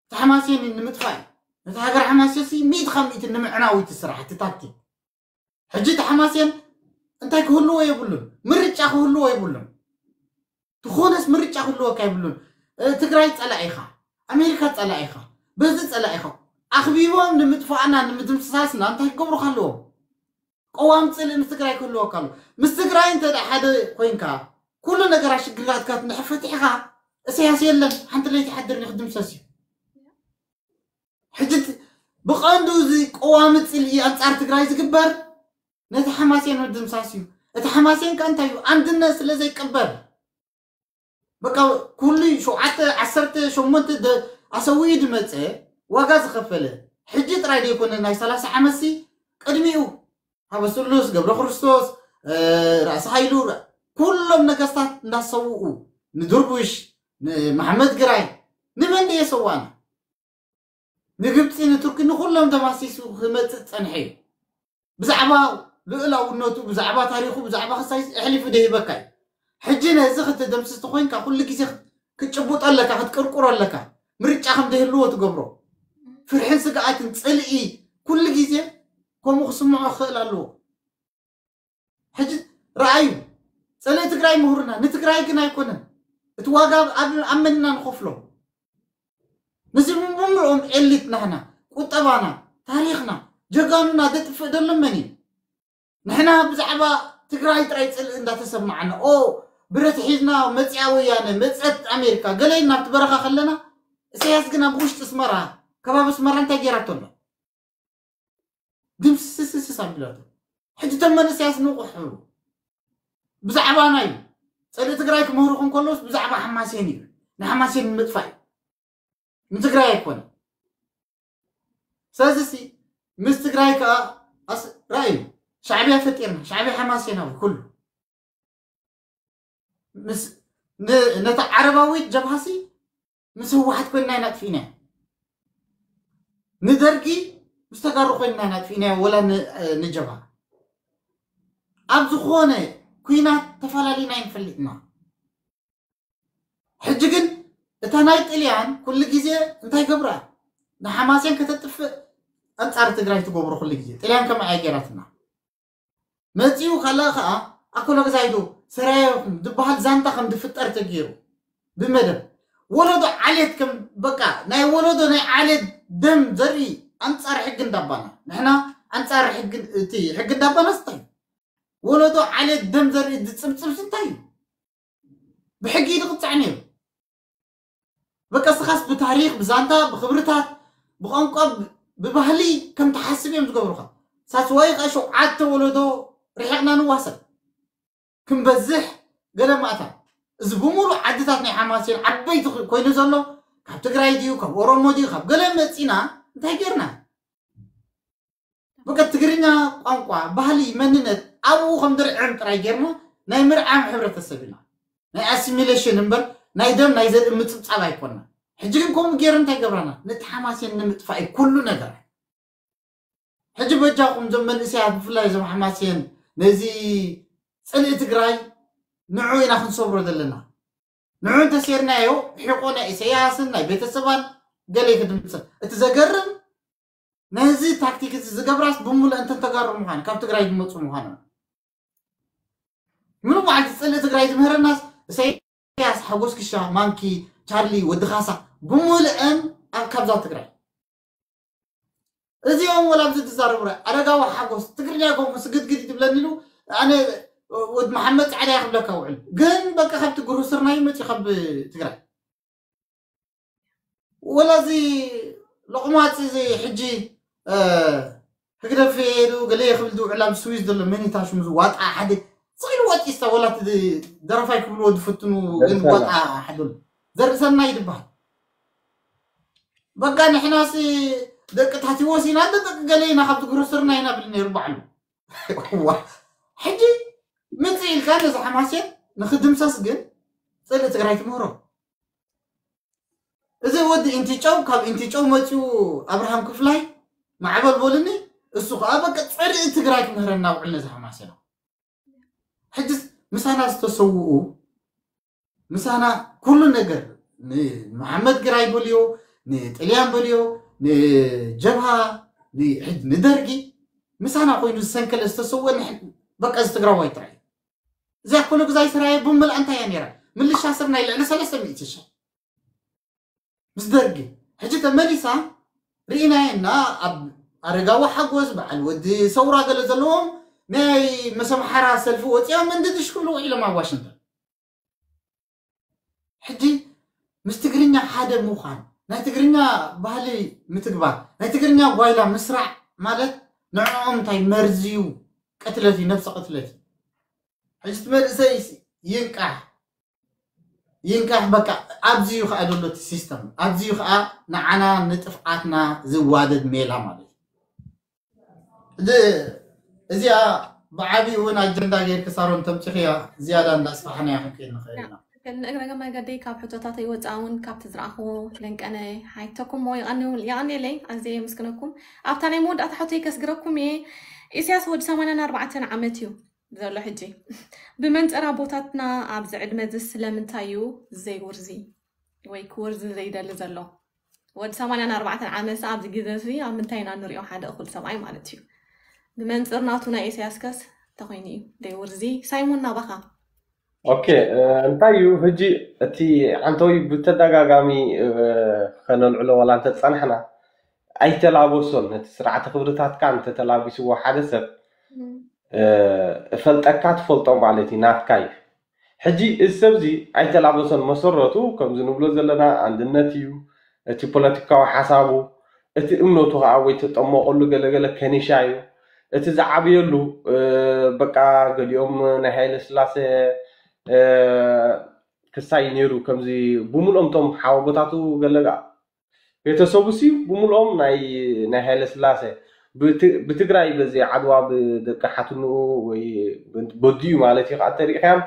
እቲ ሓማሴን ንምጥፋእ እዩ ነቲ ሃገር ሓማሴን ሲ ሚእቲ ካብ ሚእቲ ንምዕናው እቲ ስራሕ እቲ ታክቲክ ሕጂ እቲ ሓማሴን እንታይ ክህልዎ የብሉን ምርጫ ክህልዎ የብሉን ዝኾነስ ምርጫ ክህልወካ የብሉን ትግራይ ፀላኢኻ ኣሜሪካ ፀላኢኻ በዚ ፀላኢኻ ኣኽቢቦም ንምጥፋእና ንምድምስሳስና እንታይ ክገብሩካ ኣለዎም ቀዋም ፅልኢ ምስ ትግራይ ክህልወካ ኣሎ ምስ ትግራይ እንተ ሓደ ኮይንካ ኩሉ ነገራት ሽግራትካ ንሕፈትሕኻ እሰያስ የለን ሓንቲ ለይቲ ሓድር ክድምሰስ እዩ ሕጂ ብቐንዱ እዚ ቀዋሚ ፅልኢ ኣንፃር ትግራይ ዝግበር ነቲ ሓማሴን ምድምሳስ እዩ እቲ ሓማሴን ከ እንታይ እዩ ኣንድነት ስለ ዘይቀበል በቃ ኩሉ ሸውዓተ ዓሰርተ ሸሞንተ ኣሰዊኡ ዝመፀ ዋጋ ዝኸፈለ ሕጂ ጥራይ ዘይኮነ ናይ ሰላሳ ዓመትሲ ቅድሚኡ ሃበስሉስ ገብረ ክርስቶስ ራእሲ ሃይሉ፣ ኩሎም ነገስታት እንዳሰውኡ፣ ንድርቡሽ፣ ንመሓመድ ግራይ፣ ንመን ድየ ሰዋና? ንግብፂ፣ ንቱርኪ፣ ንኩሎም ተማሲሱ ክመፅእ ፀንሐ እዩ። ብዛዕባ ልኡላውነቱ፣ ብዛዕባ ታሪኹ፣ ብዛዕባ ክሳይ ኣሕሊፉ ደሂበካ እዩ። ሕጂ ነዚ ክትደምስስ ተኮይንካ ኩሉ ግዜ ክትጭቡጦ ኣለካ፣ ክትቅርቁሮ ኣለካ። ምርጫ ከም ዘይህልዎ ትገብሮ። ፍርሕን ስግኣትን፣ ፅልኢ፣ ኩሉ ግዜ ከምኡ ክስምዖ ክኽእል ኣለዎ። ሕጂ ረኣዩ፣ ፀለኢ ትግራይ ምሁርና፣ ንትግራይ ግን ኣይኮነን። እቲ ዋጋ ኣብ መን ኢና ንኸፍሎ? ነዚ ብምልኦም ኤሊት ናህና፣ ቁጠባና፣ ታሪኽና፣ ጀጋኑና ዘጥፍእ ዘሎ መን እዩ? ንሕና ብዛዕባ ትግራይ ጥራይ ፅልኢ እንዳተሰማዓና፣ ኦ፣ ብረት ሒዝና፣ መፅያ ወያነ፣ መፀት ኣሜሪካ፣ ገለ ኢልና ኣብቲ በረኻ ከለና፣ ኢሳያስ ግን ኣብ ውሽጢ ኣስመራ፣ ከባቢ ኣስመራ እንታይ ገይራቶ ኣሎ? ድምስስስስ ኣቢላቶ። ሕጂ እቶም መንእሰያት ንቑሕ፣ ብዛዕባ ናይ ፀልኢ ትግራይ ክምህሩኹም ከለውስ ብዛዕባ ሓማሴን እዩ። ንሓማሴን ንምጥፋእ እዩ። ንትግራይ ኣይኮነ። ስለዚ ሲ ምስ ትግራይ ከዓ ኣስ-፣ ራእዩ ሻዕብያ ፈጢርና፣ ሻዕብያ ሓማሴናዊ ኩሉ። ምስ ን-፣ ነታ ዓረባዊት ጀብሃሲ ምስ ህወሓት ኮይንና ኢና ኣጥፊእናዮ። ንደርጊ ምስ ተጋሩ ኮይንና ኢና ኣጥፊእናዮ፣ ወላ ን-፣ ንጀብሃ። ኣብ ዝኾነ ኩናት ተፈላሊና ኣይንፈልጥና። ሕጂ ግን እታ ናይ ጥልያን ኩሉ ግዜ እንታይ ገብራ? ንሓማሴን ከተጥፍእ ኣንጻር ትግራይ ትገብሮ ኩሉ ግዜ። ጥልያን ከምኣ እያ ገይራትና። መጺኡ ካልኣ ከኣ ኣኮሎግዛይዶ ሰራየ ዝበሃል ዛንታ ከም ዝፍጠር ተገይሩ ብመደብ። ወለዶ ዓሌት ከም በቃ ናይ ወለዶ ናይ ዓሌት ደም ዘርኢ ኣንጻር ሕጊ እንዳባና። ንሕና ኣንጻር ሕጊ፣ እቲ ሕጊ እንዳባና ስታይ። ወለዶ ዓሌት ደም ዘርኢ ዝጽብጽብ ስታይ እዩ። ብሕጊ እዩ ዝቕጻዕ ነይሩ። በቃ ስኻስ ብታሪኽ፣ ብዛንታ፣ ብኽብርታት፣ ብቋንቋ፣ ብ-፣ ብባህሊ ከም ትሓስብ እዮም ዝገብሩኻ። ሳስዋይ ኸኣ ሸውዓተ ወለዶ ርሒቕና ንዋሰብ። ክንበዝሕ ገለ ማእታ። እዚ ብምሉእ ዓድታት ናይ ሓማሴን ዓበይቲ ኽ-፣ ኮይኑ ዘሎ፣ ካብ ትግራይ ድዩ፣ ካብ ኦሮሞ ድዩ፣ ካብ ገለ መጺና፣ እንታይ ጌርና? በቃ ትግርኛ ቋንቋ፣ ባህሊ፣ መንነት ኣብኡ ከም ድርዕም ጥራይ ጌርና ናይ ምርዓም ሕብረተሰብ ኢና። ናይ ኣሲሚሌሽን እምበር ናይ ደም ናይ ዘርኢ ምጽብጻብ ኣይኮንና። ሕጂ ግን ከምኡ ጌሩ እንታይ ገብረና? ነቲ ሓማሴን ንምጥፋእ እዩ ኩሉ ነገር። ሕጂ በጃኹም እዞም መንእሰያት ብፍላይ እዞም ሓማሴን ነዚ ጽልኢ ትግራይ ንዑ ኢና ክንሰብሮ ዘለና። ንዑ እንተሴርናዮ ሒቆ ናይ ኢሰያስን ናይ ቤተሰባን ገለ ክድምሰስ። እቲ ዘገርም ነዚ ታክቲክ እዚ ዝገብራስ ብምሉእ እንተን ተጋሩ ምዃን ካብ ትግራይ ዝመፁ ምዃኖም። ምሉእ መዓልቲ ፅልኢ ትግራይ ዝምህረናስ ኢሰያስ፣ ሓጎስ ክሻ፣ ማንኪ፣ ቻርሊ፣ ወዲ ካሳ ብምሉእን ኣብ ካብዛ ትግራይ። እዚኦም ወላ ኣብዚ ዝዛረቡ ረ-፣ ኣረጋዊ ሓጎስ ትግርኛ ኮንኩ ስግድግድ ትብለኒ ኢሉ ኣነ ወድ መሓመድ ጻዕዳ እየ ክብለካ ውዕል። ግን በቃ ካብቲ ግሩስርና ይመጽእ ካብ ትግራይ። ወላ እዚ ሎቕማጽ እዚ ሕጂ፣ እ፣ ህግደፍ የሉ ገለ ክብል ዝውዕል ኣብ ስዊዝ ዘሎ መኒታ ሽሙ ዝዋጣ ሓደ ስቕ ኢሉ ወጢስታ ወላ እቲ ደረፋይ ክብልዎ ዝፍትኑ ግን ዘርሰና። ዋጣ ሓደ ኣሎ። ዘርእሰናይ ይድበሃል። በቃ ንሕናሲ ደቂ ታቲዎስ ኢና፣ እንደ ደቂ ገለ ኢና፣ ካብቲ ግሩስርና ኢና ብል ነይሩ ባዕሉ። ዋ፣ ሕጂ ምጽእ ኢልካ ነዚ ሓማሴን ንኽድምሰስ ግን ጽልኢ ትግራይ ትምህሮ። እዚ ወዲ ኢንቲጨው፣ ካብ ኢንቲጨው መጺኡ ኣብርሃም ክፍላይ ማዕበል በሉኒ፣ እሱ ኸኣ በቃ ጽልኢ ትግራይ ክምህረና ውዕል ነዚ ሓማሴን። ሕጅስ ምሳና ዝተሰውኡ፣ ምሳና ኩሉ ነገር፣ ንመሓመድ ግራይ በልዮ፣ ንጥልያን በልዮ፣ ንጀብሃ፣ ን-፣ ሕጅ-፣ ንደርጊ፣ ምሳና ኮይኑ ዝሰንከለ ዝተሰወ ንሕ-፣ በቃ እዚ ትግራዋይ ጥራይ እዩ። እዚኣ ኮሎግዛይ ስራየ ብምልኣ እንታይ እያ ነይራ? ምልሻ ስር ናይ ልዕሊ ሰለስተ ሚእቲ ሺሕ። ምስ ደርጊ። ሕጂ ተመሊሳ ርኢናየና ኣብ ኣረጋዊ ሓጎስ፣ በዓል ወዲ ሰውራ ገለ ዘለዎም ናይ ምስ ኣምሓራ ሰልፊ ወፂኦም እንድድሽ ክብሉ ውዒሎም ኣብ ዋሽንግተን። ሕጂ ምስ ትግርኛ ሓደ ምዃን፣ ናይ ትግርኛ ባህሊ ምትግባር፣ ናይ ትግርኛ ጓይላ ምስራዕ ማለት ንዕኦም እንታይ መርዚ እዩ፣ ቅትለት እዩ፣ ነብሰ ቅትለት እዩ። ሕጂ እቲ መንእሰይ ይንቃሕ፣ ይንቃሕ፣ በቃ ኣብዚ እዩ ከዓ ዘሎ እቲ ሲስተም፣ ኣብዚ እዩ ከዓ ንዓና ንጥፍኣትና ዝዋደድ ሜላ ማለት እዩ። እዚ፣ እዚኣ ብዓቢኡ እውን ኣጀንዳ ጌርኪ ሳሮን ተምፂኽያ ዝያዳ እንዳስፋሕናያ ክንከይድ ንኽእል ኢና። ንእግረ መገደይ ካብ ሕቶታተይ ወፃእ እውን ካብቲ ዝረኣኽዎ ለንቀነ ሓይተኩሞ የቐንየለይ ኣዝየ የመስግነኩም። ኣብታ ናይ መወዳእታ ሕቶይ ከስግረኩም እየ። ኢሳያስ ወዲ ሰማንያን ኣርባዕተን ዓመት እዩ ዘሎ ሕጂ። ብመንፅር ኣቦታትና ኣብዚ ዕድመ እዚ ስለምንታይ እዩ ዘይውርዚ ወይ ክወርዚ ዘይደሊ ዘሎ? ወዲ ሰማንያን ኣርባዕተን ዓመት ኣብዚ ግዜ እዚ ኣብ ምንታይ ኢና ንሪኦ ሓደ እኹል ሰብኣይ ማለት እዩ? ብመንፅር ናቱ ናይ ኢሳያስ ከስ እንተኮይኑ እዩ ደይ ውርዚ ሳይሞን ናባኻ። ኦኬ፣ እንታይ እዩ ሕጂ እቲ ዓንተወይ ብተደጋጋሚ ከነልዕሎ ዋላ እንተፀናሕና ኣይተላበሶን። ነቲ ስርዓተ ክብርታትካ እንተተላቢስዎ ሓደ ሰብ እፈልጠካ ትፈልጦ ማለት እዩ፣ ናትካ እዩ። ሕጂ እዚ ሰብ እዚ ኣይተላበሶን። መሰረቱ ከምዚ ንብሎ ዘለና ኣንድነት እዩ። እቲ ፖለቲካዊ ሓሳቡ፣ እቲ እምነቱ ከዓ ወይ ተጠመቀሉ ገለገለ ከኒሻ እዩ። እቲ ዝዓብየሉ በቃ ገሊኦም ናይ ሃይለ ስላሴ ክሳይ ነይሩ። ከምዚ ብምልኦም ቶም ሓወቦታቱ ገለ ቤተሰቡ ሲ ብምልኦም ናይ ናይ ሃይለ ስላሴ ብትግራይ በዚ ዓድዋ ብደቂ ሓትንኡ ወይ በዲኡ ማለት እዩ ከዓ ተሪእካዮም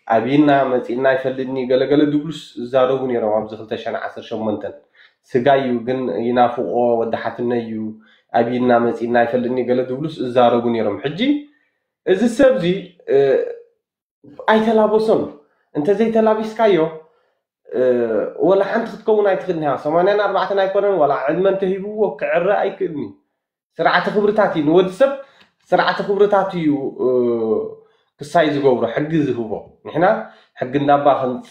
ኣብይና መፂእና ይፈልጥኒ ገለገለ ድብሉስ ዝዛረቡ ነይሮም። ኣብዚ ክልተ ሽሕን ዓሰርተ ሸሞንተን ስጋይ እዩ ግን ይናፍቆ ወዲ ሓትነይ እዩ ኣብይና መፂእና ይፈልጥኒ ገለ ድብሉስ ዝዛረቡ ነይሮም። ሕጂ እዚ ሰብ እዚ ኣይተላበሶን። እንተዘይተላቢስካዮ ወላ ሓንቲ ክትከውን ኣይትኽእልን ኢኻ። ሰማንያን ኣርባዕተን ኣይኮነን ዋላ ዕድመ እንተሂብዎ ክዕረ ኣይክእልን እዩ። ስርዓተ ክብርታት እዩ ንወዲ ሰብ ስርዓተ ክብርታት እዩ ክሳይ ዝገብሮ ሕጊ ዝህቦ። ንሕና ሕጊ እንዳባ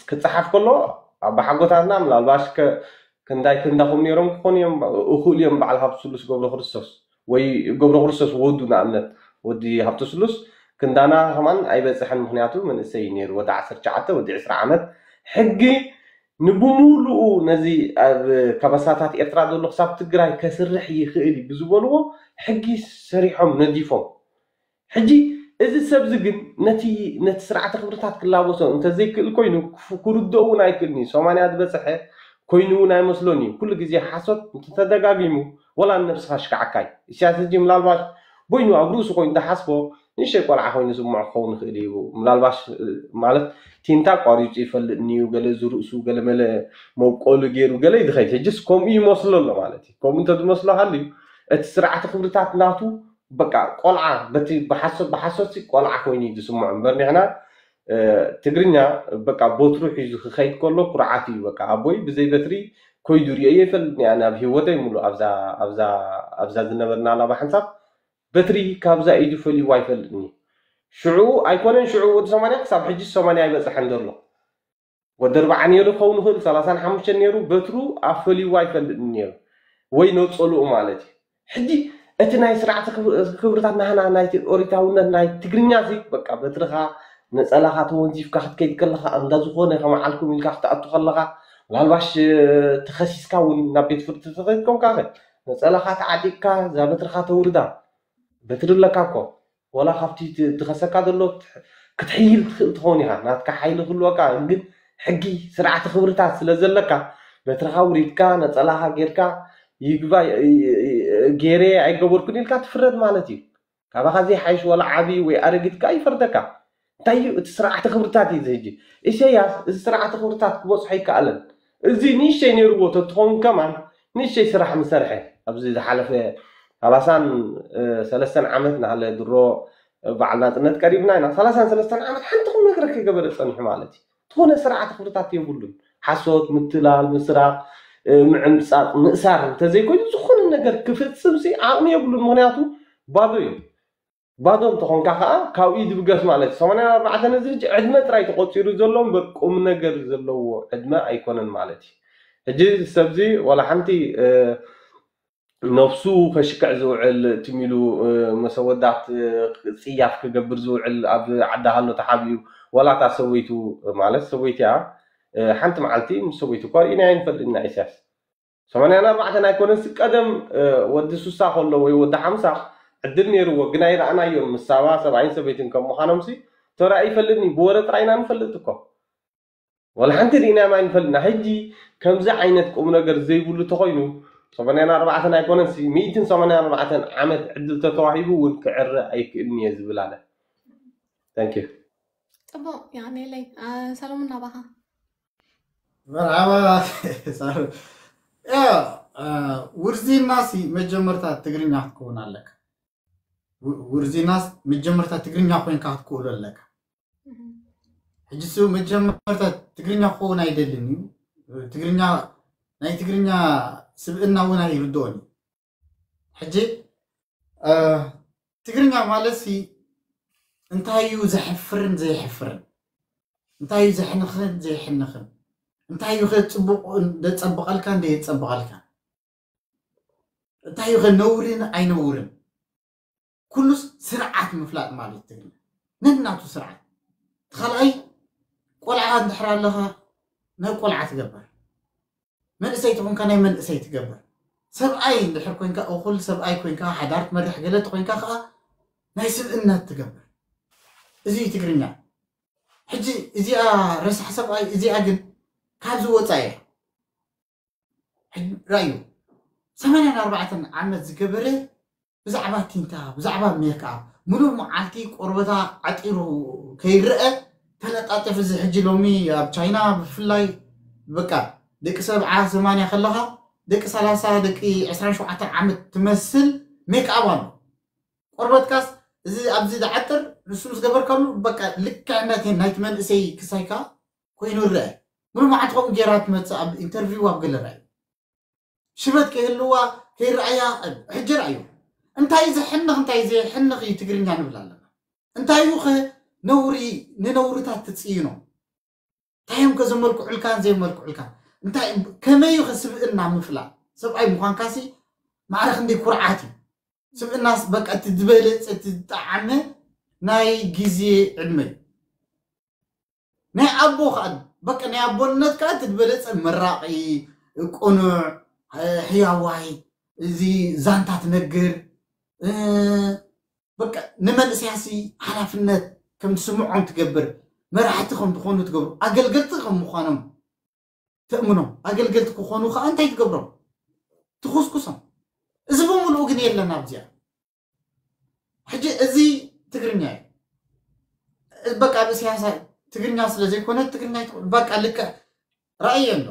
ክፀሓፍ ከሎ ኣባሓጎታትና ምናልባሽ ክንዳይ ክንዳኹም ነይሮም ክኾኑ እዮም። እኹል እዮም በዓል ሃብቲ ስሉስ ገብረ ክርስቶስ ወይ ገብረ ክርስቶስ ወዱ ንኣብነት ወዲ ሃብተ ስሉስ ክንዳና ከማን ኣይበፅሐን። ምክንያቱ መንእሰይ ነይሩ ወዲ ዓሰርተ ትሽዓተ ወዲ ዕስራ ዓመት ሕጊ ንብሙሉኡ ነዚ ኣብ ካባሳታት ኤርትራ ዘሎ ክሳብ ትግራይ ከስርሕ ይኽእል እዩ ብዝበልዎ ሕጊ ሰሪሖም ነዲፎም። ሕጂ እዚ ሰብዚ ግን ነቲ ነቲ ስርዓተ ክብርታት ክላበሶ እንተዘይክእል ኮይኑ ክርድኦ እውን ኣይክእልን እዩ። ሰማንያ ዝበፅሐ ኮይኑ እውን ኣይመስሎን እዩ። ኩሉ ግዜ ሓሶት እንተተደጋጊሙ ወላ ንነብስኻ ሽካዓካ እዩ። ኢሳያስ ሕጂ ምናልባት ቦይኑ ኣብ ርእሱ ኮይኑ ዝሓስቦ ንእሽተይ ቆልዓ ኮይኑ ዝስምዖ ክኸውን ይኽእል እዩ። ምናልባሽ ማለት ቲንታ ኣቋሪፁ ይፈልጥኒ እዩ፣ ገለ እዚ ርእሱ ገለ መለ መብቆሉ ገይሩ ገለ እዩ ዝኸይድ። ሕጅስ ከምኡ ይመስሎ ኣሎ ማለት እዩ። ከምኡ እንተዝመስሎ ሃልዩ እቲ ስርዓተ ክብርታት ናቱ በቃ ቆልዓ በቲ ብሓሶት ብሓሶት ቆልዓ ኮይኑ እዩ ዝስምዖ እምበር ንሕና ትግርኛ በቃ ቦትሩ ሒዙ ክኸይድ ከሎ ኩርዓት እዩ። በቃ ኣቦይ ብዘይ በትሪ ኮይዱ ርእዮ ይፈልጥኒ ኣነ ኣብ ህይወተይ ሙሉ ኣብዛ ኣብዛ ኣብዛ ዝነበርናላ ብሓንሳብ በትሪ ካብዛ ኢዱ ፈልይዋ ይፈልጥኒ። ሽዑ ኣይኮነን ሽዑ ወዲ ሰማንያ ክሳብ ሕጂ ሰማንያ ኣይበፅሐን ዘሎ ወዲ ኣርባዓ ነይሩ ክኸውን ይኽእል ሰላሳን ሓሙሽተን ነይሩ በትሩ ኣፈልይዋ ይፈልጥኒ ነይሩ ወይ ነፀልኡ ማለት እዩ። ሕጂ እቲ ናይ ስርዓተ ክብርታት ናህና ናይ ኦሪታውነት ናይ ትግርኛ ሲ በቃ በትርኻ ነፀላኻ ተወንዚፍካ ክትከይድ ከለኻ እንዳ ዝኾነ ከመዓልኩም ኢልካ ክትኣቱ ከለኻ ምናልባሽ ተኸሲስካ እውን ናብ ቤት ፍርዲ ተኸይድ ኮንካ ነፀላኻ ተዓጢቅካ እዛ በትርኻ ተውርዳ በትሪ ኣለካ እኮ ወላ ካብቲ ትኸሰካ ዘሎ ክትሕይል ትኽእል ትኸውን ኢኻ ናትካ ሓይሊ ክህልወካ ግን ሕጊ ስርዓተ ክብርታት ስለ ዘለካ በትርኻ ውሪድካ ነፀላኻ ጌርካ ይግባ ገይረ ኣይገበርኩን ኢልካ ትፍረድ ማለት እዩ። ካባኻ ዘይሓይሽ ወላ ዓብዪ ወይ ኣረጊት ከኣ ይፈርደካ። እንታይ እዩ እቲ ስርዓተ ክብርታት እዩ ዝህጂ ኢሰያስ እዚ ስርዓተ ክብርታት ክበፅሖ ይከኣለን። እዚ ንእሽተይ ነይርዎ ተትኸውን ከማን ንእሽተይ ስራሕ ምሰርሐ ኣብዚ ዝሓለፈ ሰላሳን ሰለስተን ዓመት ናሃለ ድሮ በዓል ናፅነት ቀሪብና ኢና። ሰላሳን ሰለስተን ዓመት ሓንቲ ቁም ነገር ከይገበረ ፀኒሑ ማለት እዩ። ዝኾነ ስርዓተ ክብርታት የብሉን። ሓሶት፣ ምትላል፣ ምስራቕ፣ ምዕምፃቕ፣ ምእሳር እንተዘይኮይኑ ዝኾነ ነገር ክፍፅም ሲ ዓቕሚ የብሉን። ምክንያቱ ባዶ እዩ። ባዶ እንተኾንካ ከዓ ካብ ኢድ ብገስ ማለት እዩ። ሰማንያን ኣርባዕተን እዚ ሕጂ ዕድመ ጥራይ ተቆፂሩ ዘሎ እምበር ቁም ነገር ዘለዎ ዕድመ ኣይኮነን ማለት እዩ። ሕጂ ሰብዚ ዋላ ሓንቲ ነብሱ ከሽክዕ ዝውዕል ትም ኢሉ መሰወዳት ፅያፍ ክገብር ዝውዕል ኣብ ዓዲ ሃሎ ተሓቢኡ ዋላ እታ ሰበይቱ ማለት ሰበይቲ እያ ሓንቲ መዓልቲ ምስ ሰበይቱ እኳ ርኢናዮ ንፈልጥ ኢና ኢሳያስ ሰማንያን ኣርባዕተን ኣይኮነንሲ ቀደም ወዲ ሱሳ ከሎ ወይ ወዲ ሓምሳ ዕድል ነይርዎ ግን ኣይረኣናዮን ምስ ሳባ ሰብኣይን ሰበይትን ከም ምዃኖምሲ ተራእዩ ይፈልጥኒ ብወረ ጥራይ ኢና ንፈልጥ እኮ ወላ ሓንቲ ርኢናዮም ኣይንፈልጥና። ሕጂ ከምዚ ዓይነት ቁም ነገር ዘይብሉ ተኾይኑ ሰማንያን ኣርባዕተን ኣይኮነንሲ ሚእትን ሰማንያን ኣርባዕተን ዓመት ዕድል ተተዋሂቡ እውን ክዕረ ኣይክእልን እየ ዝብል ኣነ። Thank you. ጽቡቕ። ያኔለይ ሰሎሙን ናባኻ። መርሓባ። ሳሩ። ያ ውርዚናሲ መጀመርታ ትግርኛ ክትከውን ኣለካ። ውርዚናስ መጀመርታ ትግርኛ ኮይንካ ክትክእሉ ኣለካ። ሕጂ ሱ መጀመርታ ትግርኛ ክኸውን ኣይደልን እዩ። ትግርኛ ናይ ትግርኛ ስብእና እውን ኣይርድኦን እዩ። ሕጂ ትግርኛ ማለት ሲ እንታይ እዩ ዘሕፍርን ዘየሕፍርን፣ እንታይ እዩ ዘሕንኽን ዘየሕንኽን፣ እንታይ እዩ ከ ፅቡቕ ዘፀብቐልካ ዘየፀብቐልካ፣ እንታይ እዩ ከ ነውርን ኣይነውርን፣ ኩሉስ ስርዓት ምፍላጥ ማለት ትግርኛ ነናቱ ስርዓት። እቲ ካልኣይ ቆልዓ እንድሕር ኣለኻ ናይ ቆልዓ ትገብር፣ መንእሰይ ተኾንካ ናይ መንእሰይ ትገብር፣ ሰብኣይ እንድሕር ኮንካ እኹል ሰብኣይ ኮንካ ሓዳር ትመርሕ ገለ ተኾንካ ከዓ ናይ ስብእነት ትገብር። እዚ እዩ ትግርኛ። ሕጂ እዚኣ ረሳሕ ሰብኣይ እዚኣ ግን ካብዚ ወፃ እያ። ራእዩ ሰማንያን ኣርባዕተን ዓመት ዝገበረ ብዛዕባ ቲንታ ብዛዕባ ሜክኣፕ ሙሉእ መዓልቲ ቆርበታ ዓጢሩ ከይረአ ተለጣጠፍ። እዚ ሕጂ ሎሚ ኣብ ቻይና ብፍላይ በቃ ደቂ ሰብዓ ሰማንያ ከለኻ ደቂ ሰላሳ ደቂ ዕስራን ሸውዓተን ዓመት ትመስል ሜክኣፕ ኣሎ። ቆርበትካስ እዚ ኣብዚ ዝዓጥር ንሱ ምስ ገበርካሉ በቃ ልክዕነት ናይቲ መንእሰይ ክሳይካ ኮይኑ ይረአ። ሙሉእ መዓልቲ ከምኡ ገይራ ትመፅእ ኣብ ኢንተርቪው ኣብ ገለ ራእዩ ሽበት ከይህልዋ ከይረኣያ። ሕጂ ራእዩ እንታይ ዘሕንኽ እንታይ ዘየሕንኽ እዩ ትግርኛ ንብል ኣለና። እንታይ እዩ ኸ ነውሪ ንነውርታት ትፅይኖ እንታይ እዮም ከ ዘመልክዑልካን ዘየመልክዑልካን እንታይ ከመይ እዩ ከ ስብእና ምፍላጥ? ሰብኣይ ምዃንካሲ ማዕረ ክንደይ ኩርዓት እዩ። ስብእናስ በቃ እቲ ዝበለፀ እቲ ዝጠዓመ ናይ ግዜ ዕድመ እዩ። ናይ ኣቦ ከዓ በቃ ናይ ኣቦነት ከዓ እቲ ዝበለፀ መራቂ፣ ቅኑዕ፣ ሕያዋይ፣ እዚ ዛንታ ትነግር፣ በቃ ንመንእሰያሲ ሓላፍነት ከም ዝስምዖም ትገብር፣ መራሕቲ ከም ዝኾኑ ትገብሩ፣ ኣገልገልቲ ከም ምዃኖም ተእምኖም፣ ኣገልገልቲ ክኾኑ ከዓ እንታይ ትገብሮም? ትኹስኩሶም። እዚ ብምልኡ ግን የለን ኣብዚኣ። ሕጂ እዚ ትግርኛ እዩ። በቃ ኣብ እስያሳ ትግርኛ ስለ ዘይኮነ ትግርኛ ኣይትኾን። በቃ ልክዕ ራእየ ኣሎ።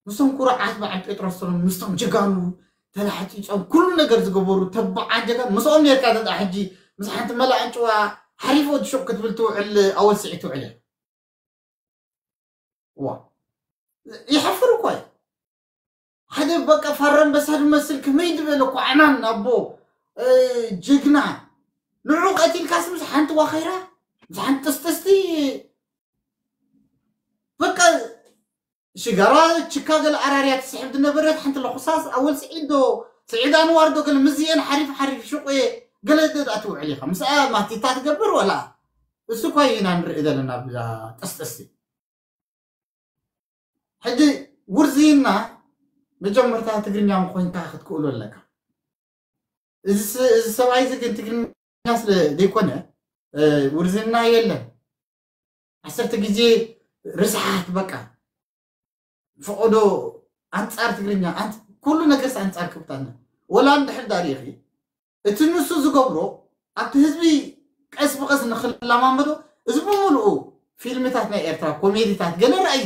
ምስቶም ኩሩዓት በዓል ጴጥሮስ ሰሎሞን ምስቶም ጀጋኑ ተላሕፂፆም ኩሉ ነገር ዝገበሩ ተባዓት ጀጋኑ ምስኦም ነርካ። ደዳ ሕጂ ምስ ሓንቲ መላእ ኣንጭዋ ሓሪፍ ወዲ ሹቕ ክትብል ትውዕል ኣወል ስዒድ ትውዕል እያ። ዋ ይሓፍር እኮ እዩ። ሓደ በቃ ፋራ ኣንበሳ ዝመስል ከመይ ዝበለ ኳዕናን ኣቦ ጅግና ንዑ ቀቲልካስ ምስ ሓንቲ ዋኸይራ ምስ ሓንቲ ጥስጥስቲ በቃ ሽጋራ ችካ ገለ ኣራርያ ትስሕብ ዝነበረት ሓንቲ ለኹሳስ ኣወል ስዒድ ዶ ስዒድ ኣንዋር ዶ ገለ ምስዚአን ሓሪፍ ሓሪፍ ሽቁ ገለ ደኣ ትውዕል ኢኻ ምስኣ ማቲታ ትገብር ወላ እሱ እኳ ኢና ንርኢ ዘለና ብዛ ጠስጠስቲ። ሕጂ ውርዝይና መጀመርታ ትግርኛ ምኮንካ ክትክእሉ ኣለካ። እዚ ሰብኣይ እዚ ግን ትግርኛ ስለ ዘይኮነ ውርዝና የለን። ዓሰርተ ግዜ ርስሓት በቃ ፈቐዶ ኣንጻር ትግርኛ ኩሉ ነገርስ ኣንጻር ክብታና ወላ እንድሕር ዳሪእኺ እቲ ንሱ ዝገብሮ ኣብቲ ህዝቢ ቀስ ብቐስ ንክለማመዶ እዚ ብምልኡ ፊልምታት ናይ ኤርትራ ኮሜዲታት ገለ ረኣዩ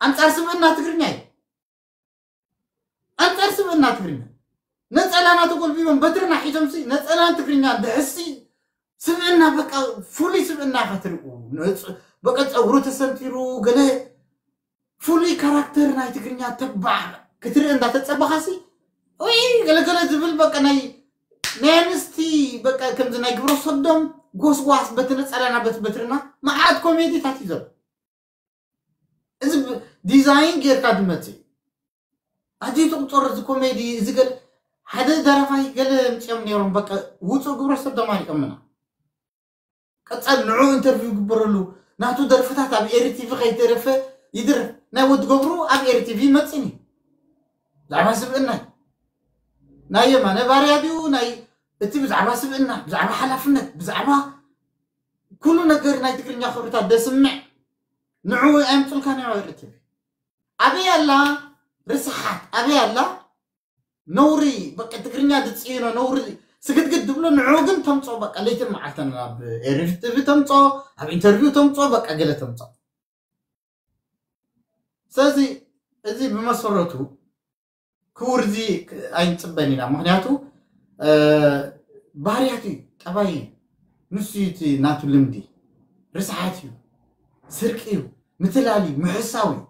ኣንጻር ስብእና ትግርኛ እዩ። ኣንጻር ስብእና ትግርኛ ነጸላና ተጎልቢቦም በትርና ሒዞምሲ ነጸላን ትግርኛ ድሕሲ ስብእና በቃ ፍሉይ ስብእና ኢኻ ትርእዩ። በቃ ጸጉሩ ተሰንቲሩ ገለ ፍሉይ ካራክተር ናይ ትግርኛ ተባዕ ክትርኢ እንዳተጸበኻሲ ወይ ገለገለ ዝብል በቃ ናይ ናይ ኣንስቲ በቃ ከምዚ ናይ ግብረ ሰዶም ጎስጓስ በቲ ነጸላና በቲ በትርና መዓት ኮሜዲታት እዩ ዘሎ። እዚ ዲዛይን ጌርካ ዝመጽእ ኣዝዩ ትቁጸር እዚ ኮሜዲ እዚ ገለ ሓደ ደራፋይ ገለ ምጽኦም ነይሮም በቃ ውጹእ ግብረ ሰዶም ኣሪኦምና። ቀጻል ንዑ ኢንተርቪው ግበረሉ ናቱ ደርፍታት ኣብ ኤሪ ቲቪ ከይተረፈ ይድርፍ ናይ ወዲ ገብሩ ኣብ ኤሪ ቲቪ ይመጽእኒ ብዛዕባ ስብእና ናይ የማነ ባርያ ድዩ ናይ እቲ ብዛዕባ ስብእና ብዛዕባ ሓላፍነት ብዛዕባ ኩሉ ነገር ናይ ትግርኛ ክብርታት ደስምዕ ንዑ ኣየምጹልካን እዮም ኣብ ኤሪ ቲቪ። ኣበይ ኣላ ርስሓት ኣበይ ኣላ ነውሪ በቃ ትግርኛ ዝፅይኖ ነውሪ ስግድግድ ዝብሎ ንዑ ግን ተምፅኦ በቃ ለይትን መዓልተን ኣብ ኤሪፍ ቲቪ ተምፅኦ ኣብ ኢንተርቪው ተምፅኦ በቃ ገለ ተምፅኦ። ስለዚ እዚ ብመሰረቱ ክውርዚ ኣይንፅበን ኢና። ምክንያቱ ባህርያት እዩ፣ ጠባይ እዩ። ንሱ እዩ እቲ ናቱ ልምዲ። ርስሓት እዩ፣ ስርቂ እዩ፣ ምትላል እዩ፣ ምሕሳው እዩ።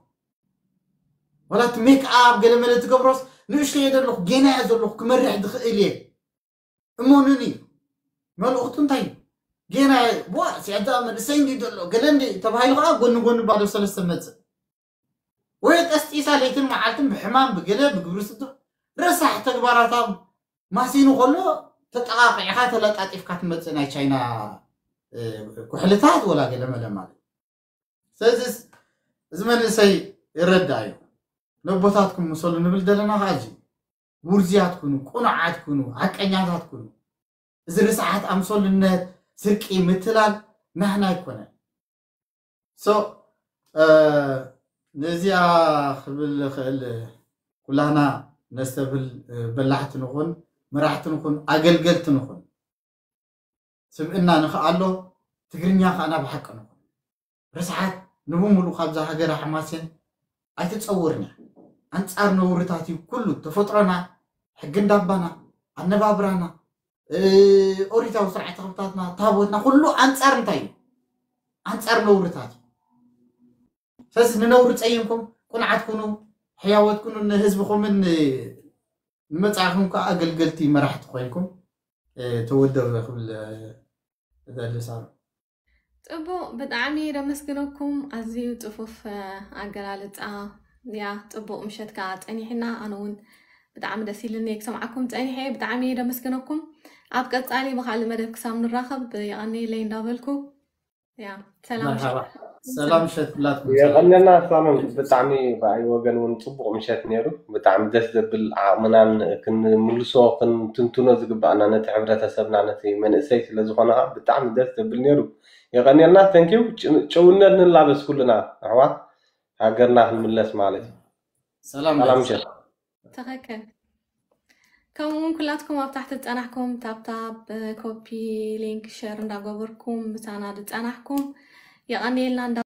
ዋላ እቲ ሜክ ኣፕ ገለ መለ ትገብሮስ ንእሽቶ እየ ዘለኹ፣ ጌና እየ ዘለኹ፣ ክመርሕ ዝኽእል እየ። እመኑኒ፣ መልእኽቱ እንታይ እዩ? ጌና እየ፣ ዋ፣ ሲያዳ መንእሰይ እንዲ ዘሎ፣ ገለ እንዲ ተባሂሉ ከዓ ጎኒ ጎኒ ባዶ ሰለስተ መፅእ። ወይ ቀስጢሳ ለይትን መዓልትን ብሕማም ብገለ ብግብሪ ስቶ ረሳሕ ተግባራታ ማሲኑ ከሎ ተጠቃቂዕካ ተለጣጢፍካ ትመፅእ ናይ ቻይና ኩሕልታት ወላ ገለ መለ ማለት። ስለዚ እዚ መንእሰይ ይረዳእ እዩ። ነቦታትኩም ምሰሉ ንብል ዘለና ከዓ እዚ ውርዝያት ኩኑ፣ ቁኑዓት ኩኑ፣ ሓቀኛታት ኩኑ። እዚ ርስሓት ኣምሰሉነት፣ ስርቂ፣ ምትላል ናህና ኣይኮነን። ሶ ነዚኣ ክብል ክእል ኩላህና ነስተብል በላሕቲ ንኹን፣ መራሕቲ ንኹን፣ ኣገልገልቲ ንኹን። ስብእና ንኽኣሎ ትግርኛ ከኣና ብሓቂ ንኹን። ርስሓት ንብሙሉ ካብዛ ሃገር ኣሕማስን ኣይትፀውርና። ኣንፃር ነውርታት እዩ ኩሉ ተፈጥሮና፣ ሕጊ እንዳባና፣ ኣነባብራና፣ ኦሪታዊ ስርዓተ ክብታትና፣ ታቦትና፣ ኩሉ ኣንፃር እንታይ እዩ? ኣንፃር ነውርታት እዩ። ስለዚ ንነውሪ ፀይምኩም ቁንዓት ኩኑ፣ ሕያወት ኩኑ፣ ንህዝብኹምን ንመፃእኹም ከዓ ኣገልገልቲ መራሕቲ ኮይንኩም ተወደቡ ክብል እደሊ። ሳሮ። ፅቡቕ፣ ብጣዕሚ ደመስግነኩም። ኣዝዩ ፅፉፍ ኣገላልፃ ያ። ፅቡቕ ምሸት ከዓ ፀኒሕና። ኣነ እውን ብጣዕሚ ደስ ኢልኒ ክሰምዓኩም ፀኒሐ። ብጣዕሚ ደመስግነኩም። ኣብ ቀፃሊ ብካልእ መደብ ክሳብ ንራኸብ የቐንየለይ እንዳበልኩ ያ ሰላም። መርሓባ። ሰላም ምሸት ኩላትኩም። የቐንየልና ሳሎን። ብጣዕሚ ብኣይ ወገን እውን ፅቡቕ ምሸት ነይሩ። ብጣዕሚ ደስ ዘብል ዓቕምናን ክንምልሶ ክንትንትኖ ዝግባኣና ነቲ ሕብረተሰብና ነቲ መንእሰይ ስለዝኾነ ከዓ ብጣዕሚ ደስ ዘብል ነይሩ። የቐንየልና። ተንኪው። ጭውነት ንላበስ ኩልና ኣሕዋት ሃገርና ክንምለስ ማለት እዩ። ሰላም ሰላም ምሸት። ምሸት። ትኽክል። ከምኡ እውን ኩላትኩም ኣብ ታሕቲ ዝፀናሕኩም ታብታብ ኮፒ ሊንክ ሸር እንዳገበርኩም ምሳና ዝፀናሕኩም የቐንየልና እንዳ